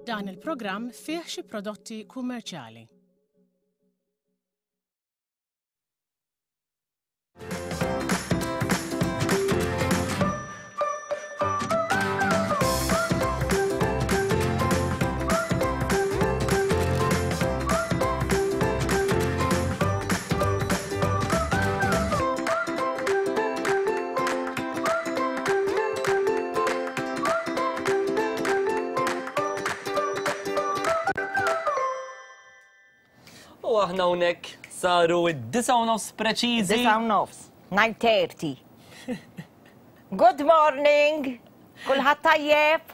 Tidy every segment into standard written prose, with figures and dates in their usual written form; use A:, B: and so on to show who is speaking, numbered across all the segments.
A: Dan il-programm fih xi prodotti kummerċjali.
B: U aħna hawnhekk saru id-disa u nofs preċiżi.
C: Disa u nofs, 9:30. Good morning! Kulħadd tajjeb?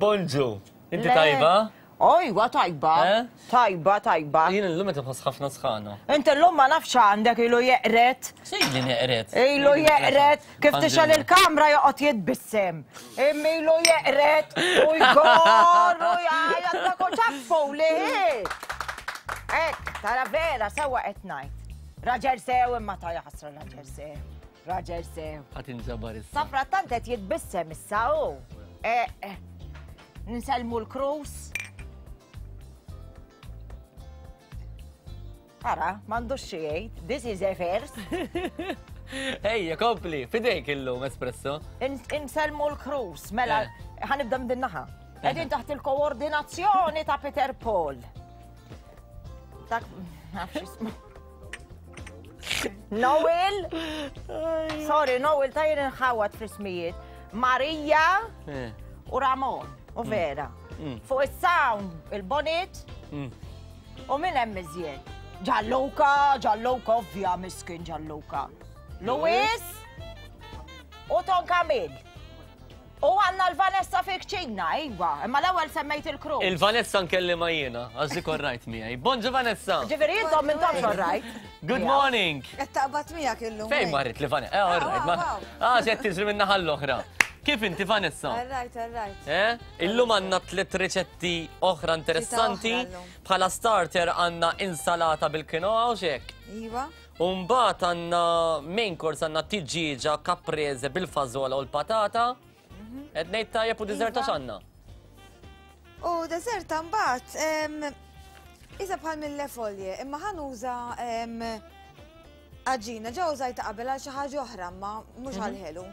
B: Bonġu, inti tajba?
C: Ojwa, tajba.
B: Eh?
C: Tajba, tajba.
B: Jien illum qed inħoss ħafna sħana.
C: Inti llum ma nafx għandek ilu jeqret.
B: Xejn li neqret.
C: Ilu jeqret, kif tixgħel il-kamra joqgħod jitbissem. Imma ilu jeqret u jgor u jgħajjat ma kontx ċaffu li. Ek, tara vera, sewa qed ngħid. Raġel sew imma ta' jaħasra raġel sew. Raġel sew.
B: Ħadd inġabar issa.
C: Safrattant qed jitbissem issa hu. Eh, eh. Nsellmu l-krus. Ara, m'għandux xi jgħid. This is a first.
B: Ejja, kompli, fidejk illum espresso.
C: Insellmu l-krus, mela,
B: Eh.
C: ħanibda minn din naħa. Qegħdin taħt il-koordinazzjoni ta' Peter Paul. Dak, nafx ismu. Noel, sorry, Noel, ta' jien nħawad fl-ismijiet. Marija
B: Eh.
C: u Ramon u Vera. Fuq is-sound, il-bonit u minn hemm iżjed. Gianluca, Gianluca, ovvja miskin Gianluca. Luis u Ton Kamil. U għanna l-Vanessa fi kċina, iwa, imma l-ewwel semmejt il-kru.
B: Il-Vanessa nkellima jiena, għax dik orrajt miegħi. Bonġu Vanessa!
C: Ġifieri intom minn tomx orrajt.
B: Good morning!
D: Qed taqbad miegħek illum.
B: Fejn marrit li Vanessa? Eh, orrajt. ma-
D: Wow, wow.
B: Ah, ġed tiġri minn naħa l-oħra. Kif inti Vanessa?
D: All right, all right.
B: Eh? Illum għandna tliet riċetti oħra interessanti.
D: Tlieta oħra llum.
B: Bħala starter għandna insalata bil-quinoa u xek.
D: Iva.
B: Umbat għandna main course għandna tiġieġa caprese bil-fażola u l-patata. Qed ngħid tajjeb u dessert
D: Iva.
B: għax għandna.
D: U deserta mbagħad em, isa bħal mille folje, imma ħa nuża em, għaġina, ġa użajta qabel għal xi ħaġa oħra, ma mhux għal ħelu.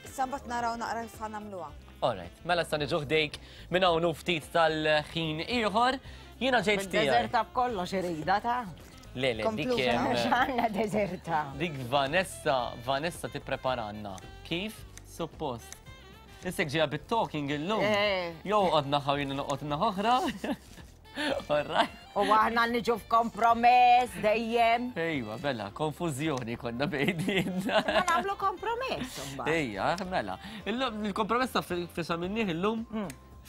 D: Issa mbagħad naraw naqra kif ħa nagħmluha.
B: Alright, mela issa niġu ħdejk minn hawn u ftit tal-ħin ieħor. Jiena ġejt tiegħi.
C: Deżerta b'kollox irida ta'
B: Le, le, dik
D: Kompluta.
B: em,
C: X'għandna deżerta.
B: dik Vanessa, Vanessa tippreparanna. Kif? Suppost. Issek ġeja bit-talking illum.
C: Eh.
B: Jew qod naħaw jien noqgħod naħoħra. Alright.
C: U aħna niġu f'kompromess dejjem.
B: Ejwa, bella, konfużjoni konna bejnietna.
C: Ma nagħmlu kompromess imbagħad.
B: Ejja, mela. Illum il-kompromess ta' fisa minnih illum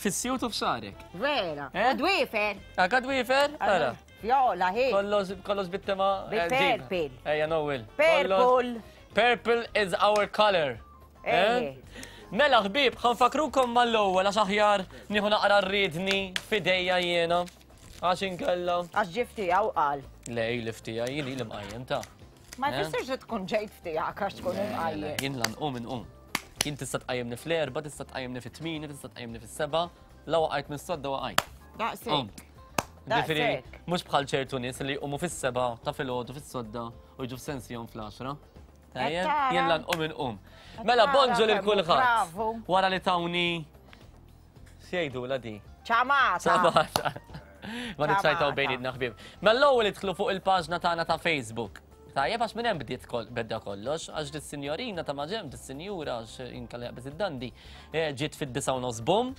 B: fis-sjut u f'xarek.
C: Vera.
B: Eh?
C: U dwifer.
B: Għakad wiefer? Ara.
C: Fjola, hi.
B: Kollox, kollox bit-tema. eh,
C: Bil-purple.
B: ġib. Ejja, Noel. Kollox-
C: Purple.
B: Purple is our color. Eh?
C: Eh.
B: Mela ħbieb, ħanfakrukom mal-ewwel għax aħjar nieħu naqra rridni fidejja jiena. Għax inkella.
C: Għax ġifti għaw qal.
B: Lej, liftija, jien li mqajjem ta'
C: Ma
B: Eh?
C: jfissirx li tkun ġejt ftijak għax tkun imqajjem.
B: Jien lan qum inqum. Jien tista' tqajjimni fl-erba, tista' tqajjimni fit-tmini, tista' tqajjimni fis-seba', la waqajt mis-sodda waqajt.
C: Daqshekk.
B: Ġifieri,
C: Daqshekk.
B: mhux bħal ċertu nies li jqumu fis-seba ta' filgħodu fis-sodda u jiġu f'sensihom fl-10. Tajjeb,
C: tara.
B: jien lan qum inqum. Mela
C: tara
B: bonġu lil
C: kemm hu
B: kulħadd.
C: bravu.
B: Wara li tawni x'jgħidu la di?
C: Ċamata.
B: Sabata. Ma niċċajtaw
C: Ċamata.
B: bejnietna ħbieb. Mela l-ewwel idħlu fuq il-paġna tagħna ta' Facebook. Tajjeb għax minn hemm bdiet kol- bedda kollox, għax dis-sinjorina ta' maġem, dis-sinjura għax inkella jaqbeż id-dandi, eh, ġiet fid-disa u nofs bum.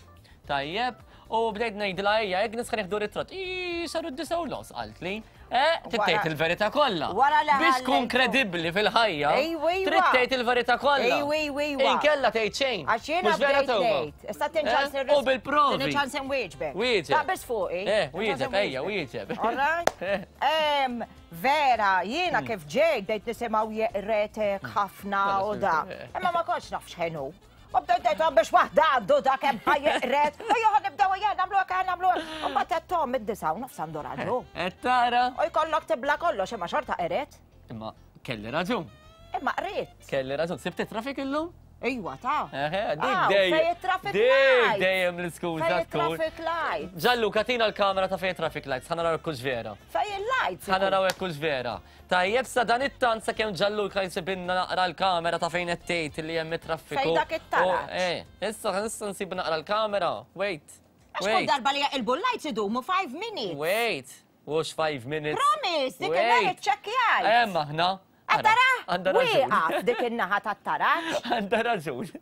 B: Tajjeb, u bdejt ngħidilha ejja, jekk nisħan nieħdu ritratt. Ii, saru d-disa u nofs qaltli. Eh, trid tgħid
C: Wara-
B: il-verità kollha.
C: wara li
B: Biex tkun
C: ħallejtu.
B: kredibbli fil-ħajja,
C: Ejwa, ejwa.
B: trid tgħid il-verità kollha.
C: Ejwa, ejwa, ejwa.
B: Inkella tgħid xejn.
C: Għax jiena
B: Mhux vera
C: bdejt
B: Toma?
C: ngħid. Issa tinċans
B: Eh? U bil-provi.
C: Tini ċans inwieġbek.
B: Wieġeb.
C: Taqbeż fuqi.
B: Eh,
C: Tini ċans
B: wieġeb, ejja,
C: inwieġbek.
B: wieġeb.
C: All right?
B: Eh.
C: Em, Vera, jiena kif ġejt bdejt nisimgħu jeqretek ħafna u da.
B: Eh.
C: Imma ma kontx naf x'ħenu. U bdejt ngħid biex waħda għandu da kemm ħajeqret. U joħod nibdew ejja nagħmlu hekk nagħmlu hekk. U mbagħad qed Tom id-disa' u nofs għandu raġun.
B: Qed tara.
C: U jkollok tibla kollox imma xorta qeret.
B: Imma kelli raġun.
C: Imma qret.
B: Kelli raġun. Sibt it-trafik illum?
C: Ejwa, ta.
B: Eħe, dik dejjem.
C: Traffic
B: Dik dejjem l-iskuża
C: tkun. Traffic light.
B: Ġallu, katina l-kamera ta' fejn traffic lights, ħa naraw hekk vera.
C: Fejn il-lights.
B: Ħa naraw hekk vera. Tajjeb sa dan it-tant sakemm Ġalluka jsibinna naqra l-kamera ta' fejn qed tgħid li hemm it-traffiku.
C: Fejn dak it-taraġ.
B: Eh, issa issa nsib naqra l-kamera. Wait.
C: Għax kull darba li jaqilbu l-lights idumu 5 minutes.
B: Wait. Mhux 5 minutes.
C: Promise, dik il-nhar iċċekkjajt.
B: Hemm aħna.
C: Tara? Wieqaf dik in-naħa tat-taraġ.
B: Għandha raġun.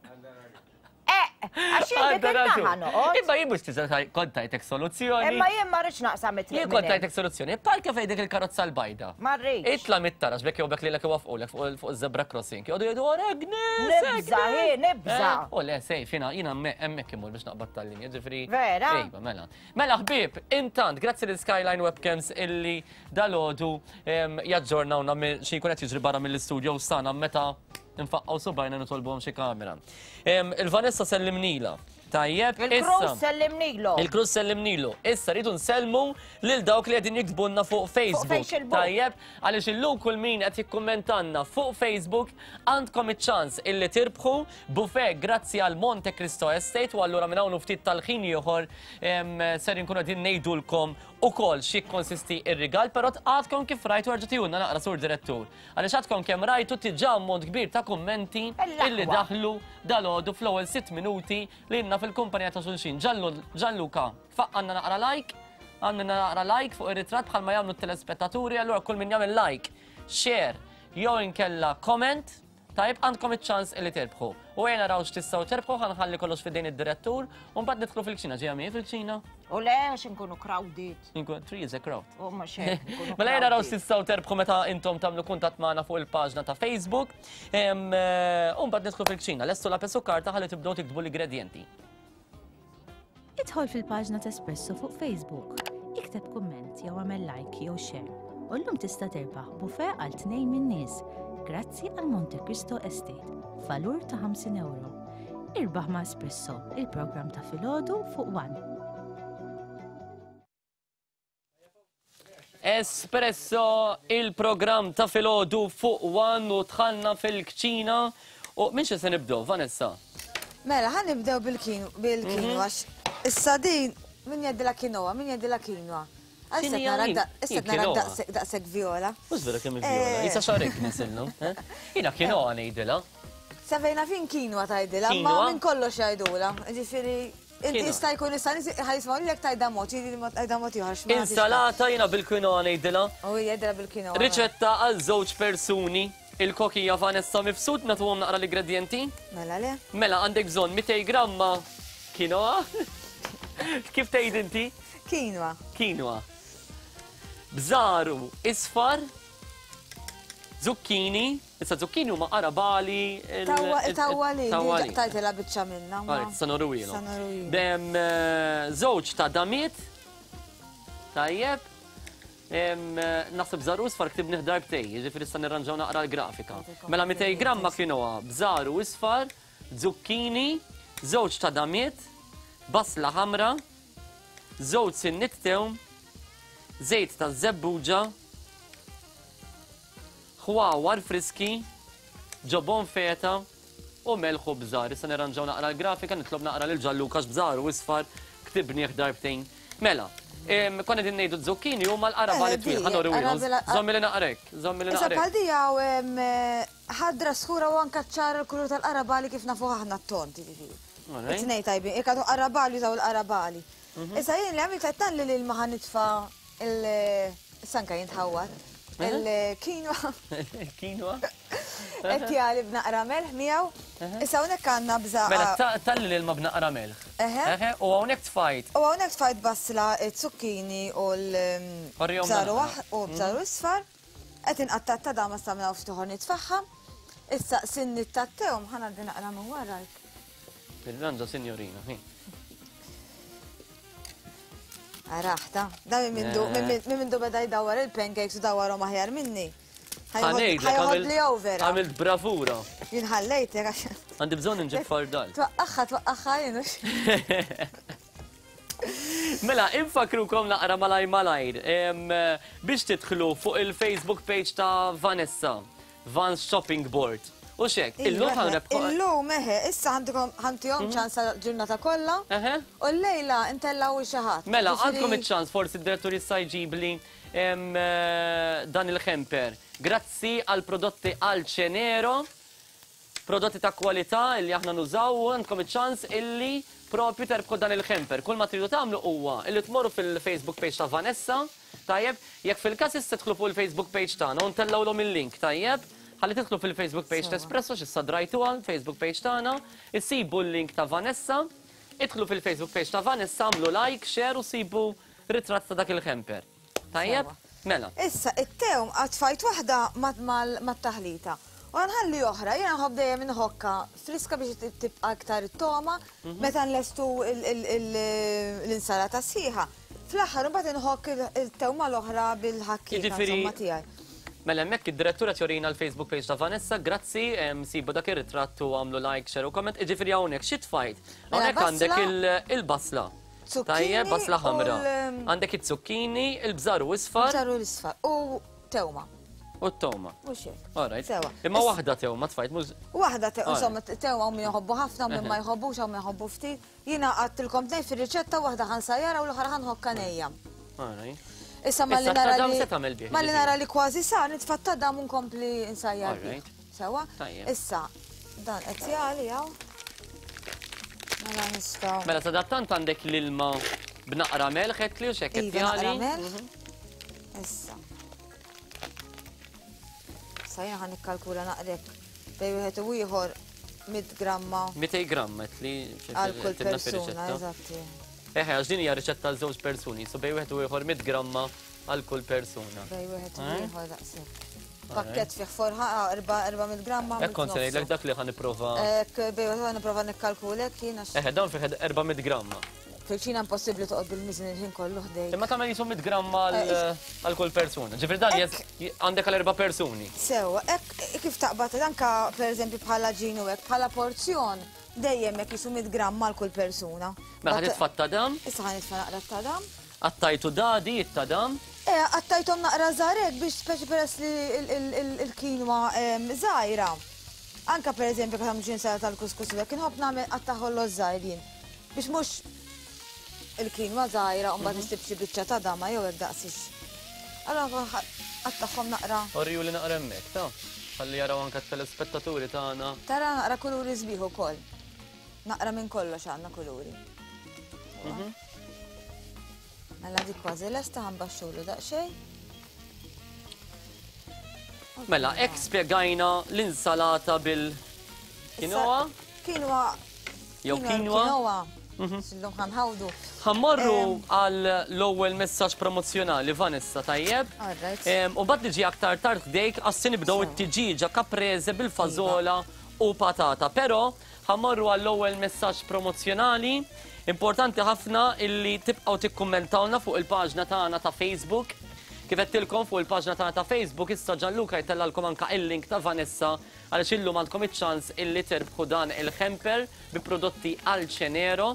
C: Eh, għax jien dik in-naħa noqgħod.
B: Imma jien mhux tiża kont tajtek soluzzjoni.
C: Imma jien ma rridx naqsam it-triq.
B: Jien kont tajtek soluzzjoni. Parka fejn dik il-karozza l-bajda.
C: Ma rridx.
B: Itla mit-taraġ bekk jew bekk lilek iwaffqulek fuq iż-zebra crossing. Jgħodu jgħidu wara Agnes.
C: Nibża, hi, nibża.
B: Eh, u le, sejf, jiena jiena hemmhekk imur biex naqbad tal-linja, ġifieri.
C: Vera?
B: Ejba, mela. Mela ħbieb, intant, grazzi lil Skyline Webcams illi dalgħodu jaġġornawna xi jkun qed jiġri barra mill-istudio sana meta nfaqqgħu subajna nitolbuhom xi kamera. Il-Vanessa sellimnila. Tajjeb,
C: Il-Cruz sellimnilu.
B: Il-Cruz sellimnilu. Issa rridu nsellmu lil dawk li qegħdin jiktbulna fuq Facebook. Tajjeb, għaliex illum kull min qed jikkummentanna fuq Facebook għandkom iċ-ċans illi tirbħu buffet grazzi għal Monte Cristo Estate u allura minn hawn ftit tal-ħin ieħor ser inkunu qegħdin ngħidulkom ukoll xi jikkonsisti r-rigal, però għadkom kif rajtu erġa' tihulna naqra sur direttur. Għaliex għadkom kemm rajtu diġà ammont kbir ta' kummenti illi daħlu dalgħodu fl-ewwel sitt minuti li ilna fil-kumpanija ta' xulxin. Gianluca, faqqanna naqra like, għamilna naqra like fuq ir-ritratt bħalma jagħmlu t-telespettaturi, allura kull min jagħmel like, share jew inkella comment, Tajjeb, għandkom iċ-ċans illi tirbħu. U ejja naraw x'tistgħu terbħu, ħa nħalli kollox f'idejn id-direttur, u mbagħad nidħlu fil-kċina. Ġejja miegħi fil-kċina?
C: U le, għax inkunu crowded.
B: Inkunu, tree is a crowd.
C: U mhux hekk. inkunu
B: Mela ejja naraw
C: crowded.
B: x'tistgħu terbħu meta intom tagħmlu kuntatt magħna fuq il-paġna ta' Facebook. U mbagħad nidħlu fil-kċina. Lestu lapes u karta ħalli tibdew tiktbu l-ingredjenti.
E: Idħol fil-paġna t'Espresso fuq Facebook, ikteb kumment jew agħmel like jew share u llum tista' terbaħ buffet għal tnejn min-nies grazzi għal Monte Cristo Estate f'valur ta' 50 ewro. Irbaħ ma' Espresso, il-programm ta' filgħodu fuq One.
B: Espresso, il-programm ta' filgħodu fuq One u dħalna fil-kċina. U minn xi se nibdew, Vanessa?
D: Mela, ħa nibdew bil-quinoa, mhm. għax issa din min jgħidilha quinoa, min jgħidilha quinoa. Issa nara daqshekk viola.
B: Mhux vera kemm viola, eh. jisa xarek nisilnu. Eh? Jiena quinoa ngħidilha.
D: Sa fejna fin quinoa tgħidilha, ma minn kollox jgħidula. Ġifieri Inti jista' jkun issa nies ħa jismgħu lilek tgħidha mod, jien tgħidha mod ieħor x'ma.
B: Insalata jiena bil-quinoa ngħidilha.
D: U hija jgħidilha bil-quinoa.
B: Riċetta għal żewġ persuni. Il-kokija Vanessa Mifsud nagħtuhom naqra l-ingredjenti.
D: Mela le.
B: Mela għandek bżonn 200 gramma quinoa. Kif tgħid inti?
D: Quinoa.
B: Quinoa. Bżaru isfar, zucchini, Issa zucchini huma qarabali.
D: Tawwali, tajtela biċċa minna.
B: Għaret, sanoruwilu. Dem eh, żewġ ta' damiet. Tajjeb. Eh, naħseb żaru isfar ktibni darbtej, jiġifieri issa nirranġaw naqra l-grafika. Mela 200 gramma quinoa, bżaru isfar, zucchini, żewġ ta' damiet, basla ħamra, żewġ sinnit tewm, żejt ta' żebbuġa, ħwawar friski, ġobon feta u melħ u bżar. Issa nirranġaw naqra l-grafika, nitlob naqra lil Ġanluca għax bżar u isfar ktibnieh darbtejn. Mela, konna qegħdin ngħidu z-zucchini huma l-qaraba li twil, ħa nuriwilhom. Żommi li naqrek, żommi li
D: Issa
B: naqrek.
D: bħal di hawn ħadra skura u anka ċara l-kulur tal-qarabali kif nafuh aħna t-tont, jiġifieri. It-tnejn tajbin, jekk għadu qarabali jużaw il-qarabali. Issa jien li għamilt qed tgħalli l-ilma ħa nitfa' Il-sanka jintħawwad. Il-quinoa.
B: Il-quinoa.
D: Qed jagħli b'naqra melħ miegħu. Issa hawnhekk għandna bżaqqa.
B: Mela talli l-ilma b'naqra melħ. Eħe, u hawnhekk tfajt.
D: U hawnhekk tfajt basla, zucchini u l-bżaru u bżaru isfar. Qed inqatta' t-tadama sa minn hawn ftit ieħor nitfagħha. Issa sinni t-tattewm ħa ngħaddi naqra minn warajk.
B: Tirranġa sinjorina, hi.
D: Araħta, da minn mindu, eh. minn mindu beda jdawwar il-pancakes u dawwarhom aħjar minni. Ħajħod li over.
B: Għamilt bravura.
D: Jien ħallejtek għax.
B: Għandi bżonn nġib fardal.
D: Twaqqaħħa, twaqqaħħa jien
B: Mela, infakrukom naqra malaj malajr biex tidħlu fuq il-Facebook page ta' Vanessa, Vans Shopping Board. U xek, illum ħa nrebħu.
D: Illum eħe, issa għandkom ħantihom ċans ġurnata kollha. U llejla ntellgħu xi ħadd.
B: Mela, għandkom iċ-ċans forsi d-direttur jista' jġibli dan il-hamper. Grazzi għal prodotti Alcenero, prodotti ta' kwalità illi aħna nużaw u għandkom iċ-ċans illi propju terbħu dan il-hamper. Kull ma tridu tagħmlu huwa illi tmorru fil-Facebook page ta' Vanessa, tajjeb, jekk fil-każ issa tidħlu fuq il-Facebook page tagħna u ntellgħulhom il-link, tajjeb, ħalli tidħlu fil-Facebook page ta' Espresso x'issa drajtuha l-Facebook page tagħna, issibu l-link ta' Vanessa, idħlu fil-Facebook page ta' Vanessa, għamlu like, share u sibu ritratt ta' dak il-hamper. Tajjeb? Mela.
D: Issa, it-tewm għatfajt waħda mat-taħlita. U nħalli oħra, jiena nħobb dejjem inħokka friska biex tibqa' aktar it-toma meta nlestu l-insalata sħiħa. Fl-aħħar imbagħad inħokk il-tewma l-oħra bil-ħakkieka insomma tiegħi.
B: Mela hemmhekk id-direttura tjorina l-Facebook page ta' Vanessa, grazzi, sibu dak ir-ritratt u għamlu like, share u comment. Jiġifieri hawnhekk xi tfajt?
D: Mela,
B: Hawnhekk għandek
D: basla.
B: il-basla.
D: Zucchini
B: Tajjeb, basla
D: u
B: ħamra.
D: l-
B: Għandek it-zucchini, il-bżar u isfar.
D: Bżar u l-isfar u tewma.
B: U t-tewma.
D: Mhux hekk.
B: All right.
D: Sewa.
B: Imma waħda tewma tfajt, mhux
D: Waħda tewma,
B: All
D: insomma,
B: right.
D: tewma u min jħobbu ħafna, u min ma jħobbux, u min jħobbu ftit. Jiena għattilkom tnejn fir-riċetta, waħda ħansajjara u l-oħra ħanħokka nejja.
B: All right.
D: Issa malli
B: Issa
D: nara
B: tadam
D: li
B: se tagħmel bih,
D: malli
B: ġifieri.
D: nara li kważi sar, nitfa' tadam u nkompli nsajjar
B: All
D: bih.
B: right.
D: Sewa?
B: Tajjeb.
D: Issa, dan qed jagħli hawn. Mela nistgħu.
B: Mela sadattant għandek l-ilma b'naqra melħ qed li u x'hekk qed
D: Iva, naqra
B: jagħli.
D: melħ. Issa. Issa jiena ħa nikkalkula naqrek bejn wieħed u ieħor 100 gramma.
B: 200 gramma qed li xi
D: Għal kull
B: tinna
D: persuna,
B: fir-riċetta.
D: eżatti.
B: Eħe, għax din hija riċetta għal żewġ persuni, so bejn wieħed u ieħor 100 gramma għal kull persuna.
D: Bejn wieħed u
B: Eh?
D: ieħor daqshekk. Pakket fih forħa, 400 gramma.
B: Hekk kont se ngħidlek dak li ħa nipprova.
D: Hekk bejn wieħed nipprova nikkalkulek jien għax
B: Eħe, dawn fih 400 gramma.
D: Fil-ċina impossibbli toqgħod bil-miżin il-ħin kollu ħdejk.
B: Imma tagħmel jisu 100 gramma għal kull persuna. Ġifieri dan għandek għal erba' persuni.
D: Sewa, hekk kif taqbad anka pereżempju bħala ġin u hekk bħala porzjon dejjem hekk jisu 100 gramma għal kull persuna.
B: Mela ħa titfa' t-tadam.
D: Issa ħa nitfa' naqra t-tadam.
B: Qattajtu dadi it-tadam.
D: Qattajthom naqra żgħar hekk biex speċi peress li il-kinwa żgħira. Anka pereżempju meta tagħmlu xi insalata tal-kuskus u hekk inħobb nagħmel qattaħollo żgħir jien. Biex mhux il-kinwa żgħira u mbagħad issib xi biċċa ta' dama jew hekk daqsix. Allora qattagħhom naqra.
B: Oriju li naqra hemmhekk, ta' ħalli jaraw anke t-telespettaturi tagħna.
D: Tara naqra kuluri sbieħ ukoll. Naqra minn kollox għandna kuluri. Mela dik kważi lesta ħanbaxxulu daqsxejn.
B: Mela, hekk spjegajna l-insalata bil-quinoa.
D: Quinoa.
B: Jew quinoa.
D: Quinoa. Illum ħanħawdu.
B: Ħammorru għal l-ewwel messaġġ promozzjonali Vanessa, tajjeb?
D: All right.
B: U mbagħad niġi aktar tard ħdejk għas se nibdew it-tiġieġa caprese bil-fażola u patata. Però ħammorru għall-ewwel messaġġ promozzjonali. Importanti ħafna illi tibqgħu tikkummentawna fuq il-paġna tagħna ta' Facebook. Kif għedtilkom fuq il-paġna tagħna ta' Facebook, issa Gianluca jtellalkom anka il-link ta' Vanessa għaliex illum għandkom iċ-ċans illi terbħu dan il-hamper bi prodotti Alcenero.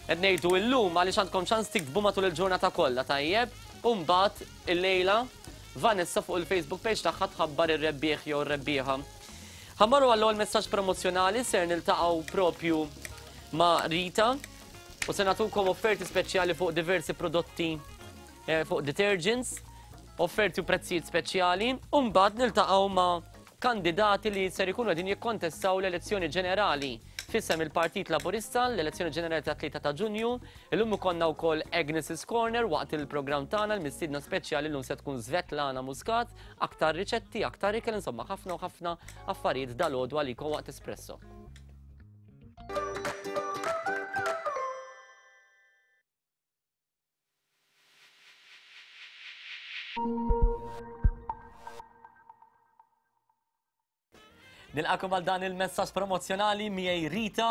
B: Qed ngħidu illum għaliex għandkom ċans tiktbu matul il-ġurnata kollha, tajjeb? U mbagħad illejla Vanessa fuq il-Facebook page tagħha tħabbar ir-rebbieħ jew ir-rebbieħa. Ħammorru għall-ewwel messaġġ promozzjonali, ser niltaqgħu propju ma' Rita u se nagħtukom offerti speċjali fuq diversi prodotti fuq detergents, offerti u prezzijiet speċjali, u mbagħad niltaqgħu ma' kandidati li ser ikunu qegħdin jikkontestaw l-elezzjoni ġenerali f'isem il-Partit Laburista, l-elezzjoni ġenerali ta' 3 ta' Ġunju. Illum ikollna wkoll Agnes's Corner waqt il-programm tagħna, l-mistiedna speċjali llum se tkun Svetlana Muscat, aktar riċetti, aktar ikel, insomma ħafna u ħafna affarijiet dalgħodu għalikom waqt Espresso. Nilqakom għal dan il-messaġġ promozzjonali miegħi Rita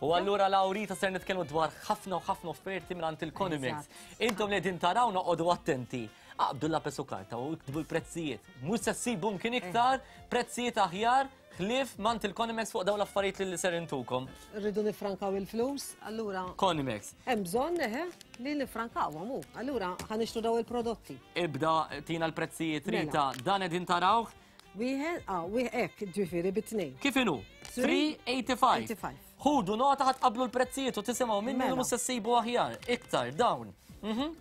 B: u allura law Rita ser nitkellmu dwar ħafna u ħafna offerti mingħand il-Conimex. Intom li qegħdin taraw noqogħdu attenti. Aqbdu lapes u karta u iktbu l-prezzijiet. Mhux se ssibu mkien iktar prezzijiet aħjar ħlief mant il-Conimex fuq dawn l-affarijiet li ser intukom.
F: Rridu nifrankaw il-flus, allura
B: Conimex.
F: Hemm bżonn eħe li nifrankawhom hu. Allura ħa nixtru daw il-prodotti.
B: Ibda tina l-prezzijiet
F: Mela.
B: Rita, dan qegħdin tarawh.
F: Wieħed, ah, wieħed hekk, ġifieri bit-tnejn.
B: Kif inhu? 385. Ħudu nota ħadd qablu l-prezzijiet u tisimgħu minni li mela. mhux se ssibu aħjar. Iktar dawn. Mhm.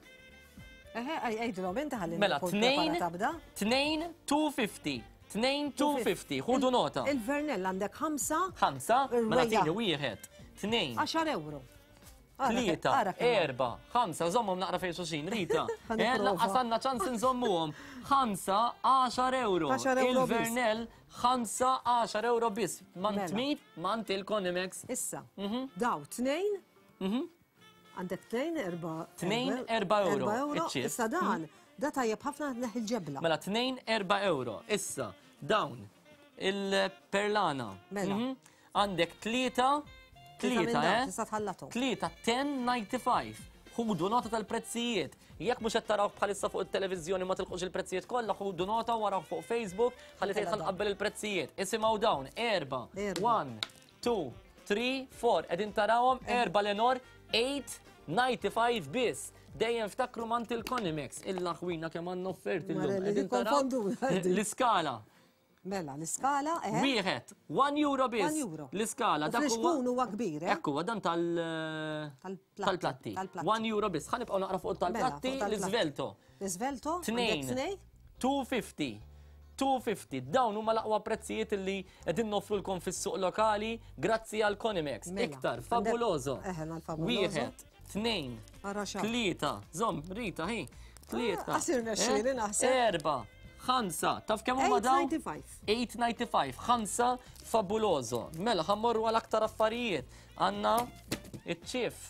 F: Eħe, għidilhom inti ħalli.
B: Mela, 2 2 250. 2 250. Ħudu nota.
F: Il-Vernell għandek ħamsa.
B: Ħamsa, mela tieni wieħed. Tnejn.
F: 10 euro.
B: Tlieta, erba, ħamsa, żommhom naqra fejn xuxin, Rita. Eh, laqqas għandna ċans nżommuhom. Ħamsa, 10 euro. Il-Vernell, ħamsa, 10 euro biss. Mant mela. min, mant il-Konimex.
F: Issa, mhm. daw, tnejn, mhm. għandek tnejn, erba.
B: Tnejn, erba euro.
F: euro. Issa dan, mhm. da tajjeb ħafna neħ il-ġebla.
B: Mela, tnejn, erba euro. Issa, dawn, il-perlana.
F: Mela.
B: Għandek tlieta, tlieta, eh?
F: Tista' tħallathom.
B: Tlieta 10.95. Ħudu nota tal-prezzijiet. Jekk mhux qed taraw bħalissa fuq it-televiżjoni ma tilqux il-prezzijiet kollha, ħudu nota waraw fuq Facebook ħalli tgħid ħanqabbel il-prezzijiet. Isimgħu dawn, erba, 1, 2, 3, 4. Qegħdin tarawhom erba' Lenor 8.95 biss. Dejjem ftakru mant il-Konimex, il-laħwina kemm għandna offerti llum. Qegħdin taraw l-iskala.
F: Mela, l-iskala, eh?
B: Wieħed, 1 euro biss.
F: 1 euro.
B: L-iskala.
F: Dak huwa huwa kbir, eh?
B: Ekku, dan tal tal-platti. 1 euro biss. Ħa nibqgħu naqra fuq mela, tal-platti, l-iżvelto.
F: L-iżvelto?
B: Tnejn. 250. 250. Dawn huma l-aqwa prezzijiet li qegħdin noffrulkom fis-suq lokali grazzi għal Konimex. Mela, Iktar, fabuloso. Wieħed, tnejn, tlieta, żomm, Rita, hi, tlieta.
F: Ah, Qasir nexxieli eh, naħseb.
B: Erba, ħamsa, taf kemm huma dawn?
F: 895.
B: 895, ħamsa fabuloso. Mela, ħammorru għal aktar affarijiet. Għanna iċ-ċif.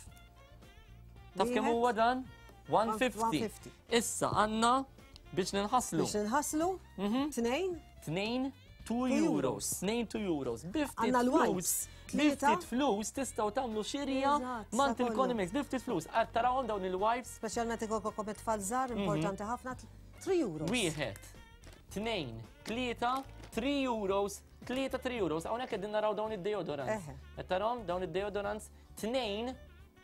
B: Taf kemm huwa dan? 150. Issa għanna biex ninħaslu.
F: Biex ninħaslu? Mhm. Tnejn?
B: Tnejn 2 euros, 2 2 euros. Biftit flus, biftit flus tistgħu tagħmlu xirja mant il-Economics, biftit flus. Għad tarawhom dawn il-wipes.
F: Speċjalment ikollkom it-tfal żgħar, mhm. importanti ħafna, 3 euros.
B: Wieħed, tnejn, tlieta, 3 euros, tlieta 3 euros. Hawnhekk qegħdin naraw dawn id-deodorants. Qed tarawhom dawn id-deodorants, tnejn,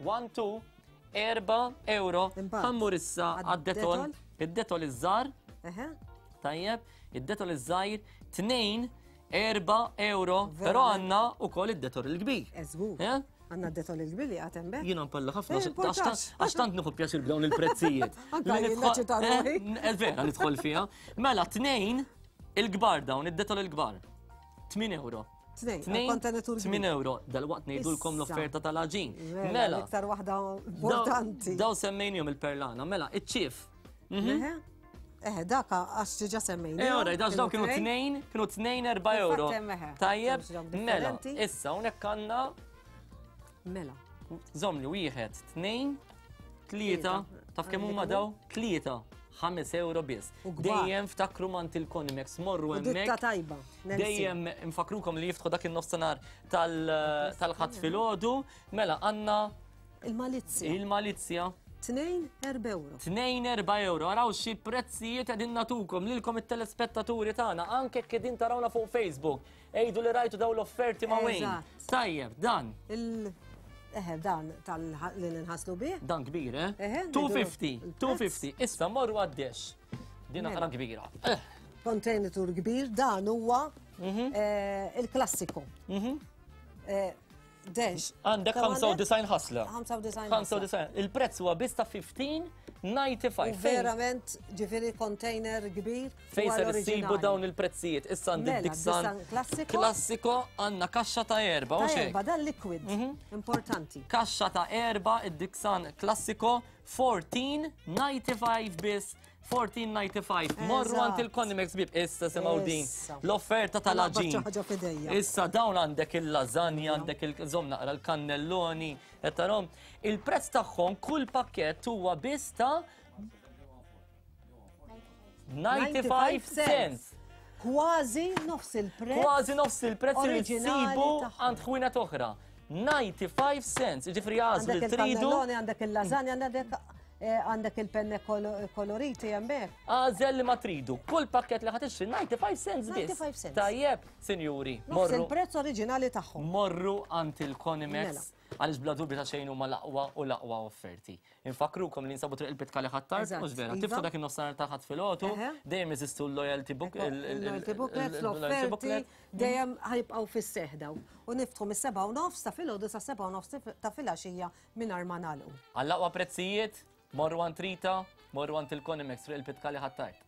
B: 1 2, 4 euro. Ħammur issa għad-detol, id-detol iż-żar. Tajjeb, id-detol iż-żgħir, 2 4 euro, però għandna wkoll id-detol il-kbir.
F: Eżgur. Eh? Għandna d-detol il-kbir li għatem be.
B: Jiena npalla ħafna għax tant nieħu pjaċir b'dawn il-prezzijiet.
F: Anka jien naċċita
B: eh, eh, vera nidħol fiha. Mela tnejn il-kbar dawn, id-detol il-kbar. 8 euro.
F: Tnejn, kontenitur.
B: 8 euro, dal-waqt ngħidulkom l-offerta tal-aġin.
F: Mela. Iktar waħda importanti.
B: Daw semmejnihom il-perlana, mela, iċ-ċif.
F: Mhm. Eh, daka għax ġiġa semmejna.
B: Eh, ora, dax daw kienu tnejn, kienu tnejn erba' euro. Tajjeb, mela, issa hawnhekk għandna.
F: Mela.
B: Zomli, wieħed, tnejn, tlieta, taf kemm huma daw? Tlieta. 5 euro biss. Dejjem ftakru mant il-Konimex, morru hemmhekk.
F: Ditta tajba.
B: Dejjem nfakrukom li jiftħu dak in-nofsinhar tal-ħadd filgħodu. Mela għandna
F: Il-malizzja.
B: Il-malizzja.
F: Tnejn erba' euro.
B: Tnejn erba' euro. Araw xi prezzijiet qegħdin natukom lilkom it-telespettaturi tagħna anke jekk qegħdin tarawna fuq Facebook. Ejdu li rajtu daw l-offerti ma' wejn. Tajjeb, dan.
F: Il Eħe, dan tal li ninħaslu bih.
B: Dan kbir, eh? Eħe. 250, 250. Issa morru għaddex. Din naqra mela. kbira. Eh.
F: Kontenitur kbir, dan huwa mhm. eh, il-klassiku. Mhm. Eh, Dex.
B: Għandek 95 ħasla.
F: 95.
B: 95. Il-prezz huwa biss ta' 15.95.
F: Verament, ġifieri container kbir.
B: Fejn ser issibu dawn il-prezzijiet? Issa għandi
F: mela,
B: Dixon
F: klassiko.
B: Klassiko għandna kaxxa ta' erba'
F: u xejn. Erba' dan liquid. Mhm. Importanti.
B: Kaxxa ta' erba' id-Dixon klassiko 14.95 biss 14.95. Morru għand il-Konimex bib. Issa semgħu din. L-offerta tal-aġin. Issa dawn għandek il-lażanja, għandek il-żomm naqra l-kannelloni, qed tarahom. Il-prezz tagħhom kull pakkett huwa biss ta' 95 cents.
F: Kważi nofs il-prezz.
B: Kważi nofs il-prezz li tsibu għand ħwienet oħra. 95 cents, ġifri għażlu li tridu.
F: Għandek il-kannelloni, għandek il-lażanja, għandek. Għandek il-penne koloriti hemmhekk.
B: Għażel li ma tridu. Kull pakket li ħa tixtri 95 cents biss.
F: 95 cents.
B: Tajjeb, sinjuri.
F: Morru. Il-prezz oriġinali tagħhom.
B: Morru għand il-Conimex
F: Mela.
B: għaliex bla dubju ta' xejn huma l-aqwa u l-aqwa offerti. Infakkrukom li nsabu triq il-Pitkali Ħ'Attard,
F: Eżatt,
B: mhux vera.
F: iva.
B: Tiftu dak in-nofsinhar ta' Ħadd filgħodu, dejjem jeżistu l-loyalty book,
F: Il-loyalty booklets,
B: il-loyalty
F: l-offerti,
B: booklet.
F: dejjem ħajbqgħu fis-seħħ dawn. U niftħu mis-7:30 ta' filgħodu sa' 7:30 ta' filgħaxija mingħajr ma nagħlqu.
B: Għall-aqwa prezzijiet, morru għand Rita, morru għand il-Conimex triq il-Pitkali Ħ'Attard.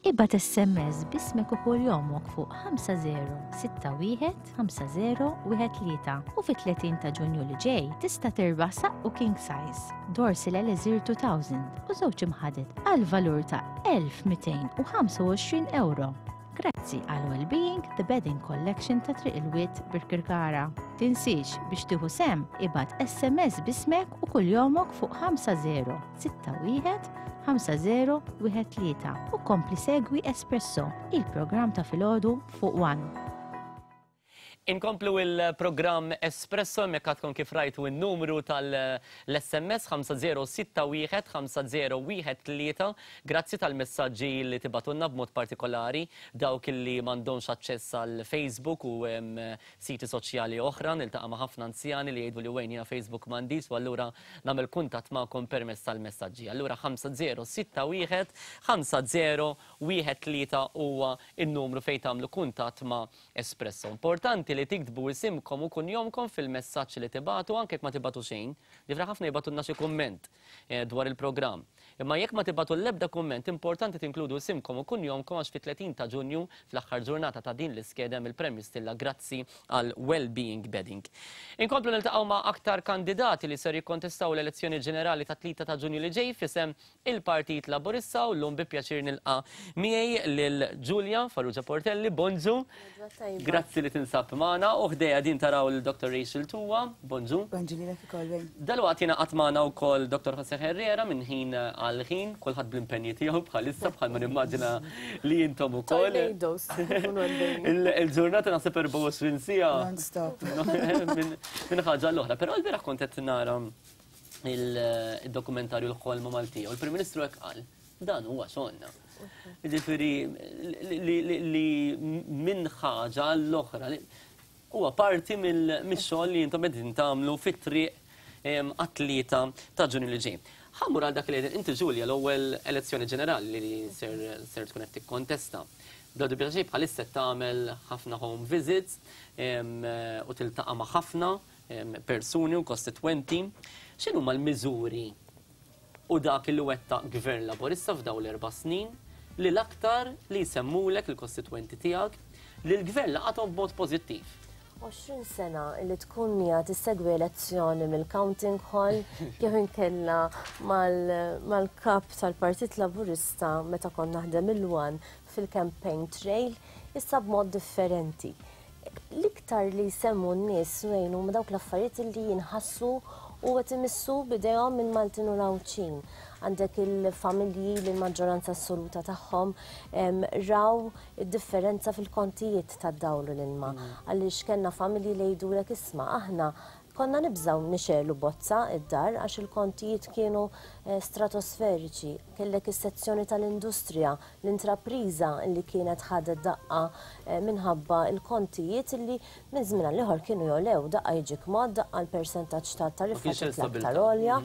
E: Ibgħat SMS b'ismek u kuljomok fuq 5061 5013 u fit-30 ta' Ġunju li ġej tista' tirbaħ saqqu king size, Dorsil Elixir 2000 u żewġ imħaded għal valur ta' 1225 euro. Grazzi għal Wellbeing The Bedding Collection ta' Triq il-Wied Birkirkara. Tinsiex biex tieħu sehem ibgħat SMS b'ismek u kuljomok fuq 5061 5013 u kompli segwi Espresso, il-programm ta' filgħodu fuq One.
B: Inkomplu il-programm Espresso, hemmhekk għadkom kif rajtu n-numru tal-SMS 5061 5013. Grazzi tal-messaġġi li tibatunna b'mod partikolari dawk li m'għandhomx aċċess għal Facebook u siti soċjali oħra. Niltaqa' ma' ħafna anzjani li jgħidu li wejn jiena Facebook m'għandix u allura nagħmel kuntatt magħkom permezz tal-messaġġi. Allura 5061 5013 huwa n-numru fejn tagħmlu kuntatt ma' Espresso. Importanti li tiktbu isimkom u kunjomkom fil-messaġġ li tibatu, anke jekk ma tibatu xejn. Ġifra ħafna jibatulna xi kumment dwar il-programm. Imma jekk ma tibatu l-ebda kumment, importanti tinkludu isimkom u kunjomkom għax fit-30 ta' Ġunju, fl-aħħar ġurnata ta' din l-iskeda hemm il-Premju Stilla grazzi għal Wellbeing Bedding. Inkomplu niltaqgħu ma' aktar kandidati li ser jikkontestaw l-elezzjoni ġenerali ta' 3 ta' Ġunju li ġej f'isem il-Partit Laburista u llum bi pjaċir nilqa' miegħi lil Giulia Farrugia Portelli. Bonġu. Grazzi li tinsab magħna u ħdejja din taraw lil Dr. Rachel Tuwa. Bonġu.
G: Bonġu lilek ukoll, Wayne.
B: Dalwaqt jingħaqad magħna wkoll Dr. Jose Herrera minn ħin għal ħin, kulħadd bl-impenji tiegħu bħalissa bħalma nimmaġina li intom ukoll.
H: Tornadoes, ikunu għaddejjin.
B: Il-ġurnata naħseb 24 siegħa.
G: Non-stop.
B: Minn ħaġa l-oħra, però l-bieraħ kont qed nara il-dokumentarju l-ħolma Maltija u l-Prim Ministru hekk qal, dan huwa xogħolna. Jiġifieri li minn ħaġa l-oħra huwa parti mix-xogħol li intom qegħdin tagħmlu fit-triq għat-3 ta' Ġunju li ġej. Ħammur għal dak li inti Ġulja l-ewwel elezzjoni ġenerali li ser tkun qed tikkontesta. Bla dubju ta' xejn bħalissa qed tagħmel ħafna home visits u tiltaqa' ma' ħafna persuni u kostitwenti. X'inhuma l-miżuri u dak li wettaq Gvern Laburista f'dawn l-4 snin li l-aktar li jsemmulek il-kostitwenti tiegħek li l-gvern laqathom b'mod pożittiv?
H: 20 sena li tkun hija tissegwi elezzjoni mill-counting hall jew inkella mal-kap tal-Partit Laburista meta kont naħdem il-One fil-campaign trail, issa b'mod differenti. L-iktar li jsemmu n-nies wejn huma dawk l-affarijiet li jinħassu u qed imissu bidejhom minn Maltin u Għawdxin. Għandek il-familji li l-maġġoranza assoluta tagħhom raw id-differenza fil-kontijiet tad-dawl u l-ilma. Għaliex kellna familji li jgħidulek isma' aħna konna nibżgħu nixegħlu bozza id-dar għax il-kontijiet kienu stratosferiċi. Kellek is-sezzjoni tal-industrija, l-intrapriża li kienet ħadet daqqa minħabba l-kontijiet li minn żmien għal ieħor kienu jolew, daqqa jiġik mod, daqqa l-persentaġġ ta' tariffa
B: Ma kienx hemm
H: titla' aktar
B: stabilta.
H: għolja.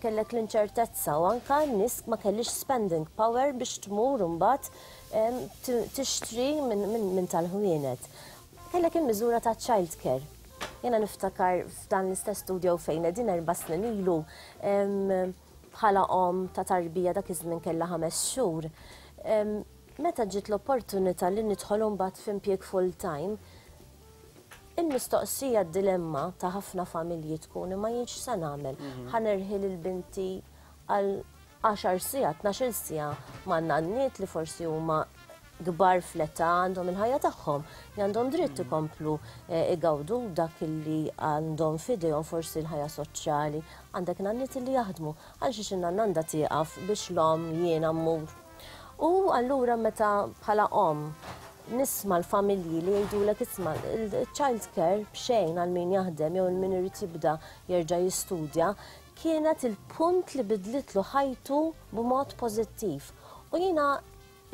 H: Kellek l-inċertezza u anka n-nies ma kellix spending power biex tmur imbagħad tixtri minn tal-ħwienet. Kellek il-miżura ta' child care. Jena niftakar f'dan l-istess studio fejn qegħdin 4 snin ilu, bħala om ta' tarbija dak iż-żmien kellha 5 xhur. Meta ġiet l-opportunità li nidħol imbagħad f'impjieg full time, il-mistoqsija d-dilemma ta' ħafna familji tkun imma jien x'se nagħmel? Ħa nerħi lil binti għal 10 siegħa, tnax-il siegħa ma' nanniet li forsi huma kbar fl-età għandhom il-ħajja tagħhom, li għandhom dritt ikomplu igawdu dak li għandhom f'idejhom forsi l-ħajja soċjali. Għandek nanniet li jaħdmu, għal xiex in-nanna għandha tieqaf biex l-om jiena mmur. U allura meta bħala omm nisma' l-familji li jgħidulek, "Isma', il-child care b'xejn għal min jaħdem jew min irid jibda jerġa' jistudja kienet il-punt li bidlitlu ħajtu b'mod pożittiv." U jiena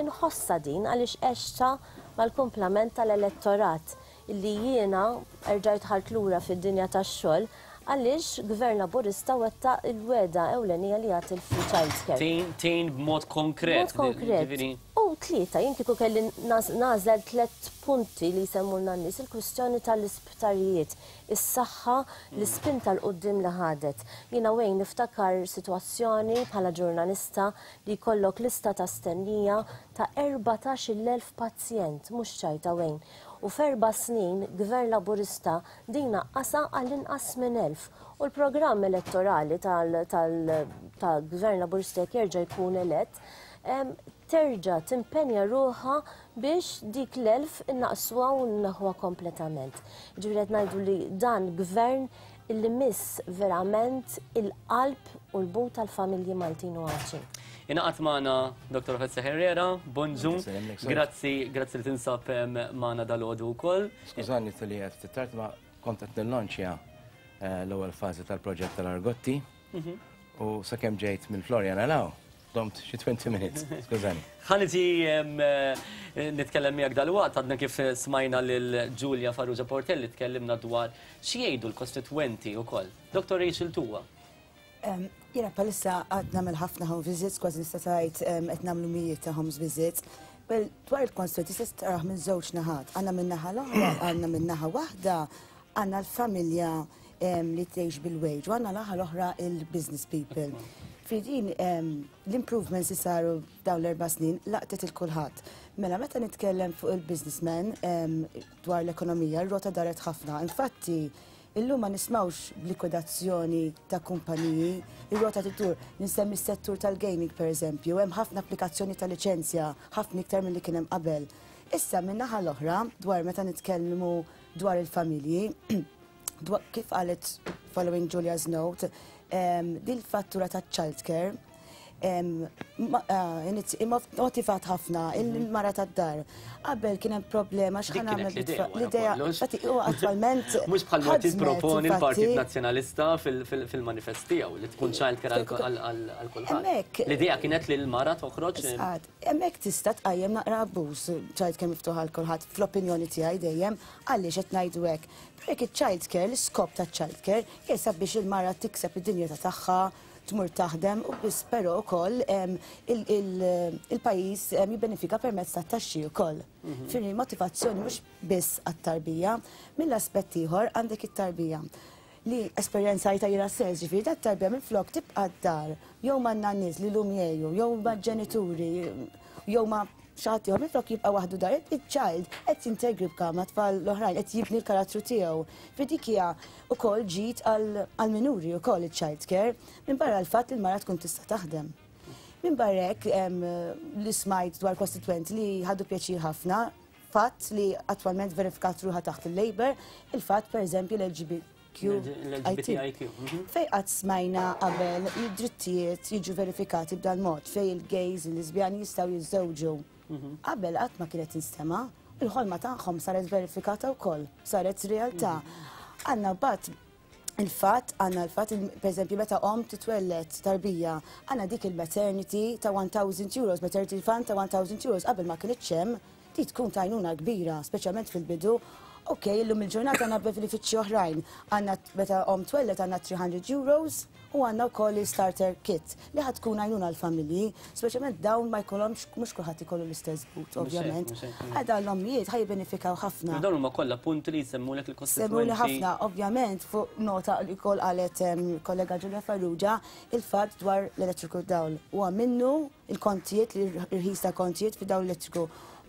H: inħossa din għaliex għextha mal-kumplament tal-elettorat illi jiena erġajt ħart lura fid-dinja tax-xogħol għaliex Gvern Laburista wettaq il-wegħda ewlenija li jagħti l-free child care.
B: Tgħin b'mod konkret.
H: B'mod konkret. U tlieta, jien kieku kelli nagħżel tliet punti li jsemmulna n-nies, il-kwistjoni tal-isptarijiet, is-saħħa, l-ispinta 'l quddiem li ħadet. Jiena wejn niftakar sitwazzjoni bħala ġurnalista li jkollok lista ta' stennija ta' 14,000 pazjent, mhux ċajta wejn. U f'4 snin Gvern Laburista din naqqasha għall-inqas minn 1000. U l-programm elettorali tal-Gvern Laburista, jekk jerġa' jkun elett, terġa' timpenja ruħha biex dik l-1000 innaqsuha u nneħħuha kompletament. Ġifieri qed ngħidu li dan gvern illi miss verament il-qalb u l-but tal-familji Maltin u Għawdxin.
B: Ingħaqad magħna Dr. Jose Herrera, bonġu. Grazzi, grazzi li tinsab magħna dalgħodu wkoll.
G: Skużani li qed tard, ma kont qed nillonċja l-ewwel fażi tal-proġett tal-Argotti u sakemm ġejt mill-Floriana 'l hawn, domt xi 20 minutes, skużani.
B: Ħa niġi nitkellem miegħek dalwaqt. Għadna kif smajna lil Julia Farrugia Portelli tkellimna dwar x'jgħidu l-kostitwenti wkoll. Dr. Rachel Tuwa.
I: Jiena bħalissa qed nagħmel ħafna home visits, kważi nista' tgħid qed nagħmlu mijiet ta' home visits. Well, dwar il-constituency tista' taraħ minn żewġ naħat. Għandna minn naħa l-oħra, għandna minn naħa waħda, għandna l-familja li tgħix bil-wage, u għandna naħa l-oħra il-business people. Fidin l-improvements li saru dawn l-4 snin laqtet lil kulħadd. Mela meta nitkellem fuq il-businessman dwar l-ekonomija, r-rota daret ħafna. Infatti, illum ma nismawx b'likwidazzjoni ta' kumpaniji, ir-rota tidur. Ninsemmi s-settur tal-gaming per eżempju, hemm ħafna applikazzjoni ta' liċenzja, ħafna iktar milli kien hemm qabel. Issa minn naħa l-oħra, dwar meta nitkellmu dwar il-familji, kif qalet following Julia's note, din fattura ta' childcare motivat ħafna il-mara tad-dar. Qabel kien hemm problema
B: Dik
I: x'ħa
B: kienet
I: nagħmel
B: l-idea wara
I: l-idea.
B: kollox.
I: Infatti, huwa attwalment
B: Mhux bħal ma
I: ħadmet,
B: tipproponi l-Partit
I: infatti.
B: Nazzjonalista fil-manifest tiegħu li tkun childcare għal kulħadd. L-idea kienet li l-mara toħroġ
I: Sqad, hemmhekk tista' tqajjem naqra abbuż child care miftuħ għal kulħadd, fl-opinjoni tiegħi dejjem, għaliex qed ngħidu hekk. Perek il-child care, l-iskop ta' child care, jesab biex il-mara tikseb id-dinjità tagħha, tmur taħdem u biss, però wkoll il-pajjiż jibbenefika permezz ta' taxxi wkoll. Firri motivazzjoni mhux biss għat-tarbija, mill-aspett ieħor għandek it-tarbija li esperjenzajtha jiena stess, ġifieri dat tarbija minn flok tibqa' d-dar, jew ma' nannies li lum jgħju, jew ma' ġenituri, jew ma' xi ħadd ieħor, minn flok jibqa' waħdu dar, il-child qed jintegra ma' tfal l-oħrajn, qed jibni l-karattru tiegħu. Fi dik hija wkoll ġid għal-minuri wkoll il-child care, minn barra l-fatt li l-mara tkun tista' taħdem. Minn barra hekk li smajt dwar kostituenti li ħadu pjaċir ħafna, fatt li attwalment verifikat ruħa taħt il-Labour, il-fatt per eżempju l-LGBTQ.
B: L-LGBTIQ.
I: Fej qatt smajna qabel id-drittijiet jiġu verifikati b'dan mod, fej il-gays, il-lesbjani jistgħu jiżżewġu? Qabel qatt ma kienet tinstema', il-ħolma tagħhom saret verifikata wkoll, saret realtà. Għandna bat il-fatt, għandna l-fatt, per eżempju, meta om titwellet tarbija, għandna dik il-maternity ta' €1,000, maternity fund ta' €1,000, qabel ma kienx hemm, di tkun t'għajnuna kbira, speċjalment fil-bidu. Ok, illum il-ġurnata għandna benefiċċji oħrajn. Għandna meta om twellet għandna €300 u għandna wkoll il-starter kit li ħa tkun għajnuna l-familji, speċjalment dawn ma jkollhomx, mhux kulħadd ikollu l-istess but, ovvjament.
B: Mhux hekk.
I: Għada l-ommijiet ħa jibbenefikaw ħafna.
B: Dawn huma kollha punti li jsemmulek il-kostitwenti.
I: Semmuli ħafna, ovvjament, fuq nota li kol qalet kollega Giulia Farrugia, il-fatt dwar l-elettriku dawl. U minnu il-kontijiet, l-irħis ta' kontijiet fi dawl elettriku.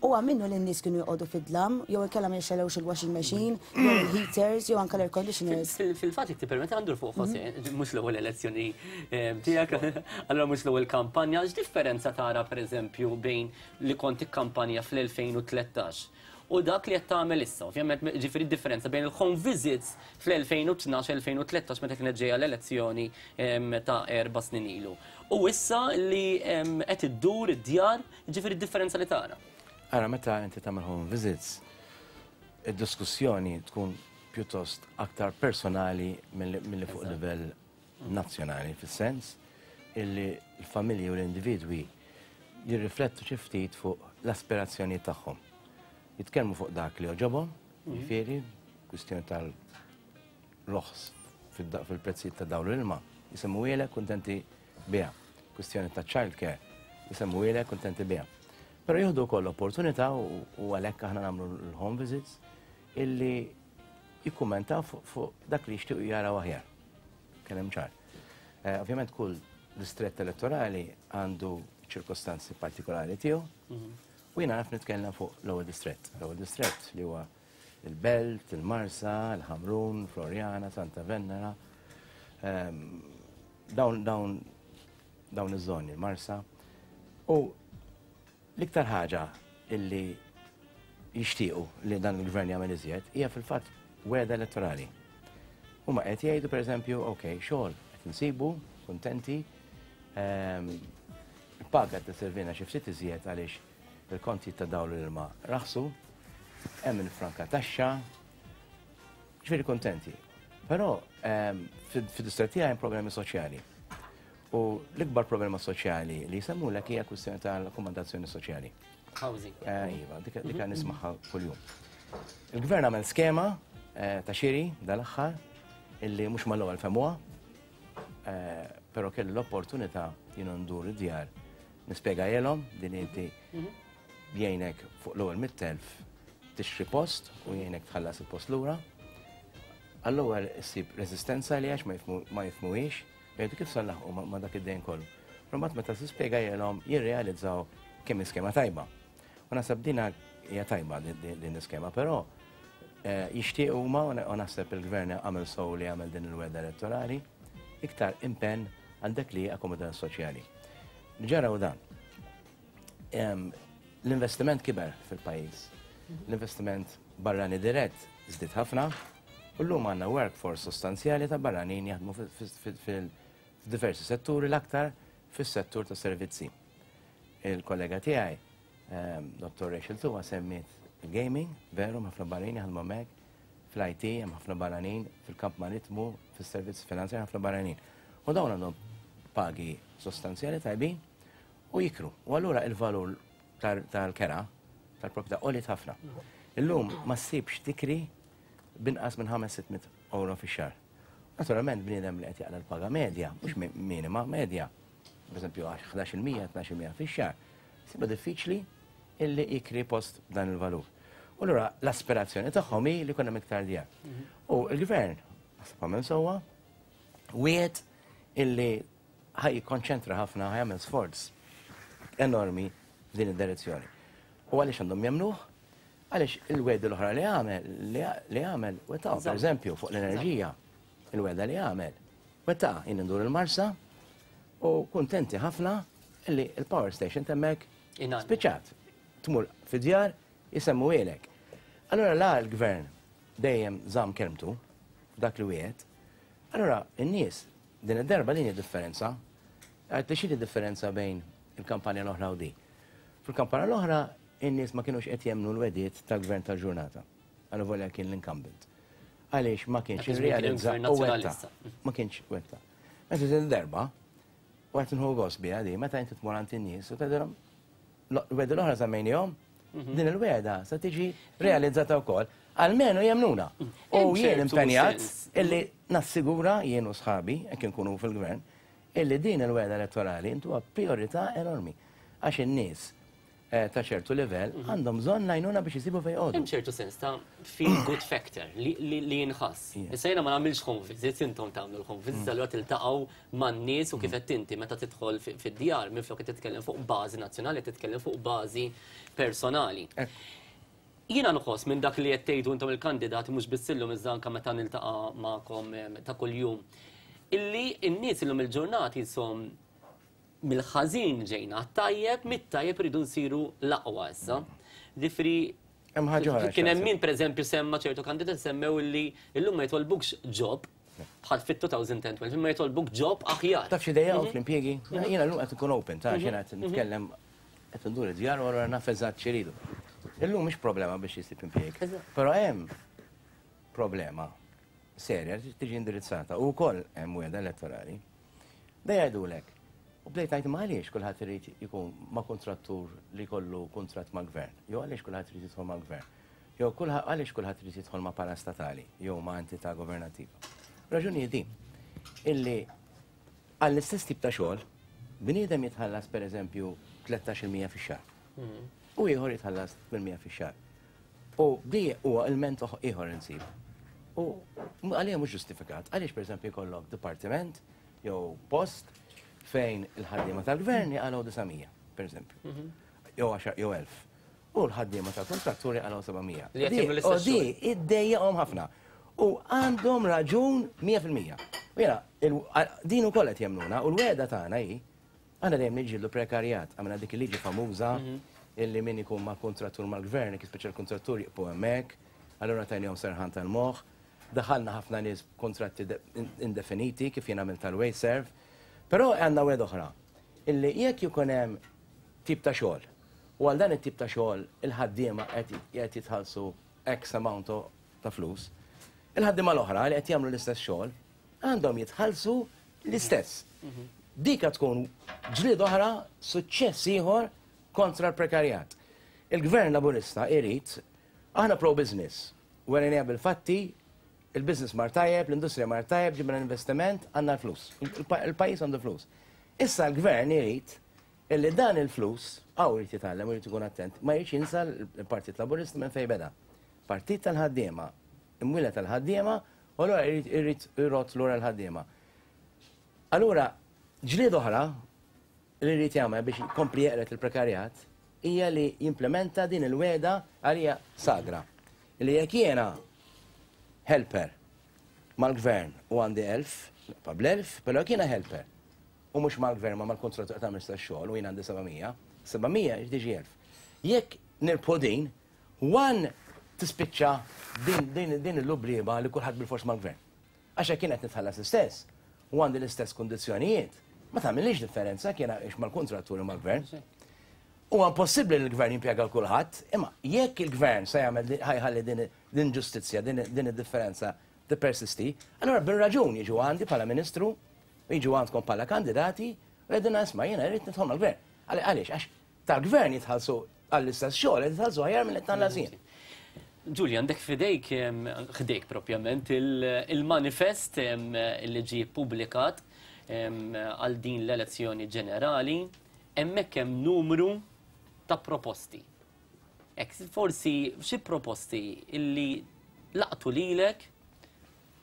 I: U minnu li n-nies kienu joqogħdu fid-dlam, jew inkella ma jxellewx il-washing machine, jew il-heaters, jew anke l-air conditioners.
B: Fil-fatt, jekk tippermetti għandur fuq Jose, mhux l-ewwel elezzjoni tiegħek, allura mhux l-ewwel kampanja, x'differenza tara pereżempju bejn li kont ikkampanja fl-2013 u u dak li qed tagħmel issa. Ovvjament, ġifieri differenza bejn il-home visits fl-2012-2013 meta kienet ġejja l-elezzjoni ta' 4 snin ilu. U issa li qed iddur id-djar, ġifieri differenza li tara.
G: Ara, meta inti tagħmel home visits, id-diskussjoni tkun pjuttost aktar personali milli fuq livell nazzjonali, fis-sens illi l-familji u l-individwi jirriflettu xi ftit fuq l-aspirazzjoni tagħhom. Jitkellmu fuq dak li għoġobhom, jiġifieri, kwistjoni tal-roħs fil-prezzijiet ta' dawl l-ilma, jisemmuhielek kuntenti biha. Kwistjoni ta' child care, jisemmuhielek kuntenti biha. Però jieħdu wkoll opportunità u għalhekk aħna nagħmlu l-home visits illi jikkummentaw fuq dak li jixtiequ jaraw aħjar. Kellem ċar. Ovvjament kull distrett elettorali għandu ċirkostanzi partikolari tiegħu. U jiena naf nitkellem fuq l-ewwel distrett. L-ewwel distrett li huwa il-Belt, il-Marsa, il-Ħamrun, Floriana, Santa Venera. Dawn iż-żoni, il-Marsa. U l-iktar ħaġa illi jixtiequ li dan il-gvern jagħmel iżjed hija fil-fatt wegħda elettorali. Huma qed jgħidu, pereżempju, ok, xogħol qed insibu, kuntenti, il-paga qed tisservina xi ftit iżjed għaliex il-konti ta' dawl l-ilma raħsu, hemm il-franka taxxa, ġifieri kuntenti. Però fid-distrett tiegħi hemm problemi soċjali. U l-ikbar problema soċjali li jsemmulek hija kwistjoni tal-akkomodazzjoni soċjali.
B: Housing.
G: Iva, dika nismagħha kuljum. Il-gvern għamel skema ta' xiri dal-aħħar illi mhux mal-ewwel fehmuha, però kelli l-opportunità jien ndur id-djar nispjegahielhom din inti jgħinek fuq l-ewwel 100,000 tixtri post u jgħinek tħallas il-post lura. Għall-ewwel issib resistenza li għax ma jifhmuhiex, jgħidu kif se nlaħħqu ma' dak id-dejn kollu. Però mbagħad meta tispjegahielhom jirrealizzaw kemm iskema tajba. U naħseb dina hija tajba din l-iskema, però jixtiequ huma u naħseb il-gvern għamel sew li għamel din il-wegħda elettorali iktar impenn għal dak li akkomodazzjoni soċjali. Ġaraw dan. L-investiment kiber fil-pajjiż. L-investiment barrani dirett żdied ħafna u llum għandna workforce sostanzjali ta' barranin jaħdmu fil-diversi setturi, l-aktar fis-settur ta' servizzi. Il-kollega tiegħi, Dr. Rachel Tuwa, semmiet il-gaming, veru, ħafna barranin jaħdmu hemmhekk, fl-IT hemm ħafna barranin, fil-kamp maritmu, fis-servizzi finanzjari ħafna barranin. U dawn għandhom pagi sostanzjali tajbin u jikru. U allura il-valur tal-kera, tal-proprjetà għoliet ħafna. Illum ma ssibx tikri binqas minn 500 euro fix-xahar. Naturalment bniedem li qed jaqla l-paga medja, mhux minima, medja, per esempio 11%, 12% fix-xahar, siba diffiċli illi jikri post dan il-valur. U allura l-aspirazzjoni tagħhom hi li jkun hemm iktar djar. U l-gvern, naħseb għamel sewwa, wiegħed illi ħa jikkonċentra ħafna, ħa jagħmel sforz enormi f'din id-direzzjoni. U għaliex għandhom jemmnuh? Għaliex il-wegħdi l-oħra li għamel, li għamel, wettaq, per eżempju, fuq l-enerġija, il-wegħda li għamel. Wettaq, jien ndur il-Marsa u kuntenti ħafna illi il-power station t'hemmhekk spiċċat. Tmur fid-djar jisemmuhielek. Allora la l-gvern dejjem żamm kelmtu dak li wiegħed, allora n-nies din id-darba din differenza, għedt li xi differenza bejn il-kampanja l-oħra u di. Fil-kampanja l-oħra in-nies ma kienux qed jemmnu l-wegħdiet tal-gvern tal-ġurnata. Għallu volja kien l-incumbent. Għaliex ma kienx
B: Dak iż-żmien kien
G: irrealizza
B: il-gvern
G: u wetta.
B: nazzjonalista.
G: Ma kienx wetta. Meta din darba, u qed nieħu gost biha di, meta inti tmur għand in-nies u tgħidilhom l-wegħda l-oħra żammejnihom, din il-wegħda se tiġi realizzata wkoll. Almenu jemmnuna. U
B: Hemm
G: jien
B: ċertu
G: impenjat
B: sens.
G: illi nassigura jien u sħabi, jekk inkunu fil-gvern, illi din il-wegħda elettorali intuha priorità enormi. Għax in-nies ta' ċertu livell għandhom bżonn l-għajnuna biex jisibu fejn joqogħdu.
B: Hemm ċertu sens ta' feel good factor li jinħass. Issa jiena ma nagħmilx home visits, intom tagħmlu l-home visits, allura tiltaqgħu man-nies u kif qed inti meta tidħol fid-djar minflok qed titkellem fuq bażi nazzjonali, titkellem fuq bażi personali. Jiena nħoss minn dak li qed tgħidu intom il-kandidati, mhux biss illum iżda anke meta niltaqa' magħkom ta' kuljum, illi n-nies illum il-ġurnati jisom mill-ħażin ġejna tajjeb, mit-tajjeb rridu nsiru l-aqwa issa. Ġifieri
G: Hemm ħaġa oħra.
B: Kien hemm min pereżempju semma ċertu kandidati semmew li llum ma jitolbukx job bħal fit-2012, ma jitolbuk job aħjar.
G: Taf xi dejjaqhom fl-impjiegi? Jiena llum qed ikun open, ta' jiena qed nitkellem qed indur id-djar u allura naf eżatt x'iridu. Illum mhix problema biex jisib impjieg. Però hemm problema serja li tiġi indirizzata u wkoll hemm wegħda elettorali. Da jgħidulek. U bdejt ngħid ma għaliex kulħadd irid ikun ma' kuntrattur li jkollu kuntratt mal-gvern, jew għaliex kulħadd irid jidħol mal-gvern, jew għaliex kulħadd irid jidħol ma' parastatali jew ma' entità governattiva. Raġuni din illi għall-istess tip ta' xogħol bniedem jitħallas pereżempju 13% fix-xahar. U ieħor jitħallas 800 fix-xahar. U di huwa ilment ieħor insib. U għalija mhux ġustifikat, għaliex pereżempju jkollok dipartiment jew post fejn il-ħaddiema tal-gvern jaqalgħu 900, pereżempju. Jew 10 jew 1000. U l-ħaddiema tal-kontratturi jaqalgħu 700.
B: Li qed jagħmlu l-istess
G: U di iddejjaqhom ħafna. U għandhom raġun 100%. U jiena, din ukoll qed jemmnuna u l-wegħda tagħna hi aħna dejjem niġġieldu prekarjat, għamilna dik il-liġi famuża illi min ikun ma' kontrattur mal-gvern, jekk speċjal kontrattur jibqgħu hemmhekk, allura tajnihom serħan tal-moħħ. Daħalna ħafna nies kontratti indefiniti kif jien għamilt tal-WasteServ. Però għandna wegħda oħra illi jekk jkun hemm tip ta' xogħol u għal dan it-tip ta' xogħol il-ħaddiema qed jitħallsu X amount ta' flus, il-ħaddiema l-oħra li qed jagħmlu l-istess xogħol għandhom jitħallsu l-istess. Dika tkun ġlied oħra, suċċess ieħor kontra l-prekarjat. Il-Gvern Laburista irid, aħna pro-business, werejniha bil-fatti, il-business mar tajjeb, l-industrija mar tajjeb, ġibna l-investiment, għandna l-flus. Il-pajjiż għandu flus. Issa l-Gvern irid illi dan il-flus, għaw irid jitgħallem u jrid ikun attent, ma jridx jinsa l-Partit Laburista minn fejn beda. Partit tal-ħaddiema, imwieled tal-ħaddiema, u allura irid irott lura l-ħaddiema. Allura, ġlied oħra li jrid jagħmel biex jkompli jeqred il-prekarjat hija li jimplementa din il-wegħda għalija sagra. Li jekk jiena helper mal-gvern u għandi 1000, pa bl-1000, però jekk jiena helper u mhux mal-gvern ma mal-kontrattur ta' mista xogħol u jien għandi 700, 700 jiġi 1000. Jekk nirbħu din, one tispiċċa din il-lublieba li kulħadd bil-fors mal-gvern. Għax jekk jien qed nitħallas l-istess u għandi l-istess kundizzjonijiet, ma tagħmilix differenza kien għax mal-kontratturi mal-gvern. Huwa impossibbli li l-gvern jimpjega kulħadd, imma jekk il-gvern se jagħmel ħajħalli din ġustizzja, din id-differenza tippersisti, allura bir-raġun jiġu għandi bħala ministru, jiġu għandkom bħala kandidati, u jgħidilna isma' jiena rrid nidħol mal-gvern. Għaliex, għax tal-gvern jitħallsu għall-istess xogħol, jitħallsu aħjar minn qed tħallas jien.
B: Julia, għandek fidejk, ħdejk propjament, il-manifest li ġie ppubblikat għal din l-elezzjoni ġenerali, hemmhekk hemm numru ta' proposti. Ek, forsi xi proposti illi laqtu lilek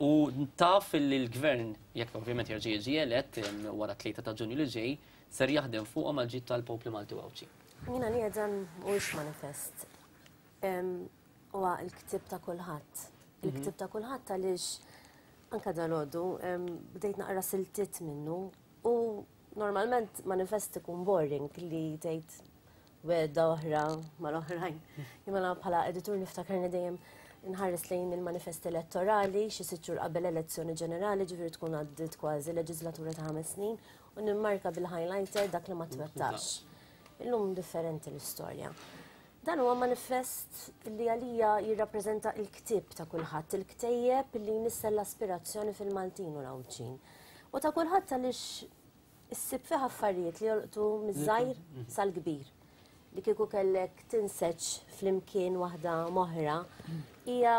B: u taf illi l-gvern, jekk ovvjament jerġa' jiġi elett wara 3 ta' Ġunju li ġej, ser jaħdem fuqhom għal ġid tal-poplu Malti u Għawdxi.
H: Jiena li dan mhuwiex manifest. Huwa l-ktieb ta' kulħadd. Il-ktieb ta' kulħadd għaliex anka dalgħodu bdejt naqra siltiet minnu u normalment manifest ikun boring li tgħid wegħda oħra mal-oħrajn. Imma bħala editur niftakarni dejjem nħares lejn il-manifest elettorali xi sitt xhur qabel elezzjoni ġenerali, ġifieri tkun għaddiet kważi leġislatura ta' 5 snin, u nimmarka bil-highlighter dak li ma twettax. Illum differenti l-istorja. Dan huwa manifest li għalija jirrappreżenta l-ktieb ta' kulħadd, il-ktejjeb li jnissel l-aspirazzjoni fil-Maltin u l-Għawdxin. U ta' kulħadd għaliex issib fih affarijiet li jolqtu miż-żgħir sal-kbir. Li kieku kellek tinseġ flimkien waħda moħra, hija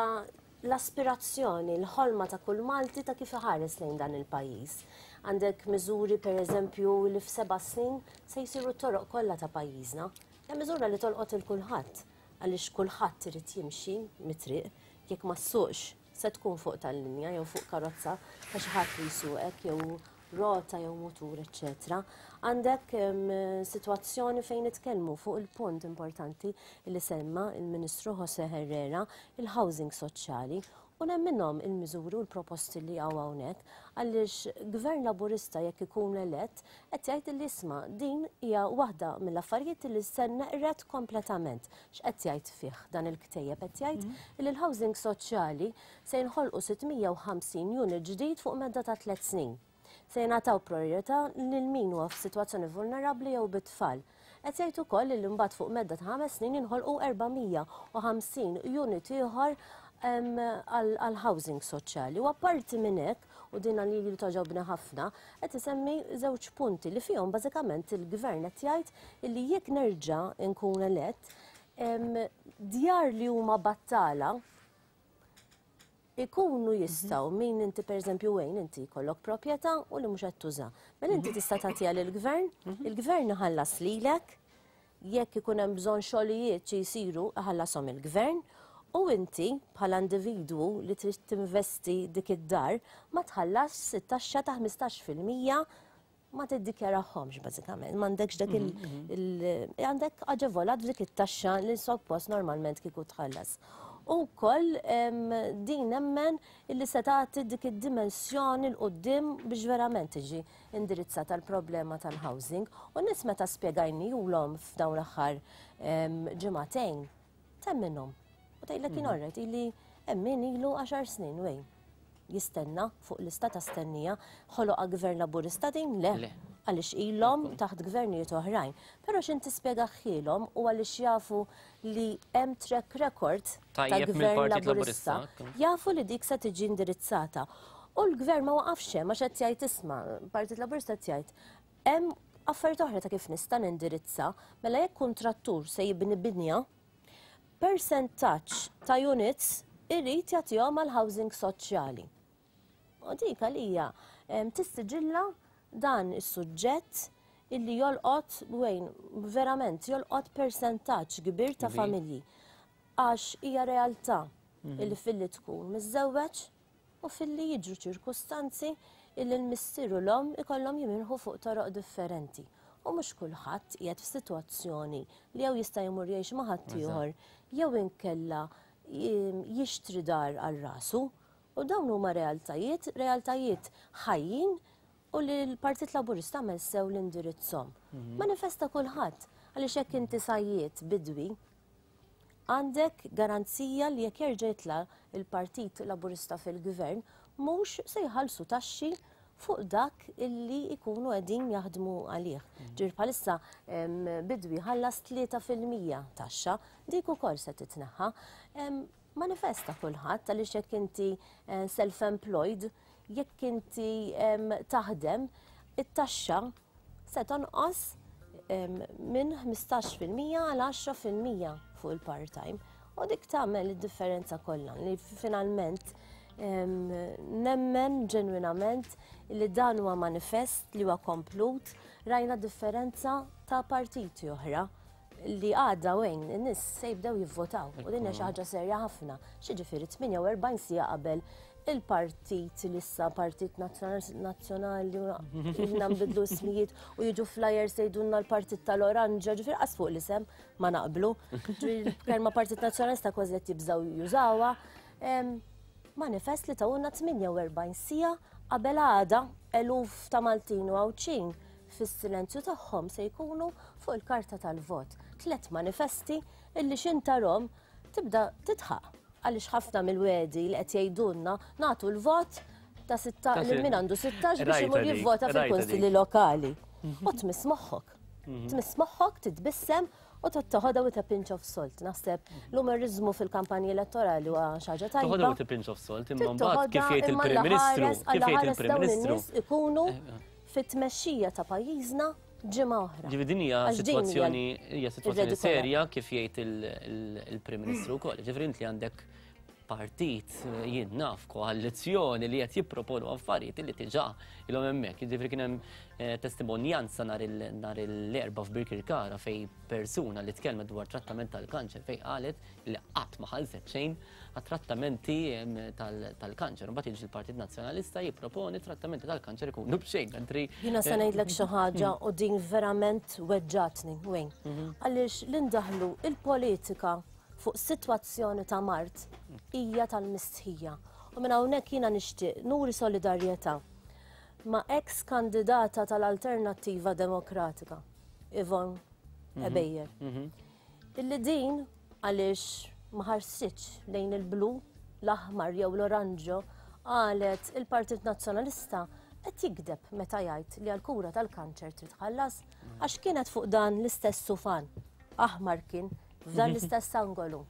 H: l-aspirazzjoni, l-ħolma ta' kull Malti ta' kif iħares lejn dan il-pajjiż. Għandek miżuri per eżempju li f'seba' snin se jsiru t-toroq kollha ta' pajjiżna. Hija miżura li tolqot il kulħadd, għaliex kulħadd irid jimxi mit-triq, jekk ma ssuqx se tkun fuq tal-linja jew fuq karozza ta' xi ħadd li jsuqek jew rota jew mutur, eċċetera. Għandek sitwazzjoni fejn nitkellmu fuq il-punt importanti li semma il-Ministru Jose Herrera, il-housing soċjali. U nemminhom il-miżuri u l-proposti li hawn hawnhekk għaliex Gvern Laburista jekk ikun elett qed jgħid li isma' din hija waħda mill-affarijiet li se neqred kompletament. X'qed jgħid fih dan il-ktejjeb? Qed jgħid li l-housing soċjali se jinħolqu 650 unit ġdid fuq medda ta' 3 snin. Se jingħataw priorità lil min huwa f'sitwazzjoni vulnerabbli jew bit-tfal. Qed jgħid ukoll li mbagħad fuq medda ta' 5 snin jinħolqu 450 unit ieħor għal housing soċjali. U apparti minn hekk, u din li togħġobni ħafna, qed isemmi żewġ punti li fihom bażikament il-gvern qed jgħid li jekk nerġa' nkun elett, djar li huma battala ikunu jistgħu min inti pereżempju wejn inti jkollok proprjetà u li mhux qed tuża. Mela inti tista' tagħtiha lill-gvern, il-gvern iħallas lilek, jekk ikun hemm bżonn xogħlijiet xi jsiru iħallashom il-gvern, u inti bħala individwu li trid tinvesti dik id-dar ma tħallas it-taxxa ta' 15% ma tiddikjarahomx bażikament, m'għandekx dak il għandek aġevolat f'dik it-taxxa li suppost normalment kieku tħallas. U wkoll din nemmen illi se tagħti dik id-dimensjoni 'l quddiem biex verament tiġi indirizzata l-problema tal-housing. U nies meta spjegajnihulhom f'dawn l-aħħar ġimagħtejn, temminhom. U tgħidlek kien orret illi hemm min ilu 10 snin wejn jistenna fuq lista ta' stennija. Ħoloqha gvern Laburista din? Le. Għaliex ilhom taħt gvernijiet oħrajn. Però x'in tispjegahielhom u għaliex jafu li hemm track record ta'
B: Tajjeb
H: gvern
B: mill-Partit
H: Laburista,
B: Laburista.
H: jafu li dik se tiġi indirizzata. U l-gvern ma waqafx hemm għax qed jgħid isma', Partit Laburista qed jgħid hemm affarijiet oħra ta' kif nista' nindirizza, mela jekk kuntrattur se jibni binja, percentaġġ ta' units irrid jagħtihom għal housing soċjali. U dik għalija tistiġilla dan is-suġġett illi jolqot wejn verament jolqot percentaġġ kbir ta'
B: Kbir.
H: familji. Għax hija realtà illi filli tkun miżżewweġ u filli jiġru ċirkustanzi illi l-missier u l-omm ikollhom jimirħu fuq toroq differenti. U mhux kulħadd qiegħed f'sitwazzjoni li jew jista' jmur jgħix ma' ħaddieħor jew inkella jixtri dar għal rasu. U dawn huma realtajiet, realtajiet ħajjin u li l-Partit Laburista għamel sew l-indirizzhom. Manifesta kulħadd għaliex jekk inti sajjiet bidwi, għandek garanzija li jekk jerġa' jitla' il-Partit Laburista fil-Gvern mhux se jħallsu taxxi fuq dak illi jkunu qegħdin jaħdmu għalih. Ġifieri bħalissa bidwi ħallas 3% taxxa, dik ukoll se titneħħa. Manifesta kulħadd għaliex jekk inti self-employed, jekk inti taħdem, it-taxxa se tonqos minn 15% għal 10% fuq il-part-time. U dik tagħmel id-differenza kollha li finalment nemmen ġenwinament li dan huwa manifest li huwa komplut, rajna differenza ta' partiti oħra li għadha wejn in-nies se jibdew jivvotaw. U din hija xi ħaġa serja ħafna. Xiġifieri 48 siegħa qabel il-partit li issa Partit Nazzjonali ilna nbidlu ismijiet u jiġu flyers jgħidulna l-Partit tal-Oranġa, ġifieri qas fuq l-isem ma naqblu. Ġifieri kelma Partit Nazzjonalista kważi qed jibżgħu jużawha. Manifest li tawna 48 siegħa qabel għada eluf ta' Maltin u Għawdxin fis-silenzju tagħhom se jkunu fuq il-karta tal-vot. 3 manifesti illi xintarom tibda titħaq għaliex ħafna mill-wedi li qed jgħidulna nagħtu l-vot ta' sitta
B: Ta'
H: lil min għandu 16 biex
B: Rajta
H: imur
B: dik,
H: jivvota
B: rajta
H: fil-kunsilli
B: dik.
H: lokali. U tmiss moħħok. Tmiss moħħok, titbissem u toħodha with a pinch of salt. Naħseb l-umorizmu fil-kampanji elettorali huwa xi ħaġa tajba.
B: Toħodha with a pinch of salt, imma
H: Trid
B: mbagħad kif
H: toħodha
B: jgħid
H: imma
B: il-Prim Ministru,
H: l-ħares
B: kif jgħid
H: għall-ħares
B: il-Prim
H: dawn
B: Ministru.
H: in-nies ikunu fit-tmexxija ta' pajjiżna ġimgħa oħra.
B: Ġifieri din hija
H: Għax din hija
B: sitwazzjoni hija sitwazzjoni
H: ir-redikola.
B: serja kif jgħid il-Prim Ministru wkoll. Ġifieri inti għandek partit jien naf koalizzjoni li qed jipproponu affarijiet li diġà ilhom hemmhekk. Jiġifieri kien hemm testimonjanza nhar l-Erbgħa f'Birkirkara fej persuna li tkellmet dwar trattament tal-kanċer fej qalet li qatt ma ħallset xejn għat-trattamenti tal-kanċer. Mbagħad jiġi l-Partit Nazzjonalista jipproponi trattamenti tal-kanċer ikunu b'xejn, mentri
H: Jiena se ngħidlek xi ħaġa u din verament weġġatni, wejn. Għaliex li ndaħlu il-politika fuq sitwazzjoni ta' mard hija tal-mistħija. U minn hawnhekk jiena nixtieq nuri solidarjetà ma' ex kandidata tal-Alternattiva Demokratika, Yvonne Ebejer. Illi din għaliex ma ħarsitx lejn il-blu, l-aħmar jew l-oranġo, qalet il-Partit Nazzjonalista qed jigdeb meta jgħid li għall-kura tal-kanċer trid tħallas għax kienet fuq dan l-istess sufan, aħmar kien, f'dan l-istess angolu.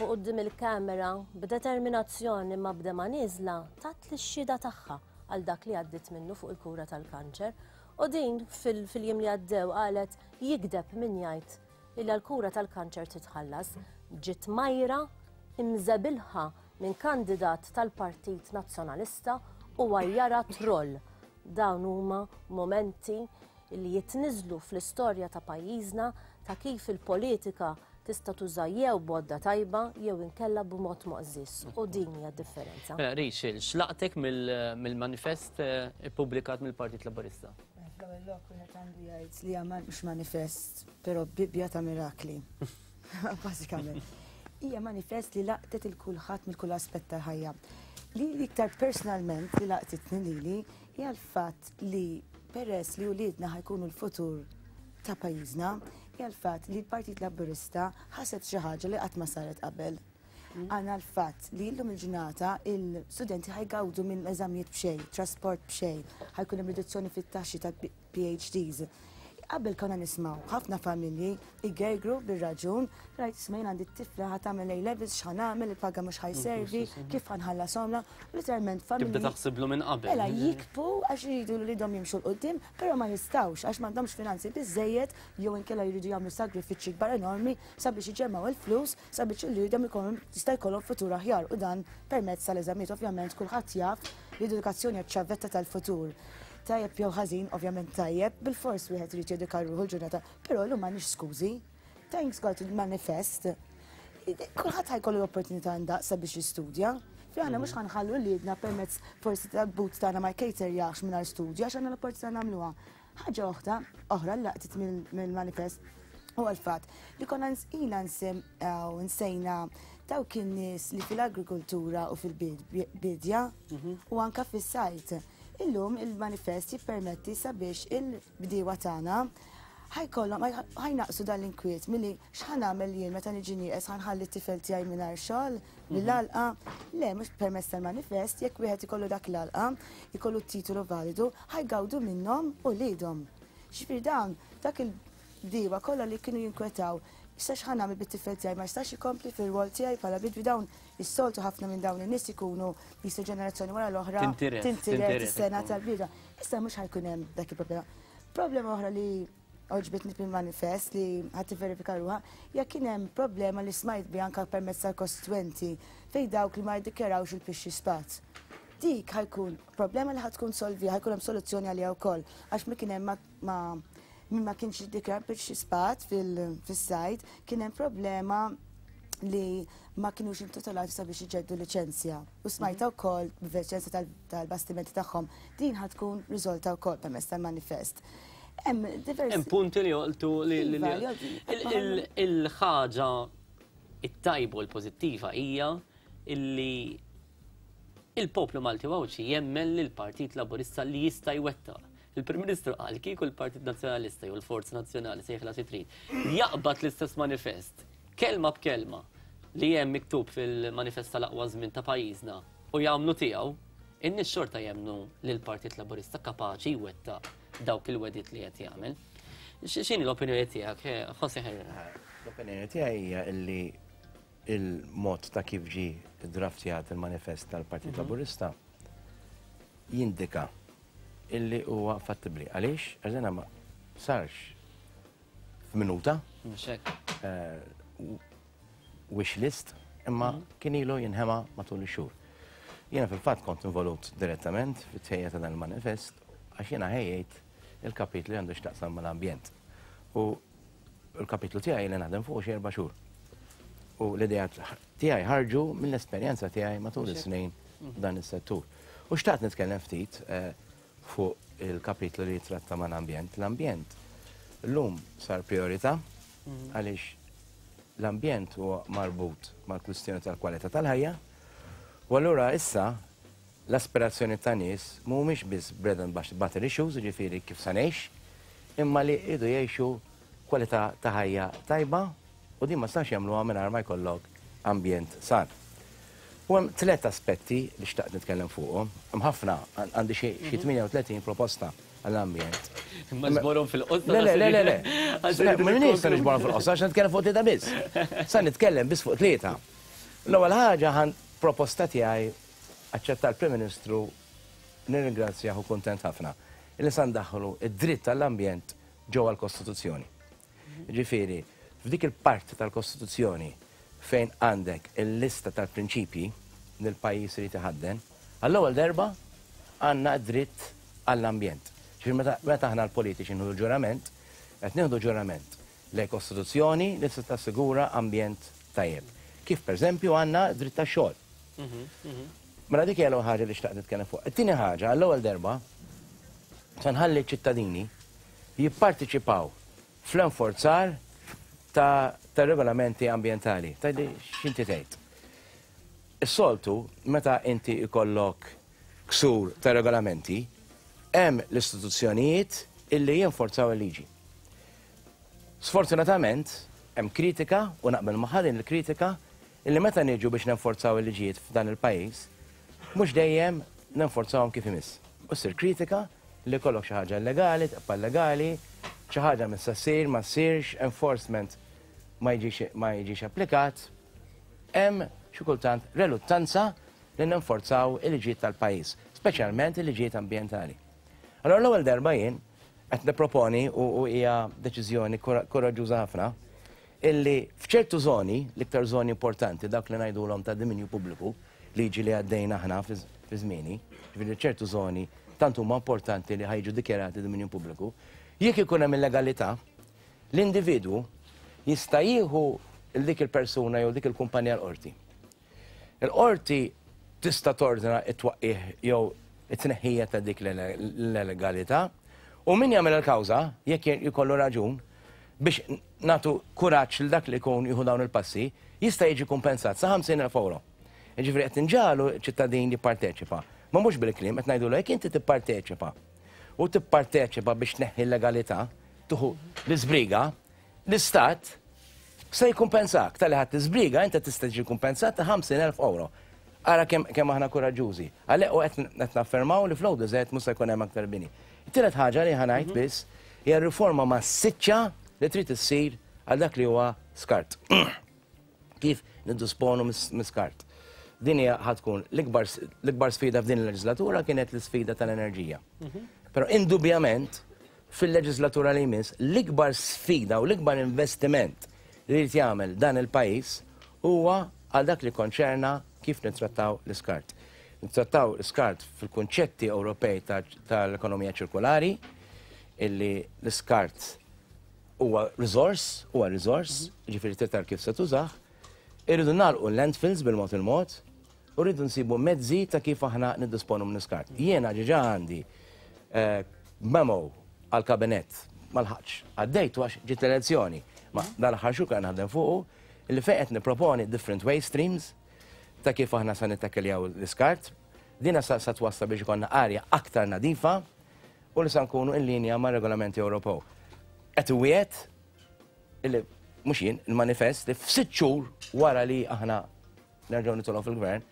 H: U quddiem il-kamera, b'determinazzjoni ma b'demgħa nieżla, tat lix-xhieda tagħha għal dak li għaddiet minnu fuq il-kura tal-kanċer. U din fil-jiem li għaddew qalet jigdeb min jgħid illi għall-kura tal-kanċer trid tħallas. Ġiet mgħajra, imżebilħa minn kandidat tal-Partit Nazzjonalista u għajjarha troll. Dawn huma mumenti li jitniżżlu fl-istorja ta' pajjiżna ta' kif il-politika tista' tuża jew b'għodda tajba jew inkella b'mod moqżież. U din hija d-differenza.
B: Mela, Rachel, x'laqtek mill-manifest ippubblikat mill-Partit Laburista?
I: Fl-ewwel lok wieħed għandu jgħid li hija mhux manifest, però Bibbja ta' mirakli. Bażikament. Hija manifest li laqtet il kulħadd mill kull aspett tal-ħajja. Li l-iktar personalment li laqtitni lili hija l-fatt li peress li uliedna ħa jkunu l-futur ta' pajjiżna, hija l-fatt li l-Partit Laburista ħaseb xi ħaġa li qatt ma saret qabel. Għandna l-fatt li llum il-ġurnata il-studenti ħa jgawdu minn eżamijiet b'xejn, trasport b'xejn, ħa jkun hemm riduzzjoni fit-taxxi tal-PhDs. Qabel konna nismgħu ħafna familji jgergru bir-raġun, rajt isma' jien għandi t-tifla ħa tagħmel A levels x'ħa nagħmel, il-paga mhux ħa jservi, kif ħa nħallashomlha, literalment familji.
B: Tibda taħsiblu minn qabel.
I: Mela jikbu għax iridu li lidhom jimxu 'l quddiem, però ma jistgħux għax m'għandhomx finanzi biżżejjed jew inkella jridu jagħmlu sagrifiċċji kbar enormi sabiex iġemmgħu il-flus sabiex uliedhom ikollhom jista' jkollhom futur aħjar u dan permezz tal-eżamijiet. Ovvjament kulħadd jaf li l-edukazzjoni hija ċ-ċavetta tal-futur. Tajjeb jew ħażin, ovvjament tajjeb, bilfors wieħed irid jedika ruħu l-ġurnata, però llum m'għandniex skużi. Thanks God il-manifest. Kulħadd ħa jkollu l-opportunità ndaqs sabiex jistudja. Fi aħna mhux ħa nħallu uliedna permezz forsi tal-but tagħna ma jkejterjax mingħajr studju għax għandna l-opportunità nagħmluha. Ħaġa oħra, oħra li laqtit mill-manifest huwa l-fatt li konna ilna nsejna dawk in-nies li fil-agrikoltura u fil-bidja u anka fis-sajt. Illum il-manifest jippermetti sabiex il-bdiewa tagħna ħa jkollhom ħa jnaqqsu dan l-inkwiet milli x'ħa nagħmel jien meta niġi nieqes ħa nħalli t-tifel tiegħi mingħajr xogħol mill-għalqa. Le, mhux permezz tal-manifest, jekk wieħed ikollu dak l-għalqa, ikollu t-titolu validu, ħa jgawdu minnhom uliedhom. Ġifieri dawn dak il-bdiewa kollha li kienu jinkwetaw issa x'ħa nagħmel bit-tifel tiegħi ma jistax ikompli fir-rwol tiegħi bħala bidwi dawn is-soltu ħafna minn dawn in-nies ikunu jisu ġenerazzjoni wara l-oħra
B: Tintiret,
I: tintiret
B: tintiret
I: is-sena
B: ikun.
I: tal-bidwa. Issa mhux ħa jkun hemm dak il-problema. Problema oħra li għoġbitni fil-manifest li ħadd tivverifika ruħha, jekk kien hemm problema li smajt bi anka permezz tal-kostitwenti fejn dawk li ma jiddikjarawx il-pixxi spat. Dik ħa jkun problema li ħa tkun solvi, ħa jkun hemm soluzzjoni għaliha wkoll għax mi kien hemm ma min ma kienx jiddikjara pixxi spat fis-sajt, kien hemm problema li ma kienux intitolati sabiex iġeddu liċenzja. U smajta wkoll b'liċenzja tal-bastimenti tagħhom din ħa tkun riżolta wkoll permezz tal-manifest. Hemm diversi
B: Hemm punti li joqtu li
I: Iva, li jolqtu.
B: il-ħaġa it-tajba u l-pożittiva hija illi il-poplu Malti Għawdxi jemmen li l-Partit Laburista li jista' jwettaq. Il-Prim Ministru qal kieku l-Partit Nazzjonalista jew l-Forza Nazzjonali sejħla xi trid jaqbad l-istess manifest kelma b'kelma li hemm miktub fil-manifest tal-aqwa żmien ta' pajjiżna u jagħmlu tiegħu, in-nies xorta jemmnu li l-Partit Laburista kapaċi jwettaq dawk il-wedit li qed jagħmel. X'inhi l-opinjoni tiegħek, José Herrera?
G: L-opinjoni tiegħi hija illi il-mod ta' kif ġie draftjat il-manifest tal-Partit Laburista jindika illi huwa fattibli. Għaliex? Għax ma sarx f'minuta.
B: Mhux hekk.
G: Wish list, imma kien ilu jinħema matul ix-xhur. Jiena fil-fatt kont involut direttament fit-tħejja ta' dan il-manifest għax jiena ħejjejt il-kapitlu li għandu x'taqsam mal-ambjent. U l-kapitlu tiegħi li naħdem fuq xi 4 xhur. U l-idea tiegħi ħarġu mill-esperjenza tiegħi matul is-snin dan is-settur. U xtaqt nitkellem ftit fuq il-kapitlu li jitratta mal-ambjent. L-ambjent llum sar priorità għaliex l-ambjent huwa marbut mal-kwistjoni tal-kwalità tal-ħajja. U allura issa l-aspirazzjoni ta' nies mhumiex biss bread and butter issues, jiġifieri kif sa ngħix, imma li jridu jgħixu kwalità ta' ħajja tajba u din ma stax jagħmluha mingħajr ma jkollok ambjent san. U hemm tliet aspetti li xtaqt nitkellem fuqhom. Hemm ħafna, għandi xi 38 proposta għall-ambjent.
B: Ma nġborhom fil-qosor.
G: Le, le, le, le. Le, m'iniex se niġborhom fil-qosor, għax nitkellem fuq tlieta biss. Sa nitkellem biss fuq tlieta. L-ewwel ħaġa ħan proposta tiegħi aċċetta l-Prim Ministru, nirringrazzjah u kuntent ħafna, illi sa ndaħħlu id-dritt għall-ambjent ġewwa l-Kostituzzjoni. Ġifieri, f'dik il-parti tal-Kostituzzjoni fejn għandek il-lista tal-prinċipji li l-pajjiż irid iħadden, għall-ewwel darba għandna d-dritt għall-ambjent. Ġifieri meta aħna l-politiċi nieħdu ġurament, qed nieħdu ġurament lejn Kostituzzjoni li se tassigura ambjent tajjeb. Kif pereżempju għandna dritt tax-xogħol. Mela dik hija l-ewwel ħaġa li xtaqt nitkellem fuq. It-tieni ħaġa, għall-ewwel darba se nħalli ċ-ċittadini jipparteċipaw fl-enforzar ta' regolamenti ambjentali. Tgħidli x'inti tgħid. Is-soltu meta inti jkollok ksur ta' regolamenti, hemm l-istituzzjonijiet illi jinforzaw il-liġi. Sfortunatament, hemm kritika, u naqbel magħha din il-kritika, illi meta niġu biex nenforzaw il-liġijiet f'dan il-pajjiż, mhux dejjem nenforzawhom kif imiss. U ssir kritika li jkollok xi ħaġa illegali, tibqa' illegali, xi ħaġa missa ssir, ma ssirx, enforcement ma jiġix applikat. Hemm xi kultant reluttanza li nenforzaw il-liġijiet tal-pajjiż, speċjalment il-liġijiet ambjentali. Allora l-ewwel darba jien qed nipproponi, u hija deċiżjoni koraġġuża ħafna, illi f'ċertu żoni, l-iktar żoni importanti, dak li ngħidulhom ta' dominju pubbliku, liġi li għaddejna aħna fi żmieni, ġifieri ċertu żoni tant huma importanti li ħajġu dikjarati dominju pubbliku, jekk ikun hemm illegalità, l-individwu jista' jieħu dik il-persuna jew dik il-kumpanija l-qorti. Il-qorti tista' tordna t-twaqqigħ jew it-tneħħija ta' dik l-illegalità, u min jagħmel il-kawża, jekk jkollu raġun, biex nagħtu kuraġġ lil dak li jkun jieħu dawn il-passi, jista' jiġi kumpensat sa 50,000 euro. Jiġifieri qed inġagħlu ċ-ċittadin jipparteċipa. Ma mhux bil-kliem, qed ngħidulu jekk inti tipparteċipa u tipparteċipa biex tneħħi l-legalità, tieħu l-iżbriga, l-Istat se jikkumpensak. Talli ħadt l-iżbriga inti tista' tiġi kumpensat ta' 50,000 euro. Ara kemm aħna kuraġġużi. Għalhekk u qed naffermaw li fl-ODZ mhux se jkun hemm aktar bini. It-tielet ħaġa li ħa ngħid biss hija r-riforma massiċċa li trid issir għal dak li huwa skart. Kif niddisponu mis-skart. Din hija ħa tkun l-ikbar sfida f'din il-leġislatura kienet l-isfida tal-enerġija. Però indubjament fil-leġislatura li jmiss l-ikbar sfida u l-ikbar investiment li jrid jagħmel dan il-pajjiż huwa għal dak li konċerna kif nittrattaw l-iskart. Nittrattaw l-iskart fil-kunċetti Ewropej tal-ekonomija ċirkulari, illi l-iskart huwa resource, huwa resource, ġifieri trid tara kif se tużah. Irridu nagħlqu l-landfills bil-mod il-mod, u rridu nsibu mezzi ta' kif aħna niddisponu minn iskart. Jiena ġiġa għandi memo għal-kabinett ma lħaqx. Għaddejtu għax ġiet l-elezzjoni. Ma dal-aħħar xhur kan naħdem fuqu illi fejn qed nipproponi different waste streams ta' kif aħna sa nittakkeljaw l-iskart. Dina sa twassal biex ikollna arja aktar nadifa u li sa nkunu in linja ma' regolamenti Ewropew. Qed iwiegħed illi mhux jien, il-manifest li f'sitt xhur wara li aħna nerġgħu nitolgħu fil-gvern,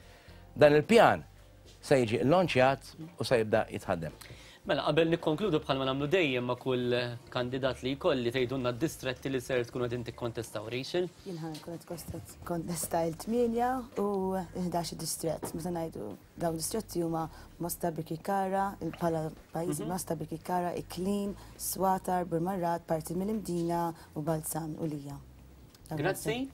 G: dan il-pjan se jiġi launchjat u se jibda jitħaddem.
B: Mela, qabel nikkonkludu bħalma nagħmlu dejjem ma' kull kandidat li jkolli tgħidulna d-distretti li ser tkunu qegħdin tikkontestaw, Rachel.
I: Jien ħa nkun qed kontesta il-8 u l-11 distrett. Meta ngħidu dawn distretti huma Mosta Birkirkara, bħala pajjiżi Mosta Birkirkara, Iklin, Swatar, Burmarrad, parti mill-Imdina u Balzan u Lija.
B: Grazzi.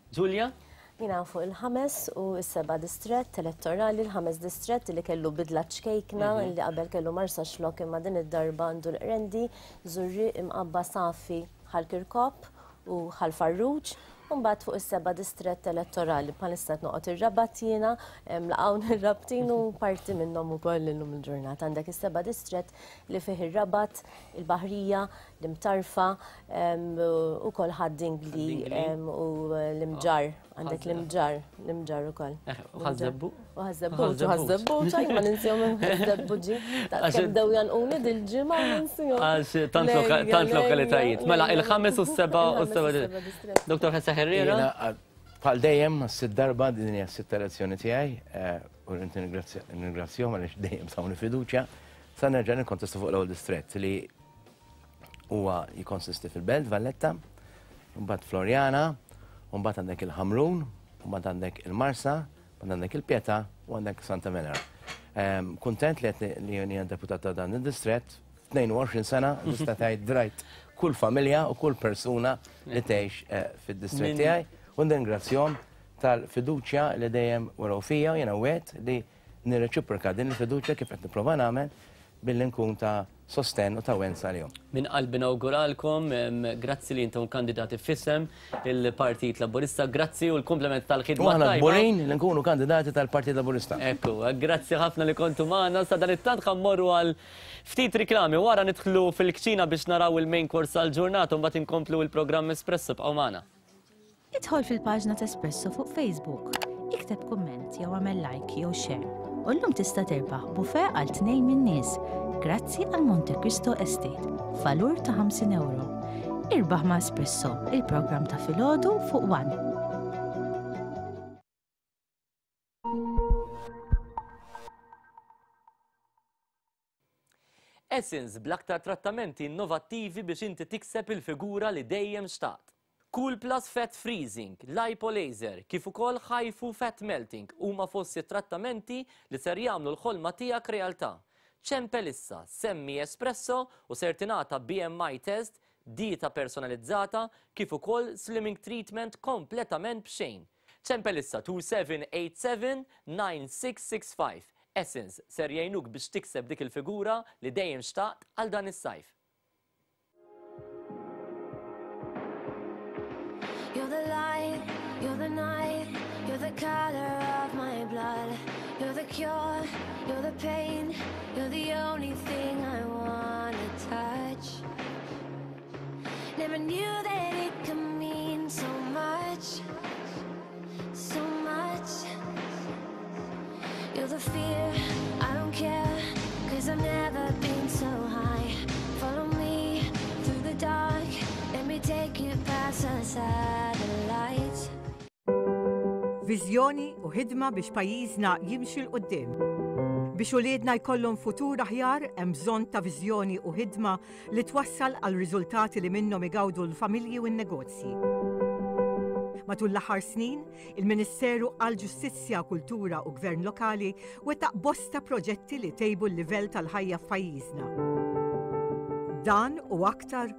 B: Giulia?
H: Jiena fuq il-5 u s-7 distrett elettorali, il-5 distrett li kellu bidla ċkejkna, li qabel kellu Marsaxlokk imma din id-darba għandu l-Qrendi, Żurrieq, Imqabba, Safi, Ħal Kirkop u Ħal Farruġ. U mbagħad fuq is-7 distrett elettorali bħalissa qed noqgħod ir-Rabat jiena, laqgħu ir-Rabtin u parti minnhom ukoll illum il-ġurnata. Għandek is-7 distrett li fih ir-Rabat, il-Baħrija, l-Imtarfa, u kol Ħad-Dingli u l-Imġarr. Għandek l-imġar, l-imġar ukoll.
B: Eh, u ħażebbu.
H: U ħażebbu, u ħażebbu, ċaj ma ninsihom ħażebbu ġi. Kemm dew janquni dil-ġimgħa ninsihom.
B: Għax tant lokalitajiet. Mela il-ħames u s-seba' u s-seba'. Dr. Ħessa Herrera.
G: Bħal dejjem, sitt darba din hija s-sitt elezzjoni tiegħi, eh, u rrid nirringrazzjahom għaliex dejjem tawni fiduċja. Sa nerġa' nikkontesta fuq l-ewwel distrett li huwa jikonsisti fil-Belt Valletta, mbagħad Floriana, mbagħad għandek il-Ħamrun, mbagħad għandek il-Marsa, mbagħad għandek il-Pietà u għandek Santa Venera. Ehm, kuntent li qed li jien deputat ta' dan id-distrett, 22 sena nista' tgħid drajt kull familja u kull persuna li tgħix eh, fid-distrett tiegħi u nirringrazzjahom tal-fiduċja li dejjem waraw fija u jiena wieħed li nirreċiproka din il-fiduċja kif qed nipprova nagħmel billi nkun ta' sostenn u ta' wens għalihom.
B: Minn qalbi nawguralkom, grazzi li intom kandidati f'isem il-Partit Laburista, grazzi u l-kumplament tal-ħidma.
G: U aħna kburin li nkunu kandidati tal-Partit Laburista.
B: Ekku, grazzi ħafna li kontu magħna, sa dan it-tant ħa mmorru għal ftit riklami wara nidħlu fil-kċina biex naraw il-main course tal-ġurnata u mbagħad inkomplu il-programm Espresso bqgħu magħna.
E: Idħol fil-paġna t'Espresso fuq Facebook, ikteb kumment jew agħmel like jew share u llum tista' tirbaħ buffet għal tnejn min-nies grazzi għal Monte Cristo Estate f'valur ta' 50 ewro. Irbaħ ma' Espresso, il-programm ta' filgħodu fuq One.
B: Essence bl-aktar trattamenti innovattivi biex inti tikseb il-figura li dejjem xtaqt. Cool Plus Fat Freezing, Lipo Laser, kif ukoll HIFU Fat Melting huma fost it-trattamenti li ser jagħmlu l-ħolma tiegħek realtà. Ċempel issa, semmi Espresso u ser tingħata BMI test, dieta personalizzata, kif ukoll slimming treatment kompletament b'xejn. Ċempel issa 2787 9665. Essence ser jgħinuk biex tikseb dik il-figura li dejjem xtaqt għal dan is-sajf.
J: You're the light, you're the night, you're the color of my blood. You're the cure, you're the pain, you're the only thing I wanna touch. Never knew that it could mean so much, so much. You're the fear, I don't care, cause I've never been so high. Follow me through the dark, let me take you past the satellites.
K: Viżjoni u ħidma biex pajjiżna jimxi 'l quddiem. Biex uliedna jkollhom futur aħjar hemm bżonn ta' viżjoni u ħidma li twassal għal riżultati li minnhom igawdu l-familji u n-negozji. Matul l-aħħar snin, Il-Ministeru għall-Ġustizzja, Kultura u Gvern Lokali wettaq bosta proġetti li tejbu l-livell tal-ħajja f'pajjiżna. Dan u aktar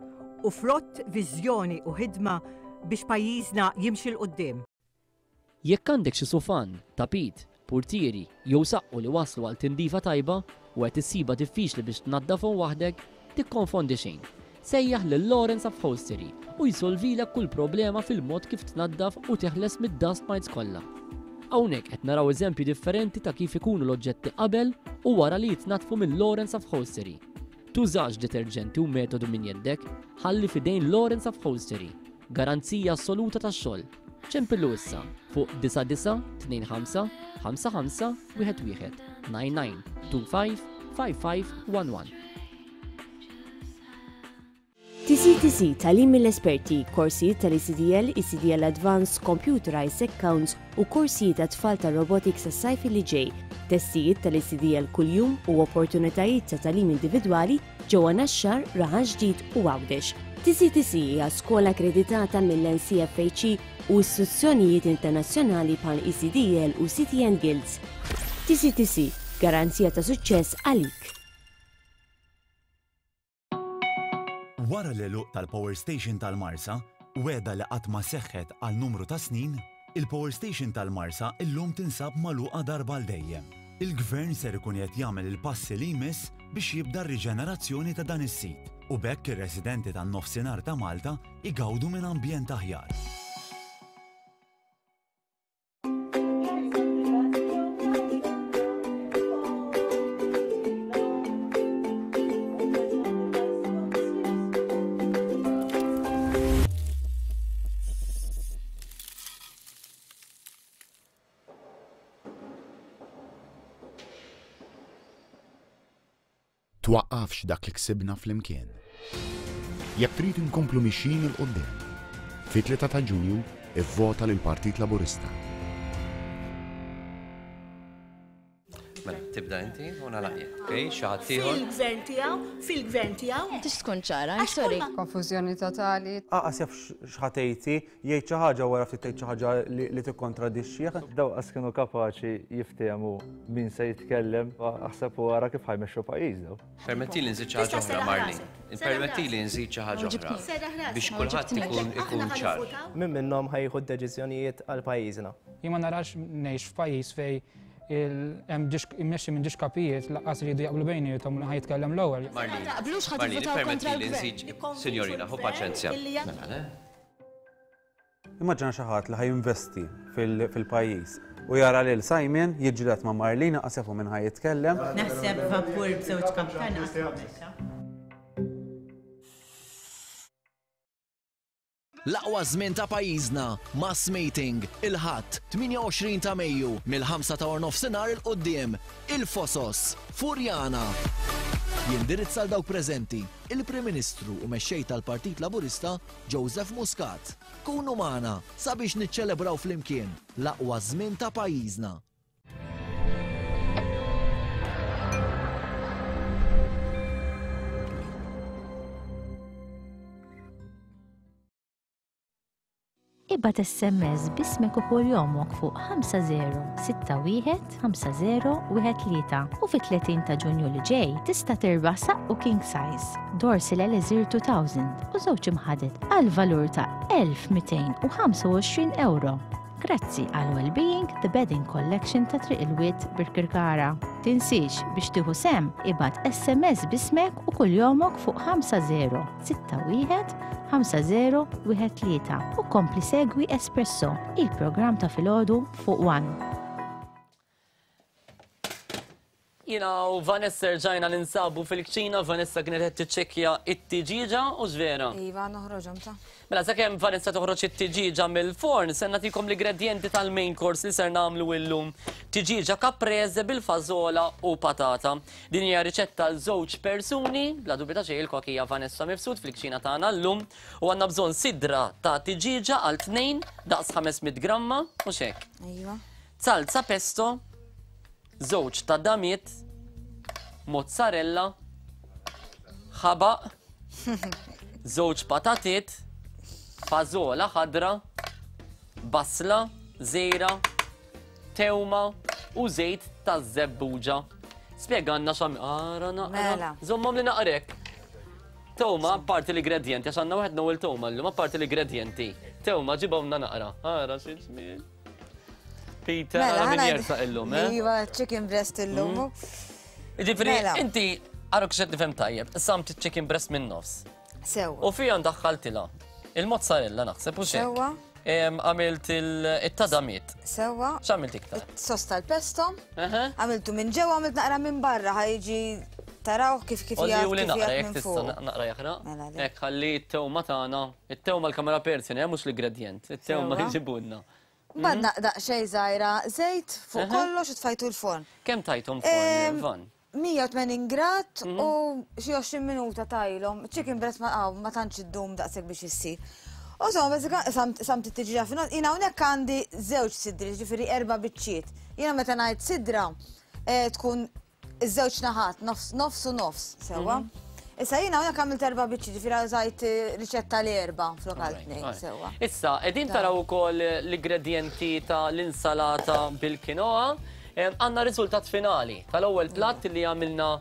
K: u frott viżjoni u ħidma biex pajjiżna jimxi 'l quddiem.
B: Jekk għandek xi sufan, tapit, purtieri jew saqqu li waslu għal tindifa tajba u qed issibha diffiċli biex tnaddafhom waħdek, Tikkonfondi xejn. Sejjaħ lil Lawrence Upholstery u jsolvilek kull problema fil-mod kif tnaddaf u teħles mid-dust mites kollha. Hawnhekk qed naraw eżempji differenti ta' kif ikunu l-oġġetti qabel u wara li jitnaddfu minn Lawrence Upholstery. Tużax deterġenti u metodu minn jeddek, ħalli f'idejn Lawrence Upholstery. Garanzija assoluta tax-xogħol. Ċempillu issa fuq 9925 55 11 99 25 55 11.
L: TCTC, Tagħlim mill-esperti, korsijiet tal-ECDL, ECDL Advanced, Computerized Accounts u korsijiet għat-tfal tar-robotics għas-sajf li ġej, testijiet tal-ECDL kuljum u opportunitajiet ta' tagħlim individwali ġewwa Naxxar, Raħal Ġdid u Għawdex. TCTC hija skola akkreditata mill-NCFHE u istituzzjonijiet internazzjonali bħal ECDL u CTN Guilds. TCTC, garanzija ta' suċċess għalik.
M: Wara l-għeluq tal-Power Station tal-Marsa, wegħda li qatt ma seħħet għal numru ta' snin, il-Power Station tal-Marsa illum tinsab magħluqa darba għal dejjem. Il-Gvern ser ikun qed jagħmel il-passi li jmiss biex jibda r-riġenerazzjoni ta' dan is-sit u b'hekk ir-residenti tan-Nofsinhar ta' Malta jgawdu minn ambjent aħjar.
N: Twaqqafx dak li ksibna flimkien. Jekk trid inkomplu mixjin 'il quddiem, fit-3 ta' Ġunju ivvota lill-Partit Laburista.
O: Mela, tibda inti u nagħlaq jien. Okej, xi ħadd ieħor?
P: Fil-gvern tiegħu, fil-gvern tiegħu.
D: Tix tkun ċara, I'm sorry.
Q: Konfużjoni totali.
R: Aqas jaf x'ħa tgħid hi, jgħid xi ħaġa u wara ftit tgħid xi ħaġa li tikkontradixxih.
S: Dawn qas kienu kapaċi jiftehmu min se jitkellem, aħseb u ara kif ħa jmexxu pajjiż dawn.
O: Permettili nżid xi ħaġa oħra, Marlene. Permettili nżid xi ħaġa oħra biex kulħadd ikun ikun ċar.
T: Min minnhom ħa jieħu d-deċiżjonijiet għal pajjiżna?
U: Jien ma narax ngħix f'pajjiż fejn hemm immexxi minn ġiex kapijiet laqqas iridu jaqblu bejniethom li ħa jitkellem l-ewwel.
O: Marlene,
P: Taqblux ħa
O: Marlene,
P: tivvutaw kontra
O: permettili
P: l-gvern.
O: nżid, Signorina, ħu paċenzja. Mela, le?
R: Immaġina xi ħadd li ħa jinvesti fil-pajjiż u jara lil Simon jiġġieled ma' Marlene qas jafu min ħa jitkellem.
V: Naħseb vapur b'żewġ kaptan qatt ma mexa.
W: L-aqwa żmien ta' pajjiżna, Mass Meeting, il-Ħadd, 28 ta' Mejju, mill-ħamsa ta' warnofsinhar 'il quddiem, Il-Fosos, Furjana. Jindirizza 'l dawk preżenti, il-Prim Ministru u Mexxej tal-Partit Laburista, Joseph Muscat. Kunu magħna sabiex niċċelebraw flimkien l-aqwa żmien ta' pajjiżna.
E: Ibgħat SMS b'ismek u kuljomok fuq 5061 5013 u fit-30 ta' Ġunju li ġej tista' tirbaħ saqqu king size, Dorsil Elixir 2000 u żewġ imħaded għal valur ta' 1225 ewro. Grazzi għal Wellbeing The Bedding Collection ta' Triq il-Wied Birkirkara. Tinsiex biex tieħu sehem ibgħat SMS b'ismek u kuljomok fuq 5061 5013 u kompli segwi Espresso, il-programm ta' filgħodu fuq One.
B: Jiena u Vanessa rġajna ninsabu fil-kċina, Vanessa kienet qed tiċċekkja it-tiġieġa u x'vera?
D: Iva, noħroġhom ta'.
B: Mela sakemm Vanessa toħroġ it-tiġieġa mill-forn, se nagħtikom l-ingredjenti tal-main course li ser nagħmlu illum. Tiġieġa caprese bil-fażola u patata. Din hija riċetta għal żewġ persuni, bla dubju ta' xejn il-kok hija Vanessa Mifsud fil-kċina tagħna llum u għandna bżonn sidra ta' tiġieġa għal tnejn daqs 500 gramma, mhux hekk.
D: Iva.
B: Salsa pesto, żewġ tadamiet, mozzarella, ħabaq, żewġ patatiet, fażola ħadra, basla, żejra, tewma u żejt taż-żebbuġa. Spjegalna x'għam ara naqra.
D: Mela.
B: Żommhom li naqrek. Tewma, apparti l-ingredjenti, għax għandna waħedna u l-tewma llum, apparti l-ingredjenti. Tewma ġibhomna naqra. Ara xi ġmiel. Peter, mela, min jersaq illum, eh?
D: Iva, chicken breast illum.
B: Mm. Ġifri, mela. inti, għaruk xed nifhem tajjeb, samt chicken breast minn nofs.
D: Sewa.
B: U fija ndaħħaltila. Il-mozzarella naħseb u xejn.
D: Sewa.
B: Għamilt il-tadamiet.
D: Sewa.
B: X'għamilt iktar?
D: Sos tal-pesto. Għamiltu minn ġewwa, għamilt naqra minn barra, ħajġi taraw kif kif
B: jgħid. Olli naqra jekk tista' naqra jaħraq. Mela, Hekk ħalli t-tewma tagħna, it-tewma l-kamera persjon, eh, mhux l-ingredjent, it-tewma jġibulna.
D: Mbagħad mhm. daqsxejn żgħira żejt fuq kollox u tfajtu l-forn.
B: Kemm tajthom forn, Van?
D: 180 grad
B: mhm.
D: u xi 20 minuta tajlhom. Chicken breast ma ma tantx iddum daqshekk biex issir. U so, sam tittiġiġa fin Jina hawnhekk għandi żewġ sidri, ġifieri erba' biċċiet. Jiena meta ngħid sidra eh, tkun Iż-żewġ naħat, nofs u nofs, sewwa. Mhm. Issa jiena hawnhekk għamilt erba' biċċi, ġifieri użajt eh, riċetta li erba' flok għal tnejn, sewwa.
B: Issa, qegħdin taraw ukoll l-ingredjenti ta' l-insalata bil-kinoa. Għandna riżultat finali tal-ewwel platt li għamilna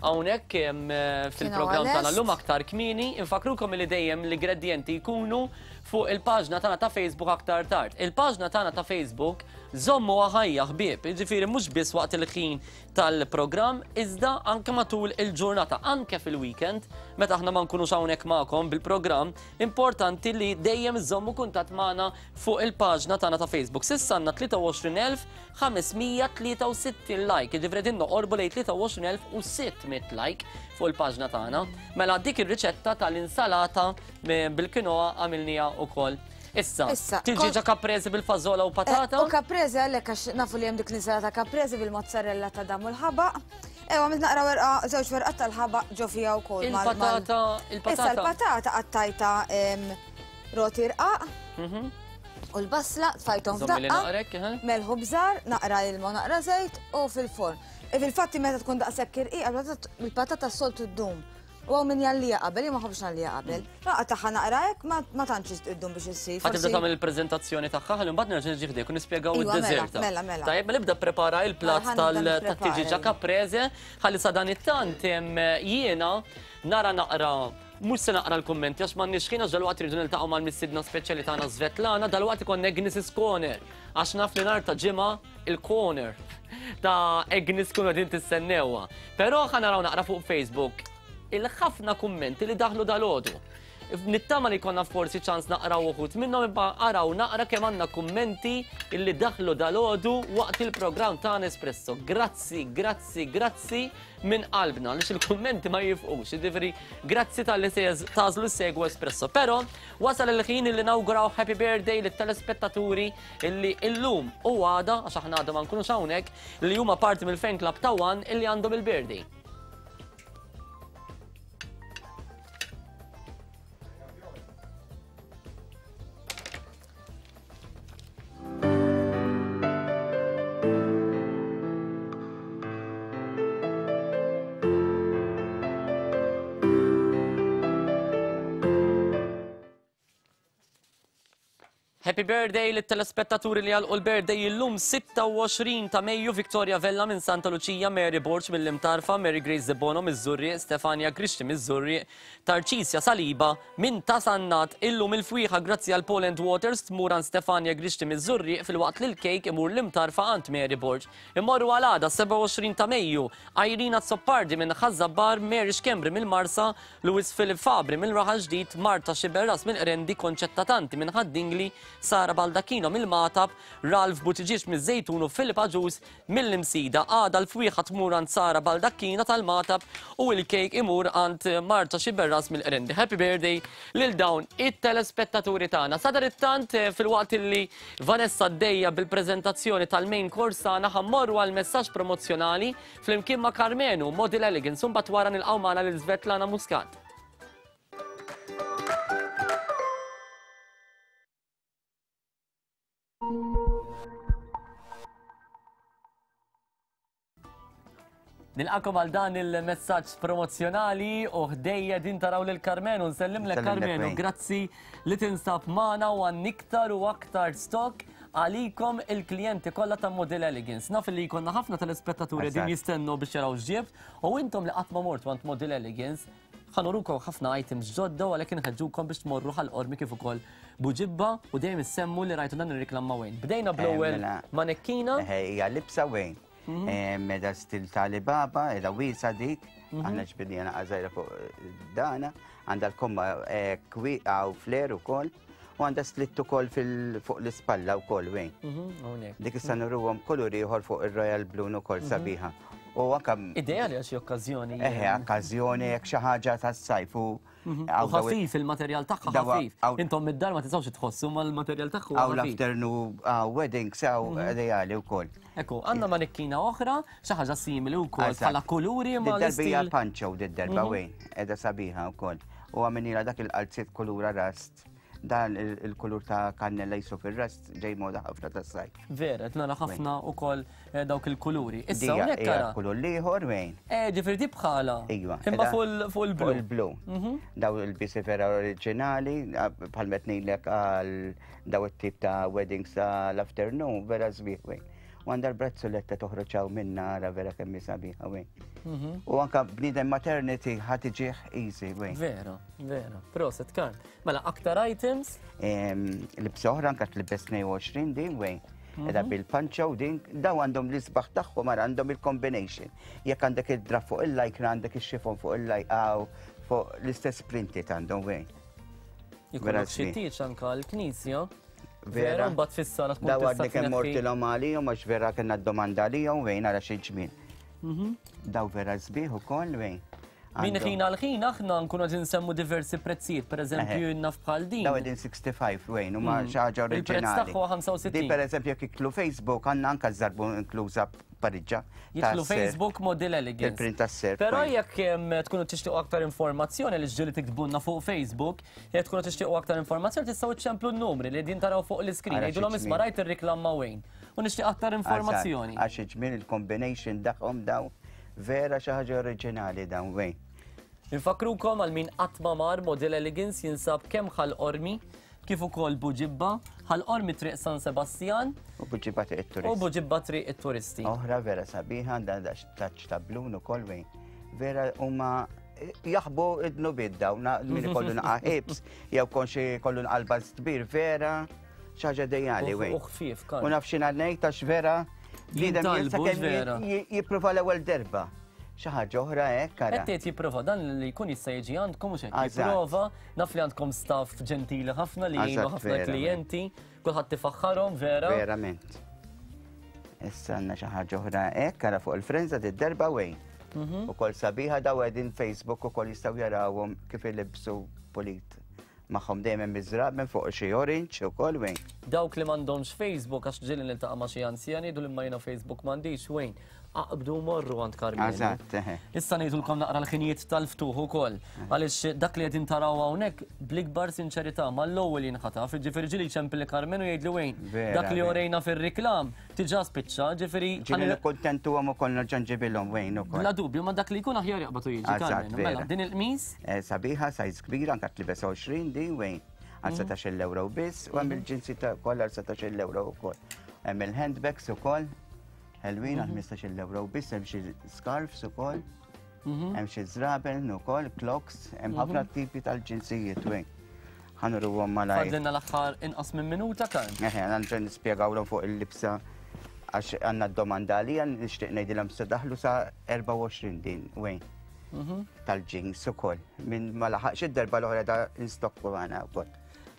B: hawnhekk eh, fil-programm tagħna llum aktar kmieni. Infakrukom li dejjem l-ingredjenti jkunu fuq il-paġna tagħna ta' Facebook aktar tard. Il-paġna tagħna ta' Facebook Żommuha ħajja ħbieb, jiġifieri mhux biss waqt il-ħin tal-programm iżda anke matul il-ġurnata, anke fil-weekend meta aħna ma nkunux hawnhekk magħkom bil-programm, importanti li dejjem iżommu kuntatt magħna fuq il-paġna tagħna ta' Facebook. S'issa għandna 23,563 like, jiġifieri qegħdin noqorbu lejn 23,600 like fuq il-paġna tagħna. Mela dik ir-riċetta tal-insalata bil-kinoa għamilniha wkoll. Issa,
D: Issa,
B: tiġi caprese bil-fażola u patata?
D: Eh, u caprese għalhekk għax nafu li hemm dik l-insalata caprese bil-mozzarella ta' dam u l-ħabaq. Ewa, għamilt naqra werqa, żewġ werqat tal-ħabaq ġo fiha wkoll.
B: Il-patata, il-patata.
D: Issa l-patata qattajta roti rqaq. U l-basla tfajthom f'daqqa. Melħu bżar, naqra ilma, naqra żejt u fil-forn. E fil-fatti meta tkun daqshekk irqiqa, il-patata s-soltu ddum. U hawn min jgħallija qabel, jien ma nħobbx ngħallija qabel. Naqgħa tagħha naqra hekk ma tantx iddum biex issir.
B: Ħa tibda tagħmel il-preżentazzjoni tagħha ħalli mbagħad nerġa' niġi ħdejk u nispjegaw
D: Iva, mela,
B: id-deżerta.
D: Mela, mela.
B: Tajjeb, mela ibda prepara il-platt
D: Mela, ħa nibda
B: tat-tiġiġa
D: nipprepara,
B: caprese ħalli sadanittant jiena nara naqra mhux se naqra l-kummenti għax m'għandniex ħin għax dalwaqt irridu niltaqgħu mal-mistiedna speċjali tagħna Svetlana, dalwaqt ikollna Agnes Corner għax naf li nhar ta' ġimgħa il-corner ta' Agnes kunu qegħdin tistennewha. Però ħa naraw naqra fuq Facebook il-ħafna kummenti li daħlu dalgħodu. Nittama li konna forsi ċans naqraw uħud minnhom imma araw naqra kemm għandna kummenti illi daħlu dalgħodu waqt il-programm ta' Espresso. Grazzi, grazzi, grazzi minn qalbna għaliex il-kummenti ma jifqux. Jiġifieri grazzi talli tagħżlu ssegwu Espresso. Però wasal il-ħin illi nawguraw happy birthday lit-telespettaturi illi illum u għada, għax aħna għada ma nkunux hawnhekk, li huma parti mill-fan club ta' One illi għandhom il-birthday. Happy birthday lit-telespettaturi li għalqu l-birthday illum 26 ta' Mejju Victoria Vella minn Santa Lucia, Mary Borg mill-Imtarfa, Mary Grace Debono miż-Żurrieq, Stefania Grixti miż-Żurrieq, Tarċisja Saliba minn Ta' Sannat. Illum il-fwieħa grazzi għal Poland Waters tmur għand Stefania Grixti miż-Żurrieq filwaqt li l-kejk imur l-Imtarfa għand Mary Borg. Immorru għal għada 27 ta' Mejju, Irene Azzopardi minn Ħaż-Żabbar, Mary Schembri mill-Marsa, Louis Philip Fabri mill-Raħal Ġdid, Marta Sciberras mill-Qrendi, Concetta Tanti minn Ħad-Dingli, Sara Baldacchino mill-Magħtab, Ralph Buttigieg miż-Żejtun u Philip Agius mill-Imsida. Għada l-fwieħa tmur għand Sara Baldacchino tal-Magħtab u l-kejk imur għand Marta Sciberras mill-Qrendi. Happy birthday lil dawn it-telespettaturi tagħna. Sadanittant filwaqt illi Vanessa għaddejja bil-preżentazzjoni tal-main course tagħna ħa mmorru għal messaġġ promozzjonali Flimkien ma' Karmenu, Model Elegance, u mbagħad wara nilqgħu magħna lil Svetlana Muscat. Nilqakom għal dan il-messaġġ promozzjonali u ħdejja din taraw lil Karmenu, nsellimlek Karmenu, grazzi li tinsab magħna u għan iktar u aktar stock Għalikom il-klijenti kollha ta' Model Elegance. Naf li jkollna ħafna telespettaturi din jistennu biex jaraw x'ġibt u intom li qatt ma mortu għand Model Elegance ħa nurukom ħafna items ġodda u għalhekk inħeġġukom biex tmorru Ħal Qormi kif ukoll Buġibba u dejjem issemmu li rajtu dan ir-reklam ma' Wayne. Bdejna bl-ewwel
A: mela.
B: manekkina.
A: Hija libsa Wayne. Meda stil ta' Alibaba, edha wiesa dik, aħna ġbidnija naqra żgħira fuq dana, għandha l-komma kwieqa u fler ukoll, u għandha slitt ukoll fuq l-ispalla wkoll wejn. Dik issa nuruhom kulur ieħor fuq ir-Royal Blue ukoll sabiħa. U anka
B: Ideali għal xi okkażjoni.
A: Eħe, okkażjoni jekk xi ħaġa tas-sajf u
B: U ħafif il-materjal tagħha ħafif. Intom mid-dar ma tistgħux tħossu ma l-materjal tagħha
A: huwa ħafif. Hawn l-afternoon wedding sew ideali wkoll.
B: Ekku, għandna manikkina oħra, xi ħaġa simili wkoll bħala kuluri ma
A: l-istil. Hija panċo did-darba wejn, qiegħda sabiħa wkoll. U għamilnilha dak il-qalziet kulura rast. Dan il-kulur ta' kannella jisu fir-rast ġej moda ħafna tas-sajf.
B: Vera, qed nara ħafna wkoll dawk il-kuluri. Issa hawnhekk
A: ara. Kulur l-ieħor wejn.
B: Eh, ġifieri di bħala.
A: Iva.
B: Imma fuq il-blu.
A: Fuq il-blu. Daw il-bisi vera oriġinali, bħal meta ngħidlek għal daw it-tip ta' weddings tal-afternoon, vera sbieħ wejn. U għandha l-brazzoletta toħroġ hawn minna ara vera kemm hi sabiħa wejn. U anka bniedem maternity ħa tiġih easy wejn.
B: Vera, vera. Proset, Karl. Mela, aktar items?
A: Libsa oħra anka tlibbes 22 din wejn. Edha bil-panċa u din, daw għandhom l-isbaħ tagħhom ara għandhom il-combination. Jekk għandek id-draf fuq il-lajkra għandek ix-xifon fuq il-lajka fuq l-istess printed għandhom wejn.
B: Jkollok xi tieġ anka l-knisja. Vera, mbagħad fis-sala tkun
A: Daw għadni kemm mortilhom għalihom għax vera kellna d-domanda għalihom wejn ara xi ġmiel. Daw vera sbieħ ukoll wejn.
B: Min ħin għal ħin aħna nkunu qed insemmu diversi prezzijiet, pereżempju naf bħal din.
A: Daw qegħdin 65 wejn huma xi ħaġa oriġinali.
B: Il-prezz tagħha 65.
A: Din pereżempju jekk jidħlu Facebook għandna anke żarbu inkluża pariġġa.
B: Jidħlu Facebook Model Elegance.
A: Il-print tas-serp.
B: Però jekk tkunu tixtiequ aktar informazzjoni li ġġieli tiktbulna fuq Facebook, jekk tkunu tixtiequ aktar informazzjoni tistgħu iċċemplu n-numri li din taraw fuq l-iskrin. Jgħidulhom isma' rajt ir-riklam ma' Wayne u nixtieq aktar informazzjoni.
A: Għax iġmiel il-combination tagħhom daw Vera xi ħaġa oriġinali dawn wejn.
B: Infakkrukom għal min qatt ma mar Model Elegance jinsab kemm Ħal Qormi kif ukoll Buġibba, Ħal Qormi Triq San Sebastjan
A: u Buġibba Triq it-Turisti.
B: U Buġibba Triq it-Turisti.
A: Oħra vera sabiħa għandha taċ ta' blun ukoll wejn. Vera huma jaħbu id-dnubiet dawn min ikollu naqa' ħibs jew konxi kollu nqalba kbir vera xi ħaġa dejjali wejn.
B: U ħfief kan.
A: U naf xi ngħid għax vera bniedem
B: Jintalbu vera.
A: Jipprova l-ewwel darba. Xi ħaġa oħra hekk ara.
B: Qed tgħid jipprova dan li jkun jista' jiġi għandkom mhux hekk. Jipprova, naf li għandkom staff ġentili ħafna li jgħinu ħafna klijenti, kulħadd tifaħħarhom vera.
A: Verament. Issa għandna xi ħaġa oħra hekk ara fuq il-frenza d-darba wejn. Ukoll sabiħa daw qegħdin Facebook ukoll jistgħu jarawhom kif ilibsu pulit. Magħhom dejjem hemm iż-żrab minn fuq xi orange ukoll Wayne.
B: Dawk li m'għandhomx Facebook għax ġieli niltaqa' ma' xi anzjani jgħidu li imma jiena Facebook m'għandix Wayne. Aqbdu u morru għand Karmenu.
A: Eżatt, eħe.
B: Issa ngħidulkom naqra l-ħinijiet tal-ftuħ ukoll. Għaliex dak li qegħdin taraw hawnhekk bl-ikbar sinċerità mal-ewwel jinħataf, jiġifieri ġieli jċempilli Karmenu jgħidli Wayne, dak li orejna fir-riklam diġà spiċċa, ġifieri.
A: Ġieli nikkuntentuhom ukoll nerġa' nġibilhom Wayne ukoll.
B: Bla dubju, ma dak li jkun aħjar jaqbad u jiġi Karmenu. Mela, din il-qmis?
A: Sabiħa, size kbira, anka tlibes 20 din Wayne, għal 17-il ewro biss, u hemm il-ġinsi ta' kollha għal 17-il ewro wkoll. Hemm il-handbags ukoll, ħelwin għal 15-il ewro biss, hemm xi scarfs ukoll, hemm xi żraben ukoll, clocks, hemm ħafna tipi tal-ġinsijiet Wayne. Ħa nuruhom malajr.
B: Fadlilna l-aħħar inqas minn minuta, Karl.
A: Eħe, għandna nispjegawlhom fuq il-libsa għax għandna d-domanda għalija nixtieq ngħidilhom se daħlu sa 24 din, Wayne.
B: Mhm.
A: Tal-jeans ukoll. Min ma laħaqx id-darba l-oħra da instokku għana wkoll.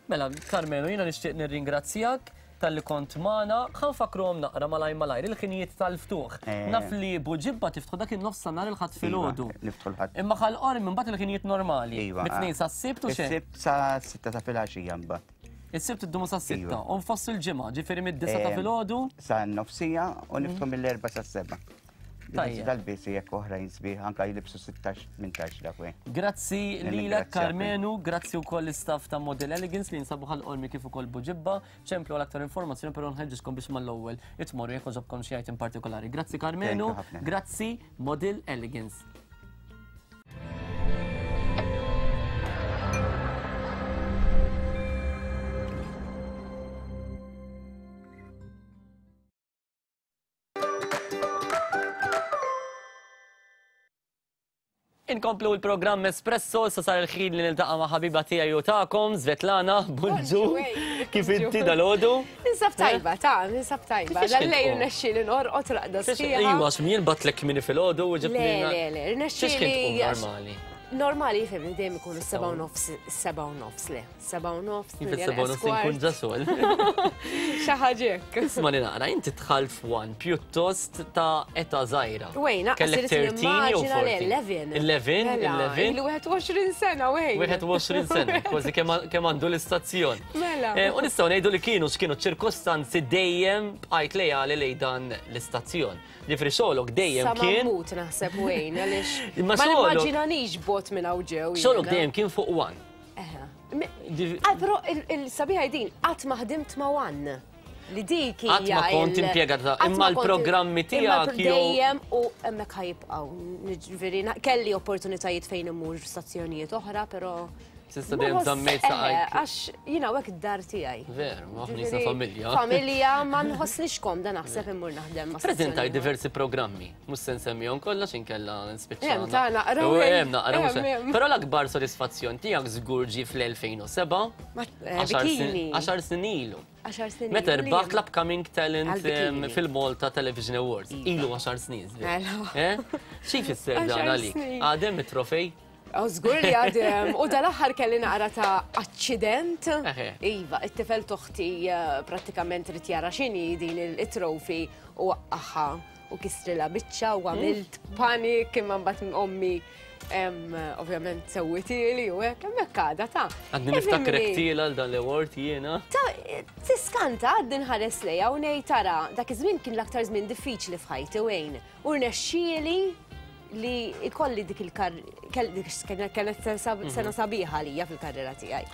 B: Mela, Karmenu, jiena nixtieq nirringrazzjak talli kont magħna. Ħa nfakkruhom naqra malajr malajr il-ħinijiet tal-ftuħ.
A: Eh.
B: Naf li Buġibba tiftħu dak in-nofs ta' nhar il-Ħadd filgħodu.
A: Iva, niftħu l-Ħadd.
B: Imma Ħal Qormi mbagħad il-ħinijiet normali.
A: Iva.
B: Mit-tnejn sas-Sibt u xejn.
A: Is-Sibt sa sitta ta' filgħaxija mbagħad.
B: Is-Sibt iddumu sas-sitta
A: Iva.
B: u nfoss il-ġimgħa, ġifieri mid-disa ta'
A: Eh,
B: filgħodu.
A: Sa nofsija u niftħu mill-erba' sas-seba'.
B: Tajjeb.
A: Dal-bisi jekk oħrajn sbieħ anka jilibsu 16-18 dak wejn.
B: Grazzi lilek
A: Nirringrazzjak.
B: Karmenu, grazzi wkoll l-istaff ta' Model Elegance li jinsabu Ħal Qormi kif ukoll Buġibba. Ċemplu għal aktar informazzjoni però nħeġġiġkom biex mal-ewwel itmorru jekk għoġobkom xi item partikolari. Grazzi Karmenu,
A: Thank you ħafna.
B: grazzi Model Elegance. Inkomplu l-programm Espresso, sa sar il-ħin li niltaqa' ma' ħabiba tiegħi u tagħkom, Svetlana, bonġu. Kif inti dalodu?
C: Ninsab tajba, ta' ninsab tajba.
B: Kif
C: Dal-lejl
B: kien
C: rnexxieli norqod raqda sħiħa.
B: Iwa, x'mien batlek mini filgħodu u ġibni.
C: Le, le, le, rnexxieli.
B: Normali.
C: Normali jifhem dejjem ikunu 7:30, 7:30 le. 7:30.
B: Jien fis-7:30 inkun ġa xogħol.
C: Xi ħaġa hekk.
B: Isma' li naqra, inti dħalt f'One pjuttost ta' età żgħira.
C: Wejn, naqas
B: Kellek
C: irid
B: 13 jew
C: nimmaġina le,
B: 14?
C: 11.
B: 11,
C: Mela,
B: 11.
C: Ilu 21 sena, wejn.
B: 21 sena, kważi kemm għandu l-istazzjon.
C: Mela.
B: Eh, u nistgħu ngħidu li kienu x'kienu ċirkostanzi dejjem bqajt lejali lejn dan l-istazzjon. Ġifri xogħlok dejjem
C: Sa ma
B: kien.
C: mmut naħseb wejn, għaliex.
B: Imma
C: Ma
B: xogħlok-
C: nimmaġinanix bot minn hawn ġew.
B: Xogħlok
C: jiena.
B: dejjem kien fuq one.
C: Ah, però il-sabiħa din, qatt ma ħdimt ma' one. Li dik hija.
B: Qatt ma kont
C: il-
B: impjegata,
C: qatt
B: imma
C: ma kont-
B: l-programmi
C: imma
B: tiegħek jew-
C: Dejjem u hemmhekk ħajibqgħu. Ġifieri, na- kelli opportunitajiet fejn immur f'stazzjonijiet oħra, però.
B: S'issa
C: ma
B: dejjem
C: nħoss-
B: żammejt
C: eħe,
B: saqajk.
C: Għax jiena hekk id-dar tiegħi.
B: Veru, ma aħna jisna
C: Ġifieri,
B: familja.
C: Familja ma nħossnix komda naħseb immur naħdem ma'
B: Prezentaj
C: stazzjoni.
B: diversi programmi, mhux se nsemmihom kollha inkella nispiċċa.
C: Hemm, ta' naqra,
B: U
C: hemm,
B: hemm naqra mhux
C: hemm, hemm.
B: Però l-akbar sodisfazzjon tiegħek żgur ġie fl-2007,
C: Ma- eh, bikini.
B: 10 snin ilu.
C: 10 snin.
B: Meta
C: ilu
B: rbaħt
C: li-
B: l-Upcoming Talent
C: Għal-bikini.
B: em, fil-Malta Television Awards. Ilu 10 snin. żgur.
C: Mela.
B: Eh? Xi jfisser dan
C: Għaxar
B: għalik?
C: snin.
B: Għadem it-trofej?
C: Oh, Żgur li għadem. U dal-aħħar kelli naqra ta' aċċident.
B: Eħe.
C: Iva, it-tifel toħti eh, prattikament rid jara x'inhi din il-trofi u waqqaħħa u kistrila biċċa u għamilt panik imma mbagħad ommi Ovvjament sewwitieli u hekk, hemmhekk għadha ta'.
B: Għadni niftakrek tiela għal dan l-award jiena.
C: Ta' tiskanta għadni nħares lejha u ngħid tara dak iż-żmien kien l-aktar żmien diffiċli f'ħajti Wayne. U rnexxieli li ikolli dik il-kar kienet sena sabiħa għalija fil-karriera tiegħi.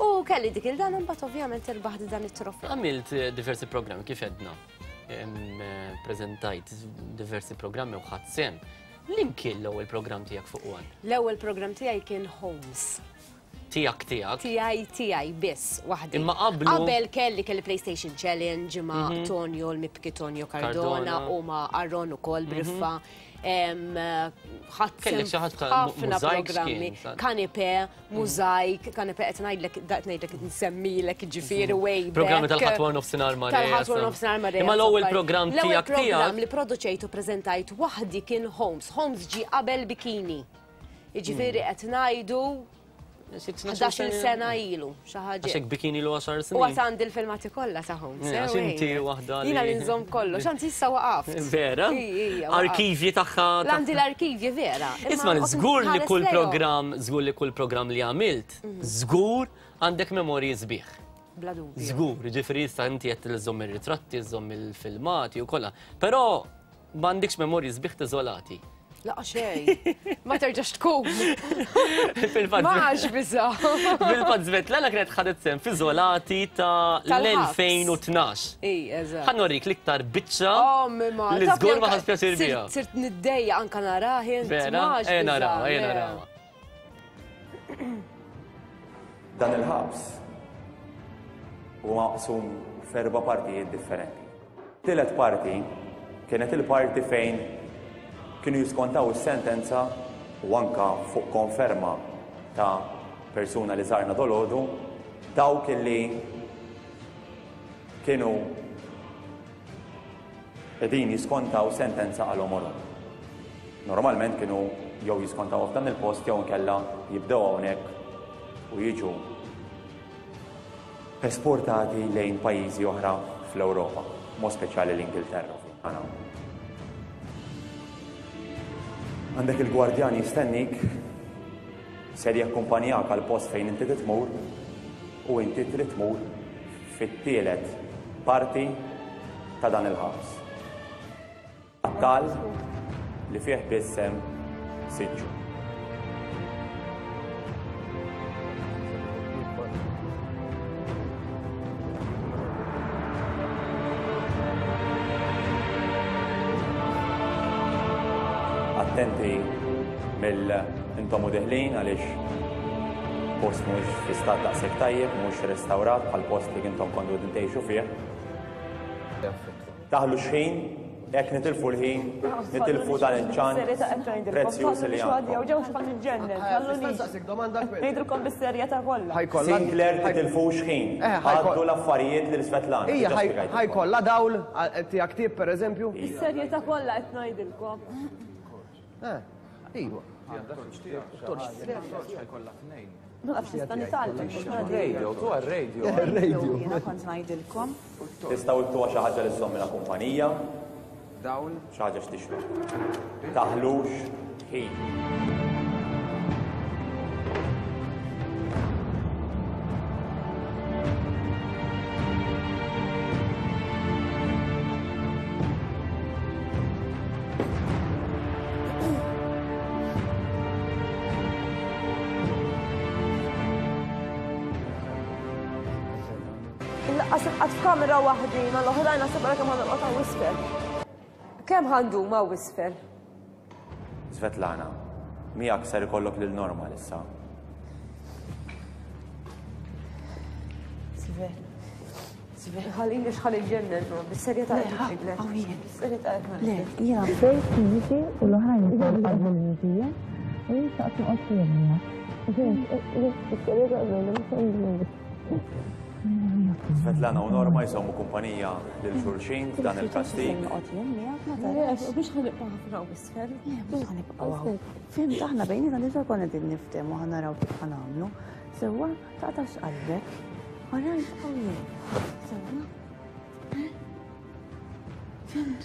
C: U kelli dik il-dan imbagħad ovvjament irbaħt dan it-trofew.
B: Għamilt diversi programmi kif għedna. Preżentajt diversi programmi u ħadt sehem. Liem kien l-ewwel programm tiegħek fuq One?
C: L-ewwel programm tiegħi kien Homes.
B: Tiegħek tiegħek?
C: Tiegħi tiegħi biss waħdi.
B: Imma qablu.
C: Qabel kelli kelli PlayStation Challenge ma' mhm. Tonio l-mibki Tonio Cardona u ma' Aaron ukoll mhm. Briffa.
B: Ħadd Kellek xi ħadd
C: ħafna programmi. Kanipe, Mużajk, kanepe qed ngħidlek qed ngħidlek nsemmilek ġifieri way back.
B: Programmi tal-ħadd wara nofsinhar ma'
C: Tal-ħadd wara nofsinhar ma'
B: Imma l-ewwel programm tiegħek tiegħek.
C: L-ewwel programm li produċejt u preżentajt waħdi kien Homes. Homes ġie qabel Bikini. Jiġifieri qed ngħidu 11 sena ilu, xi ħaġa.
B: Għax hekk Bikini ilu 10 snin.
C: U għad għandi l-filmati kollha ta' Homes.
B: Għax inti waħda li.
C: Jiena li nżomm kollox, anzi issa waqaft.
B: Vera? Arkivji tagħha.
C: Għandi l-arkivji vera.
B: Isma' żgur li kull programm, żgur li kull programm li għamilt, żgur għandek memorji sbieħ.
C: Bla dubju.
B: Żgur, ġifieri issa inti qed iżżomm ir-ritratti, iżżomm il-filmati u kollha. Però m'għandikx memorji sbieħ tiżolati.
C: Laqa xejn. Ma terġax tkun.
B: Fil-fatt.
C: Ma għax biża.
B: Fil-fatt Svetlana kienet ħadet sehem f'iżolati ta' l-2012.
C: Ij, eżatt.
B: Ħa norik l-iktar biċċa
C: Oh, mimma.
B: li żgur ma ħadt pjaċir biha.
C: Sirt niddejja anka narah int.
B: Vera? Ejja narawha, ejja narawha.
F: Dan il-ħabs huwa maqsum f'erba' partijiet differenti. Tielet parti kienet il-parti fejn kienu jiskontaw is-sentenza u anka fuq konferma ta' persuna li żarna dolodu dawk li kienu qegħdin jiskontaw sentenza għal għomorhom. Normalment kienu jew jiskontawha f'dan il-post jew inkella jibdew hawnhekk u jiġu esportati lejn pajjiżi oħra fl-Ewropa, mod speċjali l-Ingilterra. Għandek il-gwardjan jistennik, ser jakkumpanjak għal post fejn inti titmur u inti trid tmur fit-tielet parti ta' dan il-ħabs. Tal li fih biss hemm siġġu. Attenti mill intom u deħlin għaliex post mhux fi stat daqshekk tajjeb, mhux restawrat bħal post li intom kontu qegħdin tgħixu fih. Taħlu x'ħin, jekk nitilfu l-ħin, nitilfu dan il-ċans prezzjuż li għandkom.
P: Ngħidilkom bis-serjetà kollha.
F: Sinclair titilfux ħin. Għaddu l-affarijiet lil Svetlana.
I: Ija, ħajkollha dawl tiegħek tip pereżempju?
P: Bis-serjetà kollha qed ngħidilkom.
I: Eh, iva.
P: Ma nafx nista' nitgħallem.
R: Radio, tu għal-radio.
I: Radio.
P: Jiena kont ngħidilkom.
F: Tistgħu ittuha xi ħaġa li żżommilha kumpanija.
I: Dawl.
F: Xi ħaġa x'tixrob. Taħlux ħin.
P: Laqqas inqgħad f'kamera waħdi mal-oħrajn naħseb ara kemm ħa norqod hawn isfel.
C: Kemm ħa ndum hawn isfel?
F: Svetlana, miegħek ser ikollok lil Norma issa.
P: Sve. Sve. Ħalini x'ħal iġġennen, bis-serjetà qed ngħidlek. Bis-serjetà qed ngħidlek.
Q: Le, jiena fejn fiżiċi u l-oħrajn ukoll qablu li hija u jien xtaqt noqgħod fihom miegħek.
P: Bis-serjetà ngħidlek.
F: Svetlana u Norma jżommu kumpanija lil xulxin f'dan il-kastig.
P: Biex ħanibqa' ħafna u isfel.
Q: Mhux ħanibqgħu hawn. Fimt aħna bejnietna diġà konna qegħdin niftehmu ħa naraw kif ħa nagħmlu. Sewwa taqtax qalbek. Alright, qawwi. Sewwa. Fimt.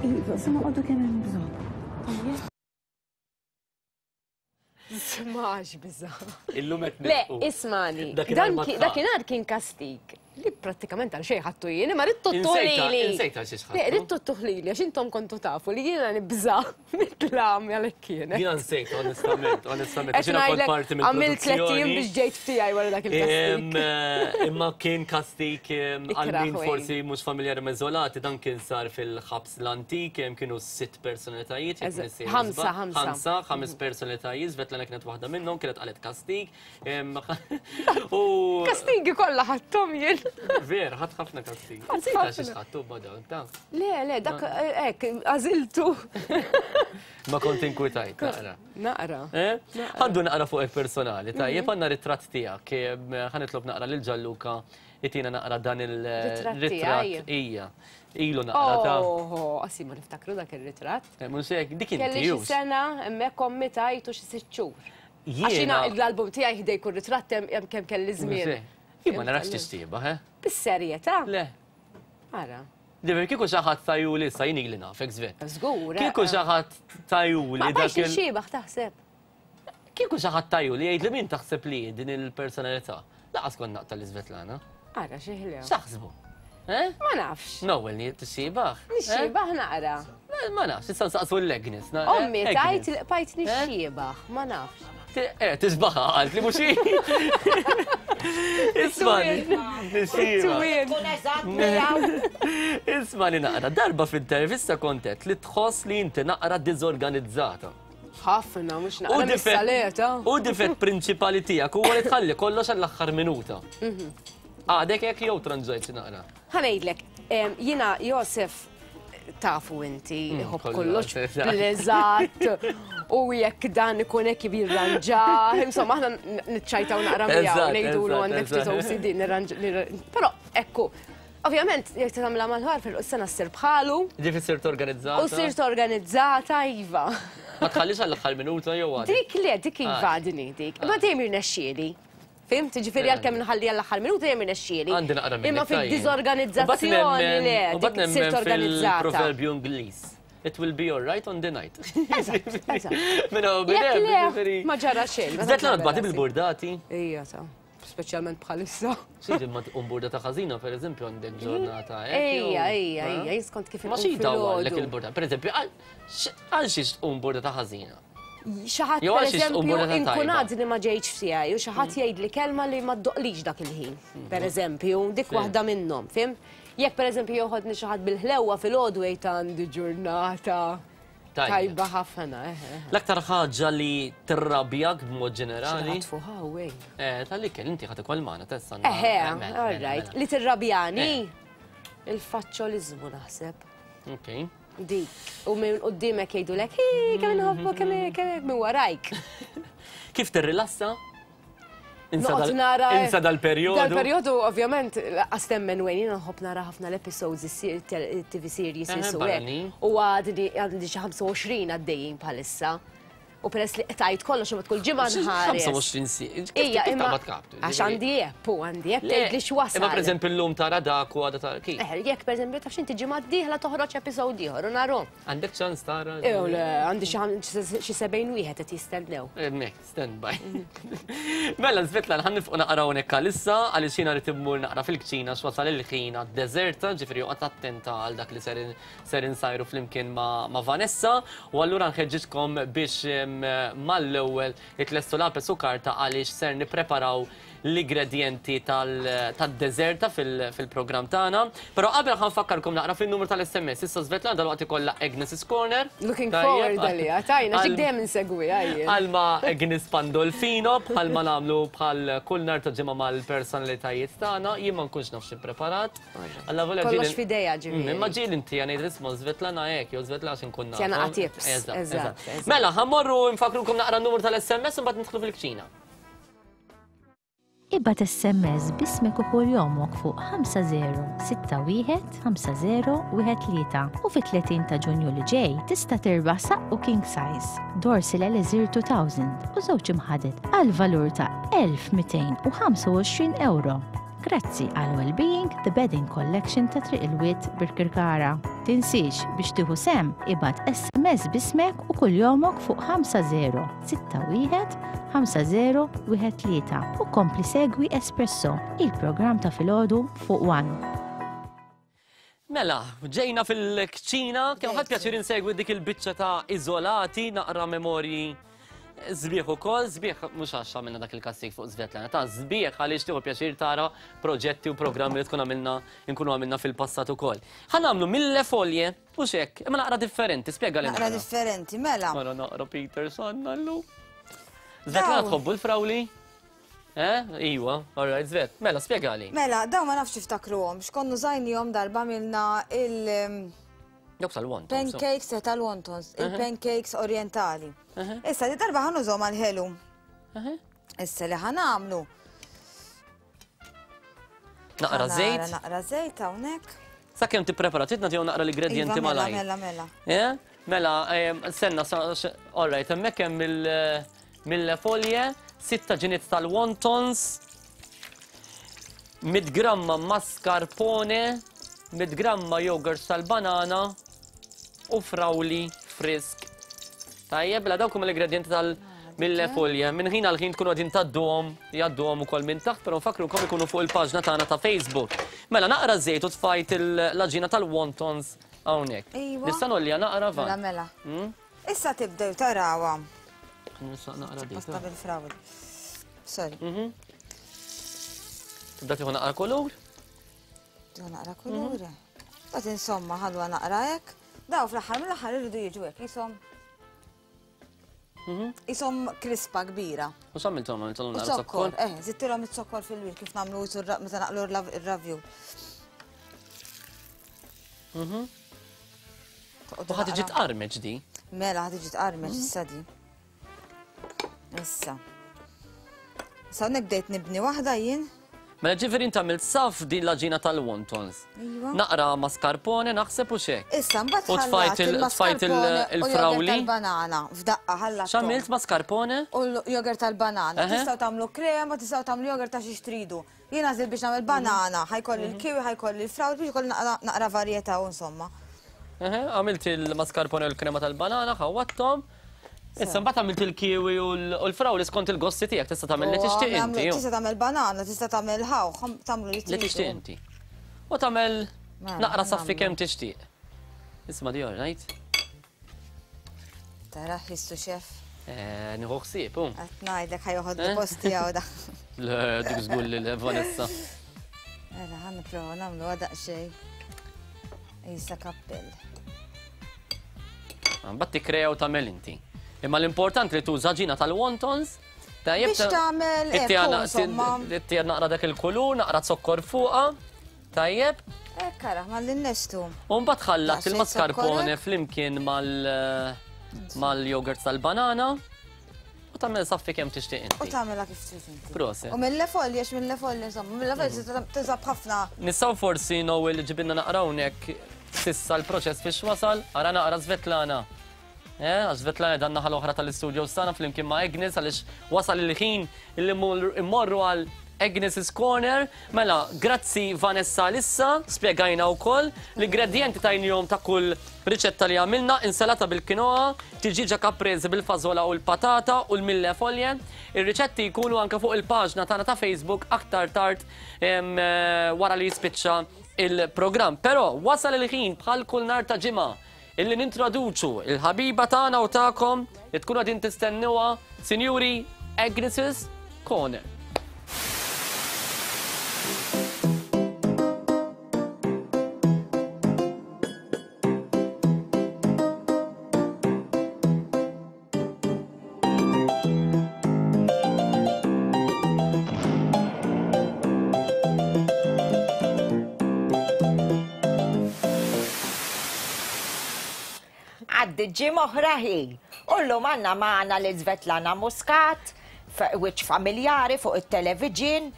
Q: Iva, se noqogħdu kemm hemm bżonn.
C: Smax biża.
B: Illum qed
C: Le, ismani. Dakinhar kien kastig. Li prattikament għal xejn ħattu jien, imma ridtu tuħlili.
B: Insejta xi ħattu.
C: Le, ridtu tuħlili għax intom kontu tafu li jiena nibża mitlam għalhekk kienet.
B: Jiena nsejt onestament, onestament. Għax jiena kont parti mill
C: Għamilt tliet ijiem biex ġejt f'tiegħi wara dak il-kastig.
B: Eh, imma kien kastig għal min forsi mhux familjari ma' Żolati, dan kien sar fil-ħabs l-antik, kienu sitt personalitajiet.
C: Ħamsa, ħamsa.
B: Ħamsa, ħames personalitajiet, Svetlana kienet waħda minnhom, kienet qalet kastig.
C: U. Kastigi kollha ħadthom jien.
B: Ver, ħadd ħafna kastig. Nsejta xi ħadtu badaw, ta.
C: Le, le, dak eh, hekk, għażiltu.
B: Ma kont inkwitajt, naqra.
C: Naqra.
B: Eh? Għandu naqra fuq personali, tajjeb mhm. għandna ritratt tiegħek, ħanitlob naqra lil Ġalluka itina naqra dan il-ritratt ija. Ilu naqra ta'
C: Oh, qassi ma niftakru dak ir-ritratt.
B: Eh, mhux hekk, dik inti.
C: Kelli xi sena hemmhekk ommi tajtu xi sitt xhur. Għax jiena l-album tiegħi ħdej kull ritratt hemm kemm kelli żmien.
B: Jien ma narax tixtiebaħ, eh?
C: Bis-serjetà?
B: Le.
C: Ara.
B: Ġifieri kieku xi ħadd tajuli issa jien ili nafek żvet.
C: Żgur.
B: Kieku
C: eh.
B: xi ħadd tajuli
C: dak. Ma tixtiebaħ taħseb.
B: Kieku xi ħadd tajuli jgħid li min taħseb li din il-personalità. Laqas kont naqta' li Svetlana.
C: Ara xi ħlew.
B: X'taħsbu? Eh?
C: Ma nafx.
B: Nowel ni tixxibaħ.
C: Nixxibaħ naqra.
B: Ma nafx, issa nsaqsu l-Agnes. Eh,
C: Ommi tajt li qbajt nixxibaħ, ma nafx.
B: Eh, tisbaħa għalt li mhux Ismani. Ismani naqra, darba f'intervista kontet li tħoss li inti naqra diżorganizzata.
C: Ħafna, mhux naqra mis-saleta.
B: U difett prinċipali tiegħek huwa li tħalli kollox għall-aħħar minuta. Mhm. Għadek hekk jew tranġajt xi naqra?
C: Ħa ngħidlek, jiena Josef tafu inti, mm, iħobb kollox bl-eżatt, u jekk dan ikun hekk jirranġa, insomma aħna niċċajtaw naqra miegħu ngħidulu għandek ftit OCD nirranġa. Però ekku, Ovvjament, jekk tagħmilha mal-ħar fil-sena ssir bħalu.
B: Ġifi sirt organizzata.
C: U sirt organizzata, iva.
B: Ma tħallix għall-aħħar minuta jew għadek?
C: Dik le, dik iva ah. għadni dik. Ma dejjem irnexxieli. Fimt, ġifieri għalkemm nħalli għall-aħħar minuta dejjem irnexxieli.
B: Għandi naqra minnek.
C: Imma fid-diżorganizzazzjoni le, dik sirt organizzata.
B: Fil-proverbju Ingliż. It will be alright on the night.
C: Eżatt, eżatt.
B: Minna u
C: ġifieri. Ma ġara xejn.
B: Zet l-għadbati bil-burdati.
C: Ija ta' speċjalment bħalissa.
B: Xi ma tqum burdata ħażina pereżempju għandek ġurnata
C: hekk. Ejja, ejja, ejja, jien skont kif
B: Ma xi jdawwarlek il-burdata. Pereżempju, għal xiex tqum burdata ħażina?
C: Xi ħadd pereżempju inkun għadni ma ġejtx f'tiegħi u xi ħadd mm. jgħidli kelma li ma ddoqlix dak il-ħin. Mm. Pereżempju, dik waħda minnhom, fim? Jekk pereżempju joħodni xi ħadd bil-ħlewwa filgħodu jgħid għandi ġurnata. Tajba ħafna, eh, eh.
B: L-aktar ħaġa li tirrabjak b'mod ġenerali.
C: Xi fuq
B: Eh, tal-ikel inti ħad ikoll magħna tessa.
C: Eħe, eh, mela, all mela, right. Mela. Li tirrabjani il-faċċoliżmu naħseb.
B: Ok.
C: Dik. U minn qudiemek jgħidulek, hi, kemm inħobbu kemm kemm minn warajk.
B: Kif tirrilassa?
C: Insa
B: Insa dal-perjodu.
C: Dal-perjodu, ovvjament, laqqas temmen wejn, jiena nħobb nara ħafna l-episodes, il-TV series, U għadni għandi xi 25 għaddejjin bħalissa. U peress li qtajt kollox imma tkun ġimgħa nħares.
B: 25 si.
C: Ija, imma għax għandi app u għandi app tgħid li x'wasal.
B: Imma pereżempju llum tara dak u għada tara kif.
C: Eh, jekk pereżempju taf x'inti ġimgħa d-dieħla toħroġ episode ieħor u narhom.
B: Għandek ċans tara?
C: Ew le, għandi xi 70 wieħed qed jistennew.
B: Hemmhekk. Stand by. Mela, Svetlan, ħan nifqu naqra hawnhekk għalissa, għaliex jiena rrid immur naqra fil-kċina x'wasal il-ħin għad-deżerta, ġifieri joqgħod attenta għal dak li ser insajru flimkien ma' Vanessa, u allura nħeġġiġkom biex mal-ewwel itlestu lapes u karta għaliex ser nippreparaw l-igredjenti tad-deżerta fil-programm tagħna. Però qabel ħa nfakkarkom naqra fin-numru tal-SMS. Issa Svetlana dalwaqt ikollha Agnes's Corner.
C: Looking forward għaliha, tajna xi dejjem insegwiha jien.
B: Għalma Agnes Pandolfino bħalma nagħmlu bħal kull nhar ta' ġimgħa mal-personalitajiet tagħna, jien ma nkunx naf xi preparat.
C: Alla volja Kollox f'idejha ġifieri.
B: Imma ġieli inti ngħid isma' Svetlana hekk jew Svetlana xi nkun naf.
C: Tjana tips. Eżatt.
B: Mela, ħa mmorru nfakkrukom naqra n-numru tal-SMS u mbagħad nidħlu fil-kċina.
E: Ibgħat SMS b'ismek u kuljomok fuq 5061 5013 u fit-30 ta' Ġunju li ġej tista' tirbaħ saqqu king size, Dorsil Elixir 2000 u żewġ imħaded għal valur ta' 1225 ewro. Grazzi għal Wellbeing The Bedding Collection ta' Triq il-Wied Birkirkara. Tinsiex biex tieħu sehem ibgħat SMS b'ismek u kuljomok fuq 5061 5013 u kompli segwi Espresso, il-programm ta' filgħodu fuq One.
B: Mela, ġejna fil-kċina, kemm ħadt pjaċir insegwi dik il-biċċa ta' iżolati, naqra memorji sbieħ ukoll, sbieħ mhux għax għamilna dak il-kastik fuq Svetlana, ta' sbieħ għaliex tieħu pjaċir tara proġetti u programmi li tkun għamilna nkunu għamilna fil-passat ukoll. Ħa nagħmlu mille folje, mhux hekk, imma naqra differenti, spjega li
D: Naqra differenti, mela.
B: Mela naqra Peter Sanna llum. Svetlana tħobbu l-frawli? Eh, iwa, all right, Svet. Mela, spjegali.
D: Mela, daw ma nafx tiftakruhom, x'konna użajnihom darba milna il-
B: Dawk tal-wontons.
D: Pancakes eh, tal-wontons, il-pancakes orientali. Issa di darba ħa nużahom għal-ħelu. Issa li ħa nagħmlu.
B: Naqra żejt.
D: Naqra żejt hawnhekk.
B: Sakemm tipprepara, trid nagħtihom naqra l-ingredienti
D: Iva, mela,
B: malajr.
D: mela, mela.
B: Eh? Mela, senna, all right, hemmhekk hemm il- mille folje, sitta ġiniet tal-wontons, 100 gramma mascarpone, 100 gramma yogurt tal-banana u frawli frisk. Tajjeb, la dawk huma l-ingredienti tal mille folje. Minn ħin għal ħin tkunu għadin tgħadduhom, jgħadduhom ukoll minn taħt, però nfakkrukom ikunu fuq il-paġna tagħna ta' Facebook. Mela naqra żejt u tfajt l-għaġina tal-wontons hawnhekk.
D: Iva.
B: Nista' nolja naqra van.
D: Mela, mela. Issa tibdew tarawha.
B: Nista' naqra dik.
D: Pasta bil-frawli. Sorry.
B: Tibda tieħu naqra kulur?
D: Tieħu naqra kulur. Bat insomma ħalwa naqra hekk. Daw fl-aħħar mill-aħħar iridu jiġu hekk jisom. Jisom krispa kbira.
B: U x'għamilthom għamilthom
D: U
B: naqra
D: zokkor,
B: zokkor?
D: eh, zittilhom iz-zokkor fil-wir kif nagħmlu meta naqlu r-ravju.
B: U ħa tiġi tqarmeġ di.
D: Mela ħa tiġi tqarmeġ issa di. Issa. Issa hawnhekk bdejt nibni waħda jien.
B: Mela ġifieri inti għamilt saf din l-għaġina tal-wontons.
D: Iva.
B: Naqra mascarpone naħseb u xek.
D: Issa mbagħad
B: U tfajt il- tfajt il- il-frawli.
D: tal-banana f'daqqa ħallat.
B: X'għamilt mascarpone?
D: U l-jogurt tal-banana.
B: Eħe.
D: Tistgħu tagħmlu krema, tistgħu tagħmlu jogurt ta' xi tridu. Jien għażilt biex nagħmel banana, ħa jkolli l-kiwi, ħa jkolli l-frawli biex ikolli naqra varjetà u insomma.
B: Eħe, Għamilt il-mascarpone u l-krema tal-banana, ħawattom. Issa mbagħad għamilt il-kiwi u l-frawli skont il-gosti tiegħek tista' tagħmel li
D: U
B: tixtieq
D: nagħmlu-
B: inti.
D: Tista' tagħmel banana, tista' tagħmel ħawħ, tagħmlu li
B: Li
D: tridu.
B: tixtieq inti. U tagħmel
D: Mela,
B: naqra saffi
D: nagħmlu.
B: kemm tixtieq. Isma' di all right.
D: Tara ħissu xef.
B: Eh, Nieħu ħsieb, hu.
D: Qed ngħidlek ħa joħod
B: Eh?
D: post tiegħu da.
B: Le, dik żgur li le, Vanessa.
D: Mela ħa nipprova nagħmlu daqsxejn. Isa kappell.
B: Mbagħad tikkrea u tagħmel inti. Imma l-importanti li tuża ġina tal-wontons. Tajjeb
D: Biex tagħmel ekku, insomma.
B: Ittija naqra dak il-kulur, naqra zokkor fuqha. Tajjeb.
D: Ekk ara, mal-innestu.
B: U mbagħad ħallat
D: Daqsxejn
B: il-mascarpone
D: zokkorek.
B: flimkien mal mal-yogurt tal-banana u tagħmel saffi kemm tixtieq
D: U
B: inti.
D: tagħmilha kif trid inti.
B: Proset.
D: U mille folje, għax mille folje, insomma, mille folje tuża b'ħafna.
B: Nistgħu forsi Noel ġibinna naqra hawnhekk sissa l-proċess fiex wasal, ara naqra Svetlana. Eh, għax Svetlana dan naħa l-oħra tal-istudio sana flimkien ma' Agnes għaliex wasal il-ħin li immorru għal Agnes's Corner. Mela, grazzi Vanessa Lissa, spjegajna wkoll l-ingredienti tajnihom ta' kull riċetta li għamilna, insalata bil-quinoa, tiġiġa caprese bil-fażola u l-patata u l-mille foglie. Ir-riċetti jkunu anke fuq il-paġna tagħna ta' Facebook aktar tard wara li jispiċċa il-programm. Però wasal il-ħin bħal kull nhar ta' ġimgħa illi nintroduċu il-ħabiba tagħna u tagħkom li tkunu qegħdin tistennuha, Sinjuri Agnes's Corner.
G: Għaddi ġimgħa oħra hi. U llum għandna magħna lil Svetlana Muscat, wiċċ familjari fuq it-television.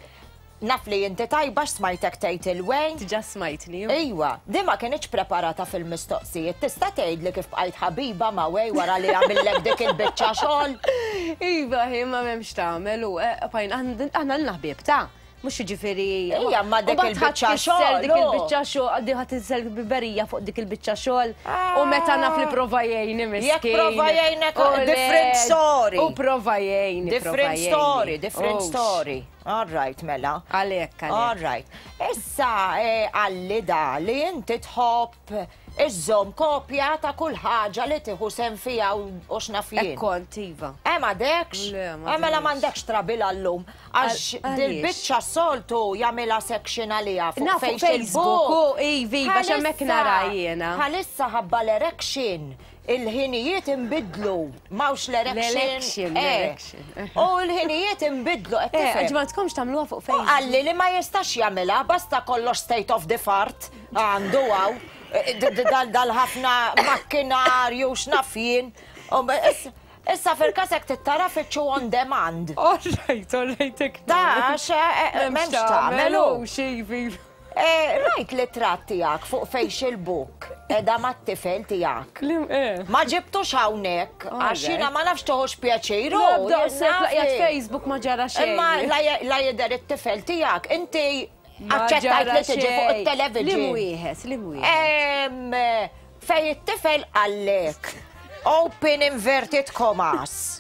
G: Naf li inti tajba x'smajtek tgħid il-Wayne.
C: Diġà smajtni.
G: Iwa, di ma kinitx preparata fil-mistoqsijiet. Tista' tgħidli kif bqajt ħabiba ma' Wayne wara li għamillek dik il-biċċa xogħol?
C: Iva, hi ma m'hemmx tagħmel u eh, bqajna aħna lna ħbieb ta' Mhux jiġifieri.
G: Ija, ma dik il-biċċa xogħol.
C: Dik il-biċċa xogħol, di ħadd insel biberija fuq dik il-biċċa xogħol. U meta naf li prova jgħinni miskin.
G: Jekk prova jgħinek different story.
C: U prova jgħinni.
G: Different story, different story. All right, mela.
C: Għalhekk, għalhekk.
G: All right. Issa eh, għalli da li inti tħobb iżżomm kopja ta' kull ħaġa li tieħu sehem fiha u x'naf jien.
C: Hekk kont, iva.
G: Eh m'għadekx?
C: Le, m'għadix.
G: Eh mela m'għandekx trabil għallum. Għax dil-biċċa s-soltu jagħmilha section għaliha fuq
C: Facebook. Iva, iva, x'hemmhekk nara jiena.
G: Bħalissa ħabba l-erection Il-ħinijiet inbidlu, m'hawnx l-erection.
C: L-election,
G: eh. U l-ħinijiet inbidlu qed
C: eh,
G: tifhem.
C: Ma tkomx tagħmluha fuq Facebook.
G: U qalli li ma jistax jagħmilha, basta kollox state of the art għandu hawn. Eh, dal-ħafna makkinarju x'naf jien. Issa fil-każ hekk tittara fittxu on demand.
C: All right, all right.
G: Da, m'hemmx tagħmel.
C: Eh,
G: rajt l-itrat tiegħek fuq Facebook edha mat-tifel tiegħek.
C: Eh.
G: Ma ġibtux hawnhekk għax jiena ma nafx toħux pjaċir.
C: Facebook ma ġara xejn.
G: Imma la jidher it-tifel tiegħek, inti aċċettajt li tiġi fuq it-television.
C: Li wieħed, li wieħed.
G: Fej it-tifel qallek, open inverted commas.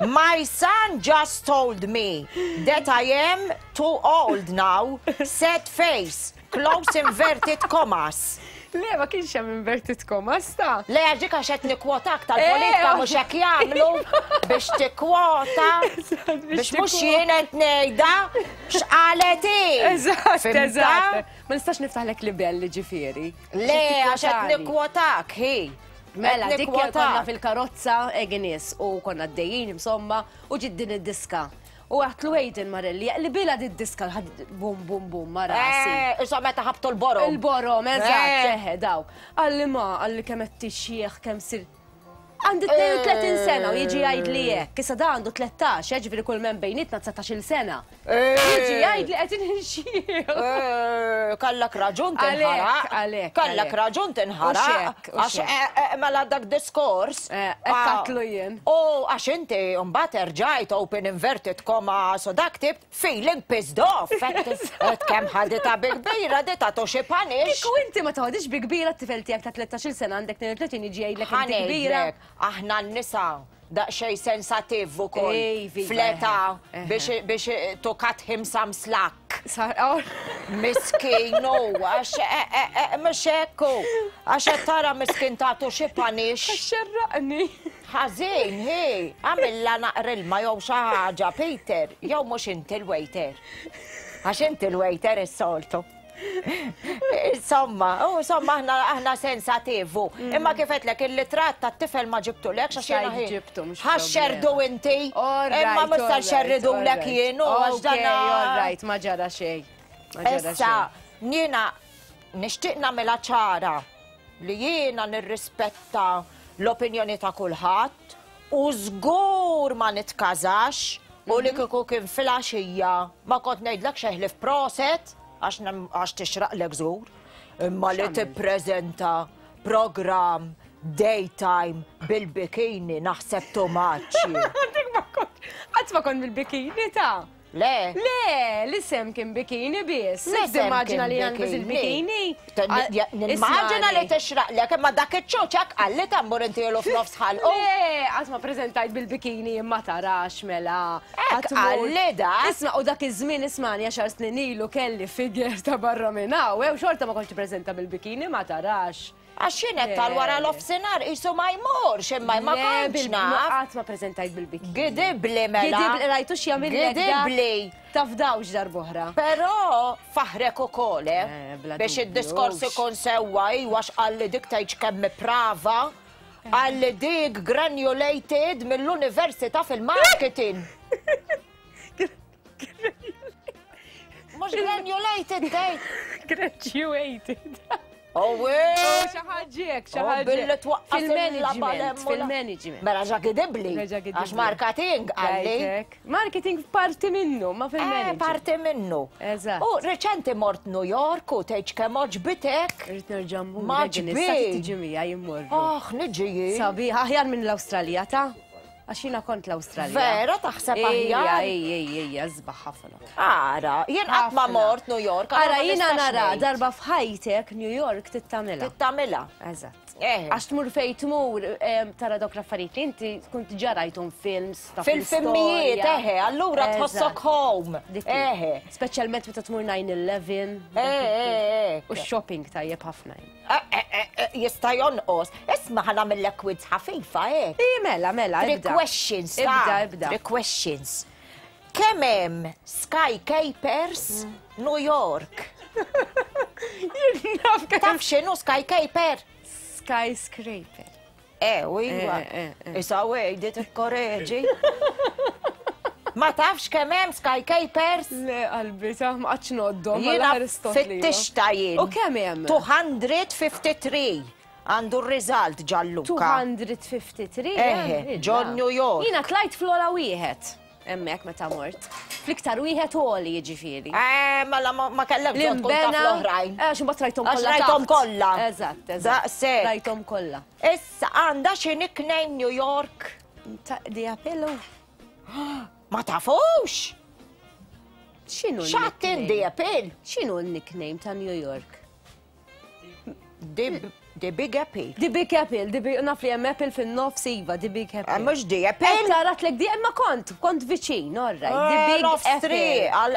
G: My son just told me that I am too old now, sad face, close inverted commas.
C: Le, ma kienx hemm inverted commas ta.
G: Le, għax dik għax qed nikkwotak tal-politika eh, mhux hekk jagħmlu biex tikkwota biex mhux jien qed ngħidha x'qalet hi.
C: Eżatt, eżatt. Ma nistax niftaħlek libell ġifieri.
G: Le, għax qed nikkwotak, hi.
C: Mela, dik konna fil-karozza Agnes u konna d-dejjin insomma u ġid din id-diska. U għatlu Aiden Marelli, li bila di diska bum bum bum ma rasi.
G: Eh, insomma, meta ħabtu l-borom.
C: Il-borom, eżatt, eh. eħe, daw. Għalli ma, għalli kemm qed tixjieħ, kemm sir. Għandi 32 sena u jiġi jgħid li hekk. Issa da għandu 13, eh, ġifieri kull men bejnietna 19-il sena. Jiġi jgħid li qed inxieħ.
G: Eh, kellek raġun tinħaraq.
C: Għalhekk.
G: Kellek raġun tinħaraq. Għax eh, mela dak diskors.
C: Katlu jien.
G: U għax inti mbagħad erġajt open inverted comma so dak tib Feeling pissed off, qed kemm ħaditha bi kbira di tagħtu xi punish.
C: Kieku inti ma toħodix bi kbira t-tifel tiegħek ta' 13-il sena għandek 32 jiġi jgħidlek inti kbira.
G: Aħna n-nisa daqsxejn sensattiv ukoll fl-età biex to cut him some slack.
C: Oh.
G: Miskin u għax e, e, e, mhux hekk hu. Għax qed tara miskin tagħtu xi punish.
C: Xerraqni.
G: Ħażin, hi, għamilla naqra ilma jew xi ħaġa, Peter, jew mhux inti l-waiter. Għax inti l-waiter is-soltu. Insomma, u insomma aħna aħna sensativu. Mm. Imma kif qedlek il-litratt tat-tifel ma ġibtulekx għax jiena ħin.
C: Ġibtu mhux.
G: Ħaxxerdu inti. Imma mhux se nxerridulek jien u għax dan.
C: All right, ma ġara xejn.
G: Issa, jiena nixtieq nagħmilha ċara li jiena nirrispetta l-opinjoni ta' kulħadd u żgur ma nitkażax u li kieku kien filgħaxija ma kont ngħidlek xejn ħlief proset għax għax tixraqlek żgur. Imma li tippreżenta programm daytime bil-bikini naħseb too much.
C: Dik ma kont qatt ma kont bil-bikini ta'.
G: Le.
C: Le, l-isem kien bikini biss.
G: L-isem
C: Immaġina li għandu il-bikini.
G: Nimmaġina li tixraqlek, imma dak iċ-ċuċak qalli tambur inti ilu f'nofs ħalqu.
C: Le, qatt ma preżentajt bil-bikini imma tarax mela.
G: Hekk qalli dak.
C: Isma' u dak iż-żmien ismani għaxar snin ilu kelli figure ta' barra minn hawn, u xorta ma kontx nippreżenta bil-bikini ma tarax.
G: Għax jien qed tal wara l-offsinar qisu ma jmurx imma ma kontx naf.
C: Qatt ma preżentajt bil-bikini.
G: Gidibbli mela.
C: Gidibbli rajtu x'jagħmillek.
G: Gidibbli.
C: Tafdawx darb'oħra.
G: Però faħrek ukoll, eh. Biex id-diskors ikun sewwa iwa x'qalli dik tgħidx kemm prava. Qalli dik granulated mill-università fil-marketing. Mhux granulated tgħid.
C: Graduated.
G: Oh,
C: oh, xi ħaġa xi ħaġa.
G: Billi twaqqaf
C: fil-management, fil-management.
G: Mela ġa gidibli. Għax marketing għalli.
C: Marketing parti minnu, ma fil-management.
G: Eh, parti minnu.
C: Eżatt.
G: U reċenti mort New York u tgħidx kemm oġbitek.
C: Irrid nerġa' mmur.
G: Ma ġbi.
C: Tiġi miegħi immorru.
G: Oh, niġi.
C: Sabiħ, aħjar minn l-Awstralja ta' Għax jiena kont l-Awstralja.
G: Vera taħseb aħjar?
C: Ejja, ejja, ejja, sbaħ ħafna.
G: Ara, jien qatt ma mort New York.
C: Ara, jiena nara darba f'ħajtek New York tittamilha.
G: Tittamilha.
C: Eżatt. Għax tmur fej tmur tara dawk l-affarijiet li inti tkun diġà rajthom films ta'
G: Fil-filmijiet, eħe, allura tħossok home. Eħe.
C: Speċjalment meta tmur 9-11.
G: Eħe.
C: U shopping tajjeb ħafna.
G: Jista' jonqos. Isma' ħa nagħmillek quiz ħafifa hekk.
C: Ii, mela, mela,
G: ibda. Three questions.
C: Ibda, ibda.
G: Three questions. Kemm hemm skycapers New York? Taf x'inhu skycaper?
C: Skyscraper.
G: Eh, u iva. Isa wejdi tikkoreġi. Ma tafx kemm hemm skycapers?
C: Le qalbi, ta' ma qatx noddhom.
G: Jiena fittixta jien.
C: U kemm hemm?
G: 253. Għandu r-result Gianluca.
C: 253?
G: Eħe, ġo New York.
C: Jiena tlajt fl-ogħla wieħed hemmhekk meta mort. Fl-iktar wieħed għoli jiġifieri.
G: Eh, mela ma kellek bżonn tkun taf l-oħrajn.
C: Eh, għax imbagħad rajthom kollha.
G: Għax rajthom kollha.
C: Eżatt, eżatt.
G: Daqshekk.
C: Rajthom kollha.
G: Issa għandha xi nickname New York?
C: Ta' The Apollo.
G: Ma tafux?
C: X'inhu?
G: X'għadd in The Apple?
C: X'inhu l-nickname ta' New York?
G: The Big Apple.
C: The Big Apple, the big, naf li hemm Apple fin-nofs iva, The Big Apple.
G: Eh, mhux The Apple.
C: Eh, taratlek di imma kont, kont viċin, all right. The
G: eh,
C: Big Apple.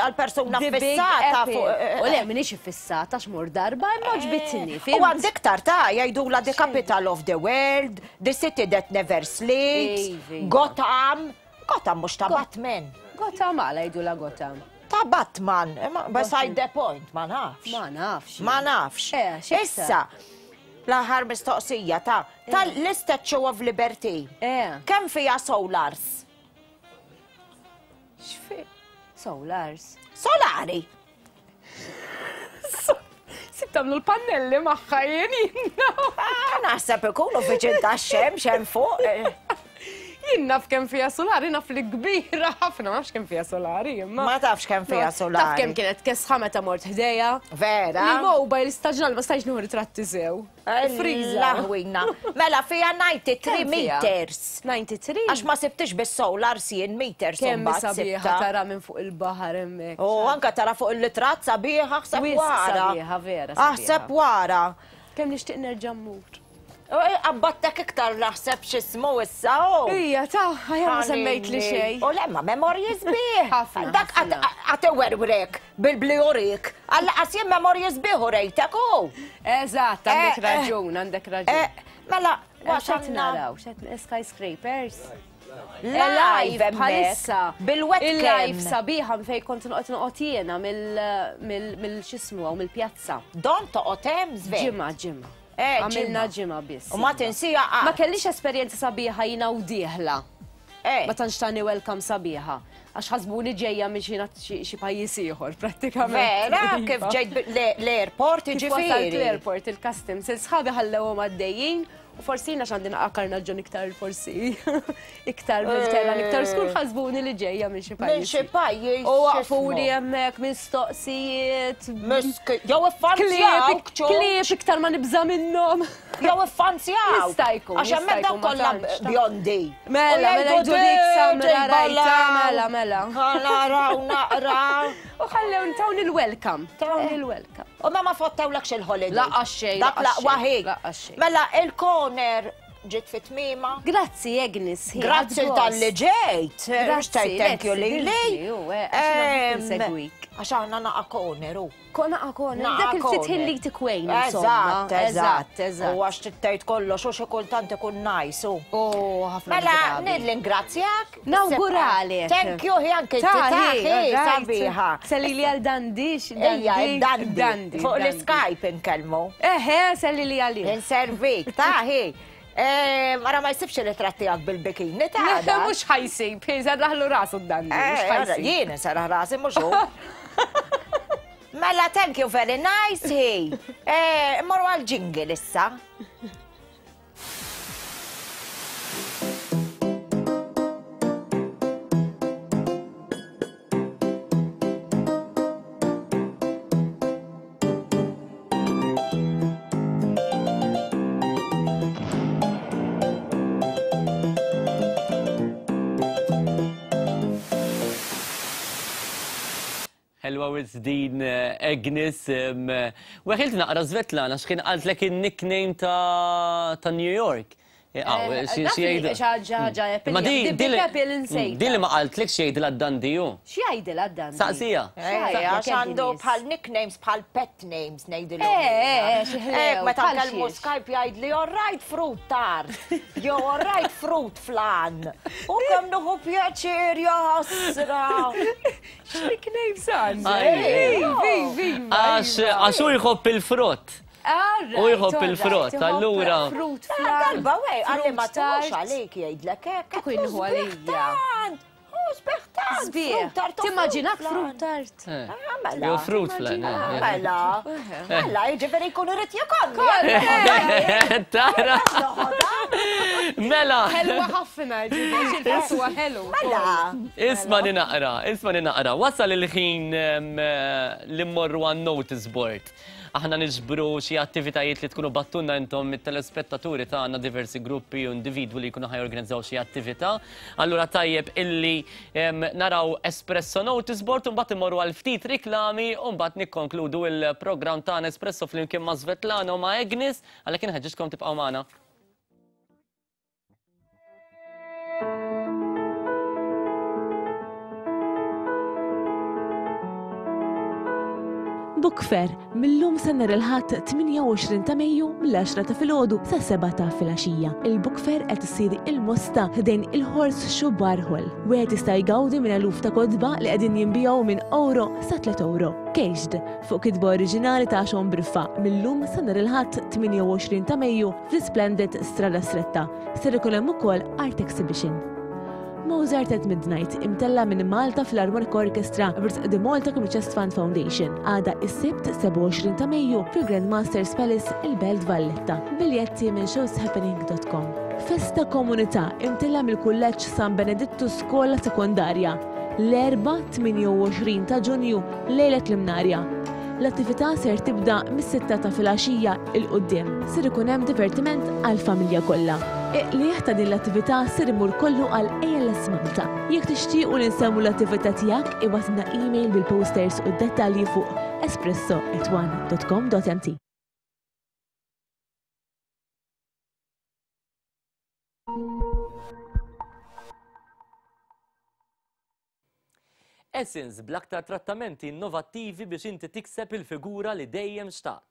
G: Għal persuna fissata fuq.
C: Eh, U le, minix fissata x'mur darba, imma ġbitni.
G: U għandek tarta jgħidula the capital of the world, the city that never sleeps, Gotham. Gotham mhux ta' Batman.
C: Gotham għala jgħidula Gotham.
G: Ta' Batman, beside the point, ma nafx.
C: Ma nafx.
G: Ma nafx.
C: Eh,
G: Issa, l-aħħar mistoqsija ta' tal-Statue of Liberty.
C: Eh.
G: Kemm fiha solars?
C: X'fi? Solars.
G: Solari.
C: Sib tagħmlu l-pannelli magħha jien
G: ah, Naħseb ikunu viċin tax-xemx hemm fuq. Eh.
C: Jien naf kemm fiha solari, naf li kbira ħafna, ma nafx kemm fiha solari, imma.
G: Ma tafx kemm fiha solari.
C: Taf kemm kienet kesħa meta mort ħdejja.
G: Vera.
C: Il-mobile staġnal ma stajx nieħu ritratti sew. Friża.
G: Laħwina. Mela fiha 93 meters.
C: 93?
G: Għax ma sibtix bis-solar sien meters.
C: Kemm sabiħa tara minn fuq il-baħar hemmhekk.
G: U anka tara fuq il-litratt sabiħa ħseb wara.
C: Sabiħa vera.
G: Aħseb wara.
C: Kemm nixtieq nerġa' mmur.
G: Qabbattek iktar naħseb x'ismu issa u.
C: Ija, ta' ħajja ma semmejt li xejn.
G: U lemma memorji sbieħ.
C: Ħafna.
G: Dak għat iwerwrek bil-blijurik. Alla qas jien memorji sbieħ u rejtek u.
C: Eżatt, għandek raġun, għandek raġun.
G: Mela,
C: x'qed naraw, x'qed skyscrapers.
G: Live
C: bħalissa.
G: Bil-webcam.
C: Il-live sabiħa fej kont noqgħod noqgħod jiena mill-xismu mill-pjazza.
G: Don toqgħod hemm żvejt.
C: Ġimgħa, ġimgħa.
G: Eh,
C: Għamilna ġimgħa biss.
G: U ma tinsija qatt.
C: Ma kellix esperjenza sabiħa jiena u dieħla.
G: Eh.
C: Ma tantx tani welcome sabiħa. Għax ħasbuni ġejja minn xi xi pajjiż ieħor prattikament.
G: Vera,
C: iva.
G: kif ġejt l-airport jiġifieri.
C: L-airport il-customs, il-sħabi ħallewhom għaddejjin u forsi jiena x'għandi naqqa karnaġġon iktar forsi iktar mill-terra iktar skur ħasbuni li ġejja minn xi pajjiż.
G: Minn xi pajjiż.
C: U waqfuni hemmhekk mistoqsijiet.
G: Jew iffanzjaw.
C: Klieb iktar ma nibża' minnhom.
G: Jew iffanzjaw.
C: Jista' jkun.
G: Għax hemmhekk dawn kollha bjondi.
C: Mela, mela jgħidu dik samra rajta, mela, mela.
G: Naraw naqra.
C: U ħallew tawni l-welcome. Tawni l-welcome.
G: U ma ma fottewlekx il-holiday.
C: Laqgħa xejn.
G: Dak laqwa ħi. Mela il-corner ġiet fi tmiema.
C: Grazzi Agnes.
G: Grazzi tal-li ġejt. Grazzi thank you lili.
C: Segwik.
G: Għax aħna naqa' corner u.
C: Kona corner. Dak il-ftit ħin li tikwejn.
G: Eżatt, eżatt,
C: eżatt.
G: U għax tgħid kollox u xi kultant ikun nice u.
C: Oh, ħafna.
G: Mela nirringrazzjak.
C: Nawguralek.
G: Thank you, hi anke taħi sabiħa.
C: Selli li għal dandix.
G: Ejja, dandi. Fuq l-Skype inkellmu.
C: Eħe, selli li għalih.
G: Inservik, taħi. Mara ma jsibx il-ritratt tiegħek bil-bikini ta'
C: Mhux ħajsib, serraħlu rasu d-dandi.
G: Jien serraħ rasi mhux hu. Mela, thank you very nice, hi. Morru għal jingle issa.
B: Ħelwa wisq din Agnes. Weħilt naqra Svetlana x'kien qaltlek in-nickname ta' New York.
C: Xi ħaġa
B: Ma di din li ma qaltlekx x'jgħidilha d-Dundee hu.
C: X'jgħidilha d-Dundee?
B: Saqsija.
G: Għax għandu bħal nicknames bħal pet names ngħidilhom.
C: Eh, xi ħlew.
G: Meta nkellmu Skype jgħidli all right fruit tart. Jew all right fruit flan. U kemm nieħu pjaċir ja ħasra.
C: X'nicknames għandu?
B: Għax għax hu jħobb il-frott. U jħobb il-frott, allura.
C: Frut flan.
G: Darba wej, għalli ma tux għalik jgħidlek hekk.
C: Kieku jieħu għalija.
G: U sbieħ tant.
C: Sbieħ. Timmaġinak frut tart.
G: Mela.
B: Jew fruit flan.
G: Mela. Mela, jiġifieri jkun irid jikolli.
B: Tara. Mela.
C: Ħelwa ħafna, ġifieri il-frott huwa ħelu.
G: Mela.
B: Isma' li naqra, isma' li naqra. Wasal il-ħin li mmorru għan-notice board. Aħna niġbru xi attivitajiet li tkunu battunna intom it-telespettaturi tagħna diversi gruppi u individwi li jkunu ħa jorganizzaw xi attività. Allura tajjeb illi naraw Espresso Notice Board u mbagħad immorru għal ftit riklami u mbagħad nikkonkludu il-programm tagħna Espresso flimkien ma' Svetlana u ma' Agnes għalhekk inħeġġiġkom tibqgħu magħna.
H: Book Fair, mil-lum sa nhar il-Ħadd 28 ta' Mejju mill-għaxra ta' filgħodu sas-sebgħa ta' filgħaxija. Il-Book Fair qed issir il-Mosta ħdejn il-Horseshoe Bar Hall. Wieħed jista' jgawdi minn eluf ta' kotba li qegħdin jinbiegħu minn ewro sa tliet ewro. Caged, fuq kitba oriġinali ta' Sean Briffa, mil-lum sa nhar il-Ħadd 28 ta' Mejju fl-Isplendid Strada Stretta. Ser ikun hemm ukoll Art Exhibition. Mozart at Midnight imtella' minn Malta Philharmonic Orchestra b'risq The Malta Community Chest Fund Foundation għada is-Sibt 27 ta' Mejju fil-Grand Masters Palace il-Belt Valletta. Biljetti minn showshappening.com. Festa Komunità imtella' mill-Kulleġġ San Benedittu Skola Sekondarja l-Erbgħa 28 ta' Ġunju lejlet l-Imnarja. L-attività ser tibda mis-sitta ta' filgħaxija 'l quddiem. Ser ikun hemm divertiment għall-familja kollha. Il-qligħ ta' din l-attività ser imur kollu għal ALS Malta. Jekk tixtiequ li nsemmu l-attività tiegħek, ibgħatilna email bil-posters u d-dettalji fuq espresso@one.com.mt.
B: Essence bl-aktar trattamenti innovattivi biex inti tikseb il-figura li dejjem xtaqt.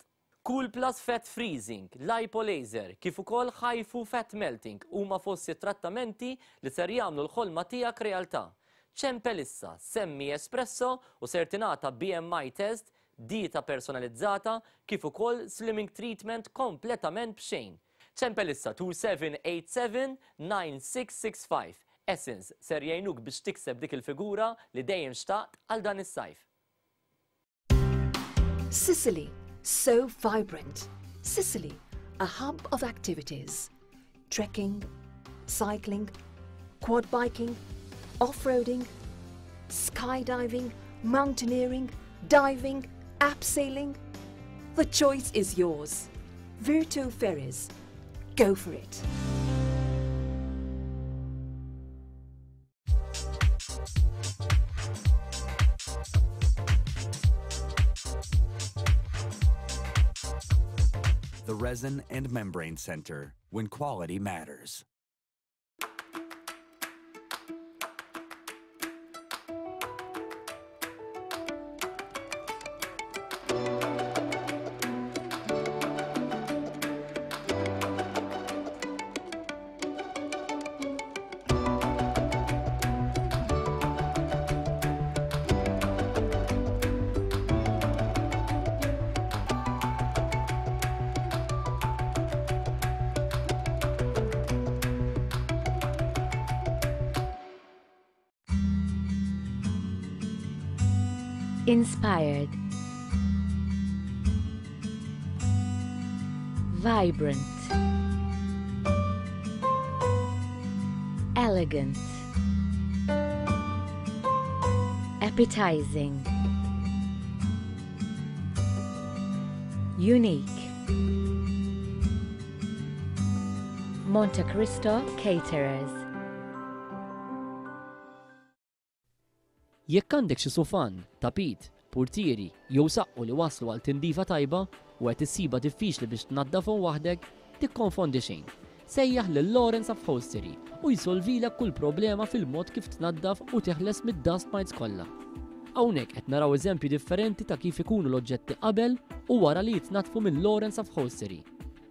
B: Cool Plus Fat Freezing, Lipo Laser, kif ukoll HIFU Fat Melting huma fost it-trattamenti li ser jagħmlu l-ħolma tiegħek realtà. Ċempel issa, semmi Espresso u ser tingħata BMI test, dieta personalizzata, kif ukoll slimming treatment kompletament b'xejn. Ċempel issa 2787 9665. Essence ser jgħinuk biex tikseb dik il-figura li dejjem xtaqt għal dan is-sajf.
J: Sicily, so vibrant. Sicily, a hub of activities. Trekking, cycling, quad biking, off-roading, skydiving, mountaineering, diving, abseiling. The choice is yours. Virtu Ferries. Go for it.
M: The Resin and Membrane Center, when quality matters.
K: Inspired. Vibrant. Elegant. Appetizing. Unique. Monte Cristo Caterers.
B: Jekk għandek xi sufan, tapit, purtieri jew saqqu li waslu għal tindifa tajba u qed issibha diffiċli biex tnaddafhom waħdek, tikkonfondi xejn. Sejjaħ lil Lawrence Upholstery u jsolvilek kull problema fil-mod kif tnaddaf u teħles mid-dust mites kollha. Hawnhekk qed naraw eżempji differenti ta' kif ikunu l-oġġetti qabel u wara li jitnaddfu minn Lawrence Upholstery.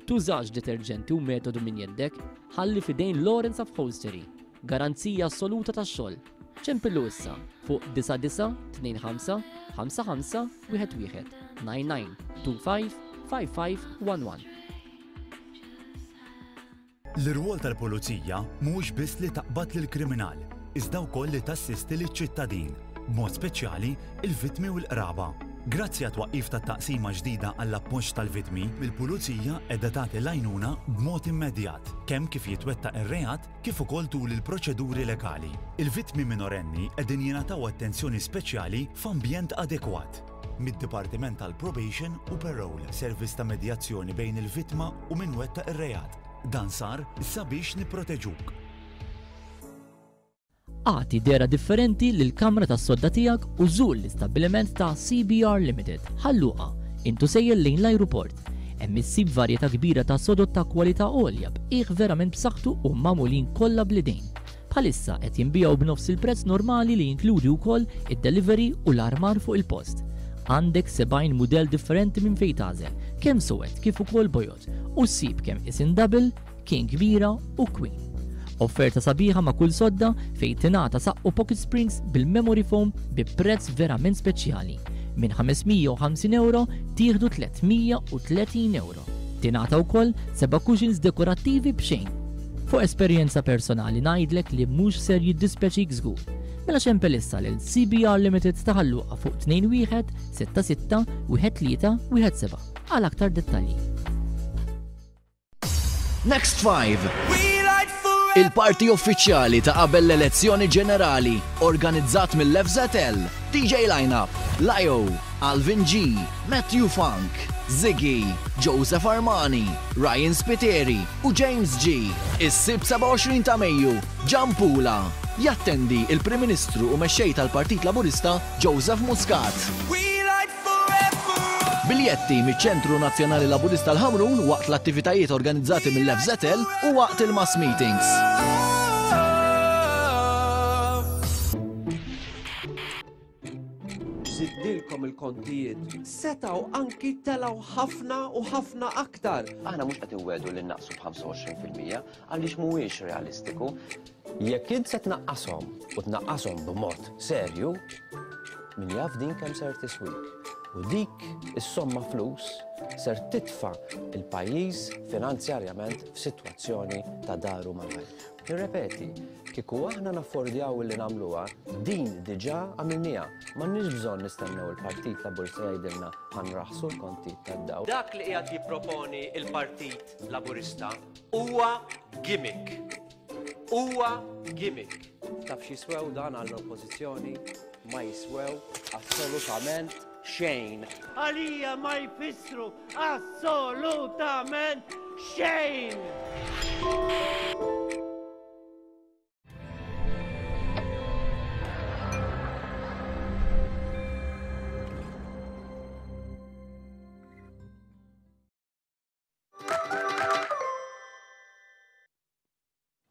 B: Tużax deterġenti u metodu minn jeddek, ħalli f'idejn Lawrence Upholstery. Garanzija assoluta tax-xogħol. Ċempillu issa fuq 9925 55 11 99 25 55 11.
M: L-irwol tal-Pulizija mhuwiex biss li taqbad lill-kriminal, iżda wkoll li tassisti liċ-ċittadin, b'mod speċjali l-vittmi u l-qraba. Grazzi għat-twaqqif ta' taqsima ġdida għall-appoġġ tal-vittmi, il-Pulizija qiegħda tagħti l-għajnuna b'mod immedjat, kemm kif jitwettaq ir-reat kif ukoll tul il-proċeduri legali. Il-vittmi minorenni qegħdin jingħataw attenzjoni speċjali f'ambjent adekwat. Mid-Dipartiment tal-Probation u Parole, servizz ta' medjazzjoni bejn il-vittma u min wettaq ir-reat. Dan sar sabiex nipproteġuk.
B: Agħti dehra differenti lill-kamra tas-sodda tiegħek u żur l-istabbiliment ta' CBR Limited, Ħal Luqa, int u sejjer lejn l-ajruport. Hemm issib varjetà kbira ta' sodod ta' kwalità għolja b'qiegħ verament b'saħħtu u magħmulin kollha bl-idejn. Bħalissa qed jinbiegħu b'nofs il-prezz normali li jinkludi wkoll id-delivery u l-armar fuq il-post. Għandek 70 mudell differenti minn fejn tagħżel, kemm suwed kif ukoll bojod, u ssib kemm isin double, King kbira u Queen. Offerta sabiħa ma' kull sodda fejn tingħata saqqu pocket springs bil-memory foam bi prezz verament speċjali. Minn 550 euro tieħdu 330 euro. Tingħata wkoll seba' cushions dekorattivi b'xejn. Fuq esperjenza personali ngħidlek li mhux ser jiddispjaċik żgur. Mela xempel issa lil CBR Limited ta' Ħal Luqa fuq 21 66 13 17 għal aktar dettalji.
W: Next 5. Il-party uffiċjali ta' qabel l-elezzjoni ġenerali organizzat mill-FZL, DJ Lineup, Lio, Alvin G, Matthew Funk, Ziggy, Joseph Armani, Ryan Spiteri u James G. Is-Sibt 27 ta' Mejju, Ġampula. Jattendi il-Prim Ministru u Mexxej tal-Partit Laburista Joseph Muscat. Biljetti miċ-Ċentru Nazzjonali Laburista l-Ħamrun waqt l-attivitajiet organizzati mill-FŻL u waqt il-mass meetings.
L: Żidnilkom il-kontijiet, setgħu anki telgħu ħafna u ħafna aktar.
O: Aħna mhux qed inwegħdu li nnaqqsu b'25% għaliex mhuwiex realistiku. Jekk int se tnaqqashom u tnaqqashom b'mod serju, min jaf din kemm ser tiswik. U dik is-somma flus ser titfa' il-pajjiż finanzjarjament f'sitwazzjoni ta' daru mal-ħajt. Nirrepeti, kieku aħna naffordjaw li nagħmluha, din diġà għamilniha. M'għandniex bżonn nistennew il-Partit Laburista jgħidilna ħa nraħħsu l-kontijiet tad-dawl.
N: Dak li qiegħed jipproponi l-Partit Laburista huwa gimmick. Huwa gimmick.
L: Taf x'jiswew dan għall-Oppożizzjoni? Ma jiswew assolutament xejn.
N: Għalija ma jfissru assolutament xejn!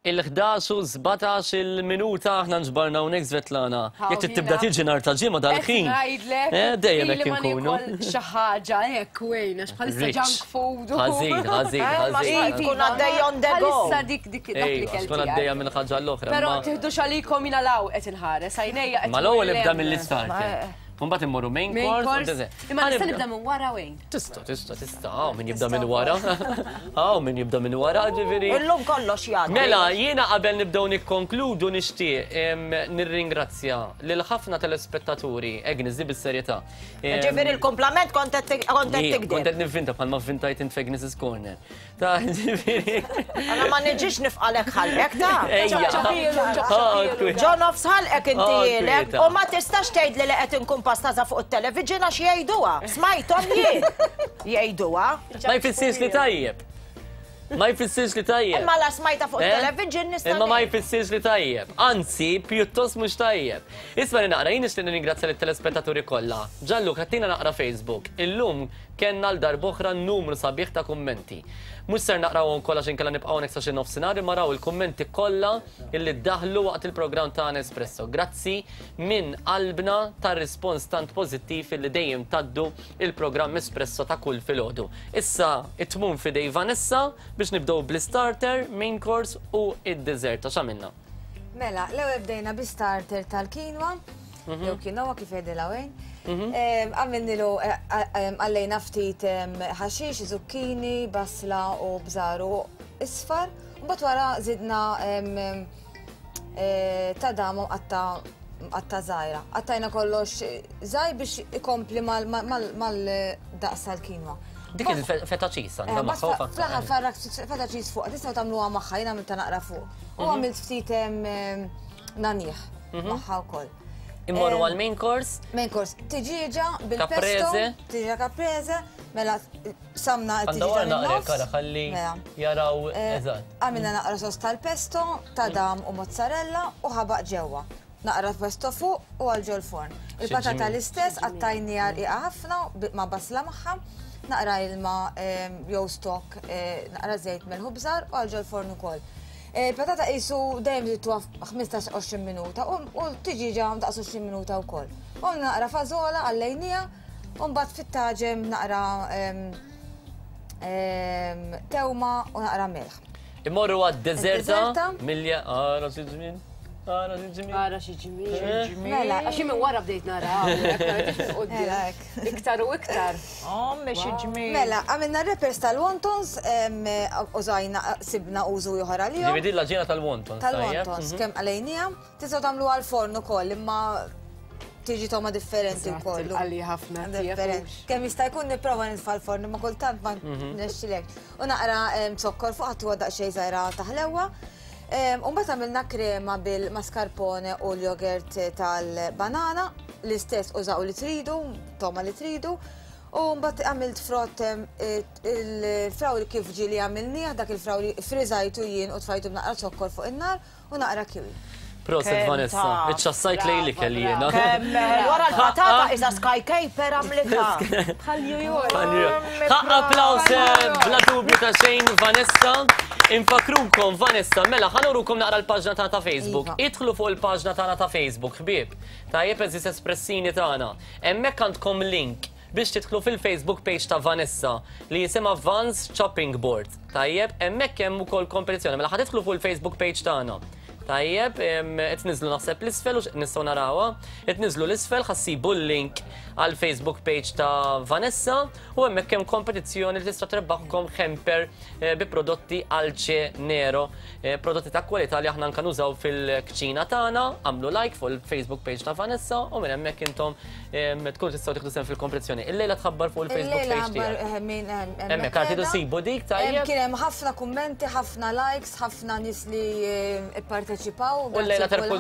B: Il-11 u 17 il-minuta aħna nġbarna hawnhekk Svetlana. Jekk trid tibda tiġi nhar ta' ġimgħa dal-ħin. Eh, dejjem hekk inkunu.
C: Xi ħaġa hekk wejn għax bħalissa junk food.
B: Ħażin, ħażin, eh, ħażin.
G: Tkun għaddejja on the go.
C: Bħalissa dik dik dak li kelli.
B: Tkun għaddejja minn ħaġa l-oħra.
C: Però tiħdux għalikom jiena law qed inħares għajnejja qed.
B: Ma l-ewwel ibda mill-istart. Mbagħad immorru main course.
C: Imma nista' nibda minn wara wejn.
B: Tista', tista', tista'. Hawn min jibda minn wara. Hawn min jibda minn wara, ġifieri.
G: Illum kollox jgħaddi.
B: Mela, jiena qabel nibdew nikkonkludu nixtieq nirringrazzja lil ħafna telespettaturi, Agnes, di bis-serjetà.
G: Ġifieri l-kumplament kont qed tikdeb.
B: Kont qed nivvinta bħalma vvintajt int f'Agnes's Corner. Ta' ġifieri.
G: Għala ma niġix nifqalek ħalqek ta' Ġo nofs ħalqek inti ilek u ma tistax tgħidli li qed inkun pastaża fuq it-television għax jgħiduha. Smajthom jien jgħiduha.
B: Ma jfissirx li tajjeb. Ma jfissirx li tajjeb.
G: Imma la smajta fuq
B: Eh?
G: television nista'
B: Imma ma jfissirx li tajjeb. Anzi, pjuttost mhux tajjeb. Isma' li naqra, jien nixtieq nirringrazzja lit-telespettaturi kollha. Ġallu, ħattina naqra Facebook. Illum kellna għal darb'oħra numru sabiħ ta' kummenti. Mhux ser naqrawhom kollha għax inkella nibqgħu hawnhekk sa xi nofsinhar imma raw il-kummenti kollha illi ddaħlu waqt il-programm tagħna Espresso. Grazzi minn qalbna tar-rispons tant pożittiv illi dejjem tgħaddu il-programm Espresso ta' kull filgħodu. Issa it-tmun f'idej Vanessa biex nibdew bl-istarter, main course u id-dessert. Għax għamilna?
D: Mela, l-ewwel bdejna bi starter tal-quinoa, jew quinoa kif jgħidilha Wayne. Għamilnilu għallejna ftit ħaxix, zucchini, basla u bżaru isfar. Mbagħad wara żidna tadam mqatta' żgħira. Qattajna kollox żgħir biex ikompli mal-daqs tal-quinoa.
B: Dik il-feta cheese għandha magħha.
D: Fl-aħħar farrak feta cheese fuq, tistgħu tagħmluha magħha, jien għamiltha naqra fuq. U għamilt ftit nagħniegħ magħha wkoll.
B: Immorru għal main course?
D: Main course, tiġieġa bil-pesto. Tiġieġa caprese, mela samna t-tiġieġa
B: min-nofs. Għandha ħalli jaraw eżatt.
D: Għamilna naqra sos tal-pesto, tadam u mozzarella u ħabaq ġewwa. Naqra pesto fuq u għal ġol-forn. Il-patata l-istess, qattajniha rqiqa ħafna ma' basla magħha, naqra ilma jew stock, naqra żejt, melħ u bżar u għal ġol-forn ukoll. Il-patata qisu dejjem żidtuha 15-20 minuta u t-tiġieġa daqs 20 minuta wkoll. U naqra fażola għallejniha u mbagħad fit-taġen naqra tewma u naqra melħ.
B: Immorru għad-deżerta milja ara xi ġmiel. Ara xi ġmiel.
C: Ara xi ġmiel.
D: Mela,
C: għax minn wara bdejt nara. Iktar u iktar.
G: Ommi xi ġmiel.
D: Mela, għamilna wrappers tal-wontons, użajna sibna użu ieħor għalihom.
B: Ġifieri din l-għaġina tal-wontons.
D: Tal-wontons, kemm għalejniha. Tistgħu tagħmluha għall-forn ukoll, imma tiġi togħma differenti wkoll.
C: Għalli ħafna.
D: Kemm jista' jkun nipprova nitfa' l-forn, imma kultant ma nexxilek. U naqra zokkor fuq ħadd huwa daqsxejn żgħira taħlewwa. U mbagħad għamilna krema bil-mascarpone u l-jogurt tal-banana, l-istess użaw li tridu, togħma li tridu. U mbagħad għamilt frott il-frawli kif ġieli għamilnieh, dak il-frawli friżajtu jien u tfajtu b'naqra zokkor fuq in-nar u naqra kiwi.
B: Proset Vanessa, iċċassajt lejli kelli jiena.
G: Wara l-patata iża sky caper għamlitha.
C: Bħal New York.
B: Ħaqq applaws bla dubju ta' xejn Vanessa. Infakrukom Vanessa, mela ħa nurukom naqra l-paġna tagħna ta' Facebook. Idħlu fuq il-paġna tagħna ta' Facebook, ħbieb. Tajjeb eżis espressini tagħna. Hemmhekk għandkom link biex tidħlu fil-Facebook page ta' Vanessa li jisimha Vans Chopping Board. Tajjeb, hemmhekk hemm ukoll kompetizzjoni. Mela ħa tidħlu fuq il-Facebook page tagħna. Tajjeb, qed niżlu naħseb l-isfel u nistgħu narawha. Qed niżlu l-isfel ħa ssibu l-link għal Facebook page ta' Vanessa u hemmhekk hemm kompetizzjoni li tista' trebbaħkom hamper bi prodotti Alce Nero, prodotti ta' kwalità li aħna anke nużaw fil-kċina tagħna. Għamlu like fuq il-Facebook page ta' Vanessa u minn hemmhekk intom tkunu tistgħu tieħdu sehem fil-kompetizzjoni. Illejla tħabbar fuq il-Facebook page tiegħek. Hemmhekk għad sibu dik tajjeb.
D: Kien hemm ħafna kummenti, ħafna likes, ħafna nies li pparteċipaw.
B: U llejla terbħu.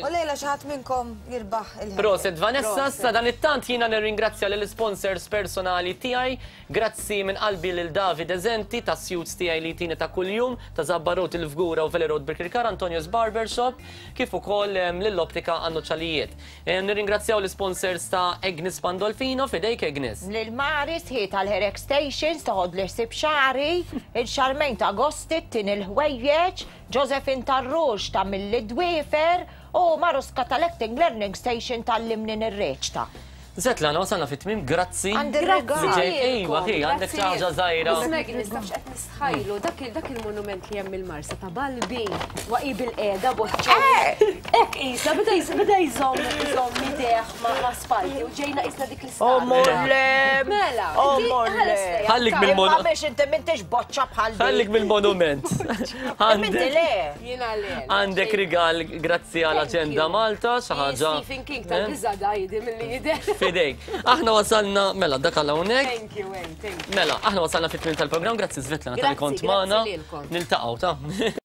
D: U llejla xi ħadd minnkom jirbaħ il
B: Proset Vanessa, sa dan it-tant jiena nirringrazzja lill sponsors personali tiegħi. Grazzi minn qalbi lil Davide Zenti tas-suits tiegħi li jtini ta' kuljum, ta' Zabba Road il-Fgura u Valley Road Birkirkara, Antonio's Barber Shop, kif ukoll lill-Optika Għan-Nuċċalijiet. Nirringrazzjaw l-isponsors ta' Agnes Pandolfino, f'idejk Agnes.
G: Lil Maris hi tal-Hair Extensions toħodli ħsieb xagħri, il Charmaine ta' Agosti ttini l-ħwejjeġ, Josephine tar-Rouge tagħmilli d-dwiefer u Maruska tal-Acting Learning Station tgħallimni nirreċta.
B: Svetlana, wasalna fit-tmiem, grazzi.
G: Għandi rigal.
B: Li ġejt, ejwa, hi, għandek xi ħaġa żgħira.
C: Miss Maggie, nistafx qed nistħajlu dak il- dak il-monument li hemm il-Marsa ta' Balbi, waqi bil-qiegħda boċċa. Hekk qisha beda jż- beda jżomm iżomm idejh ma' ma' spalti u ġejna qisna dik l-istatwa.
G: O molle!
C: Mela,
G: O
C: inti
G: molle!
C: ħares lejha.
B: Ħallik mill-monument.
G: Imma biex inti m'intix boċċa bħal dik.
B: Ħallik mill-monument.
G: Inti le.
C: Jiena le.
B: Għandek rigal grazzi għal Aġenda Malta, xi ħaġa.
C: Stephen King tal-biża' da jidi milli jidher.
B: Fidejk. Aħna wasalna, mela, dak għal hawnhekk.
C: Thank you, Wayne, thank you.
B: Mela, aħna wasalna fit-tmiem tal-programm, grazzi Svetlana tal-li kont magħna. Niltaqgħu ta'.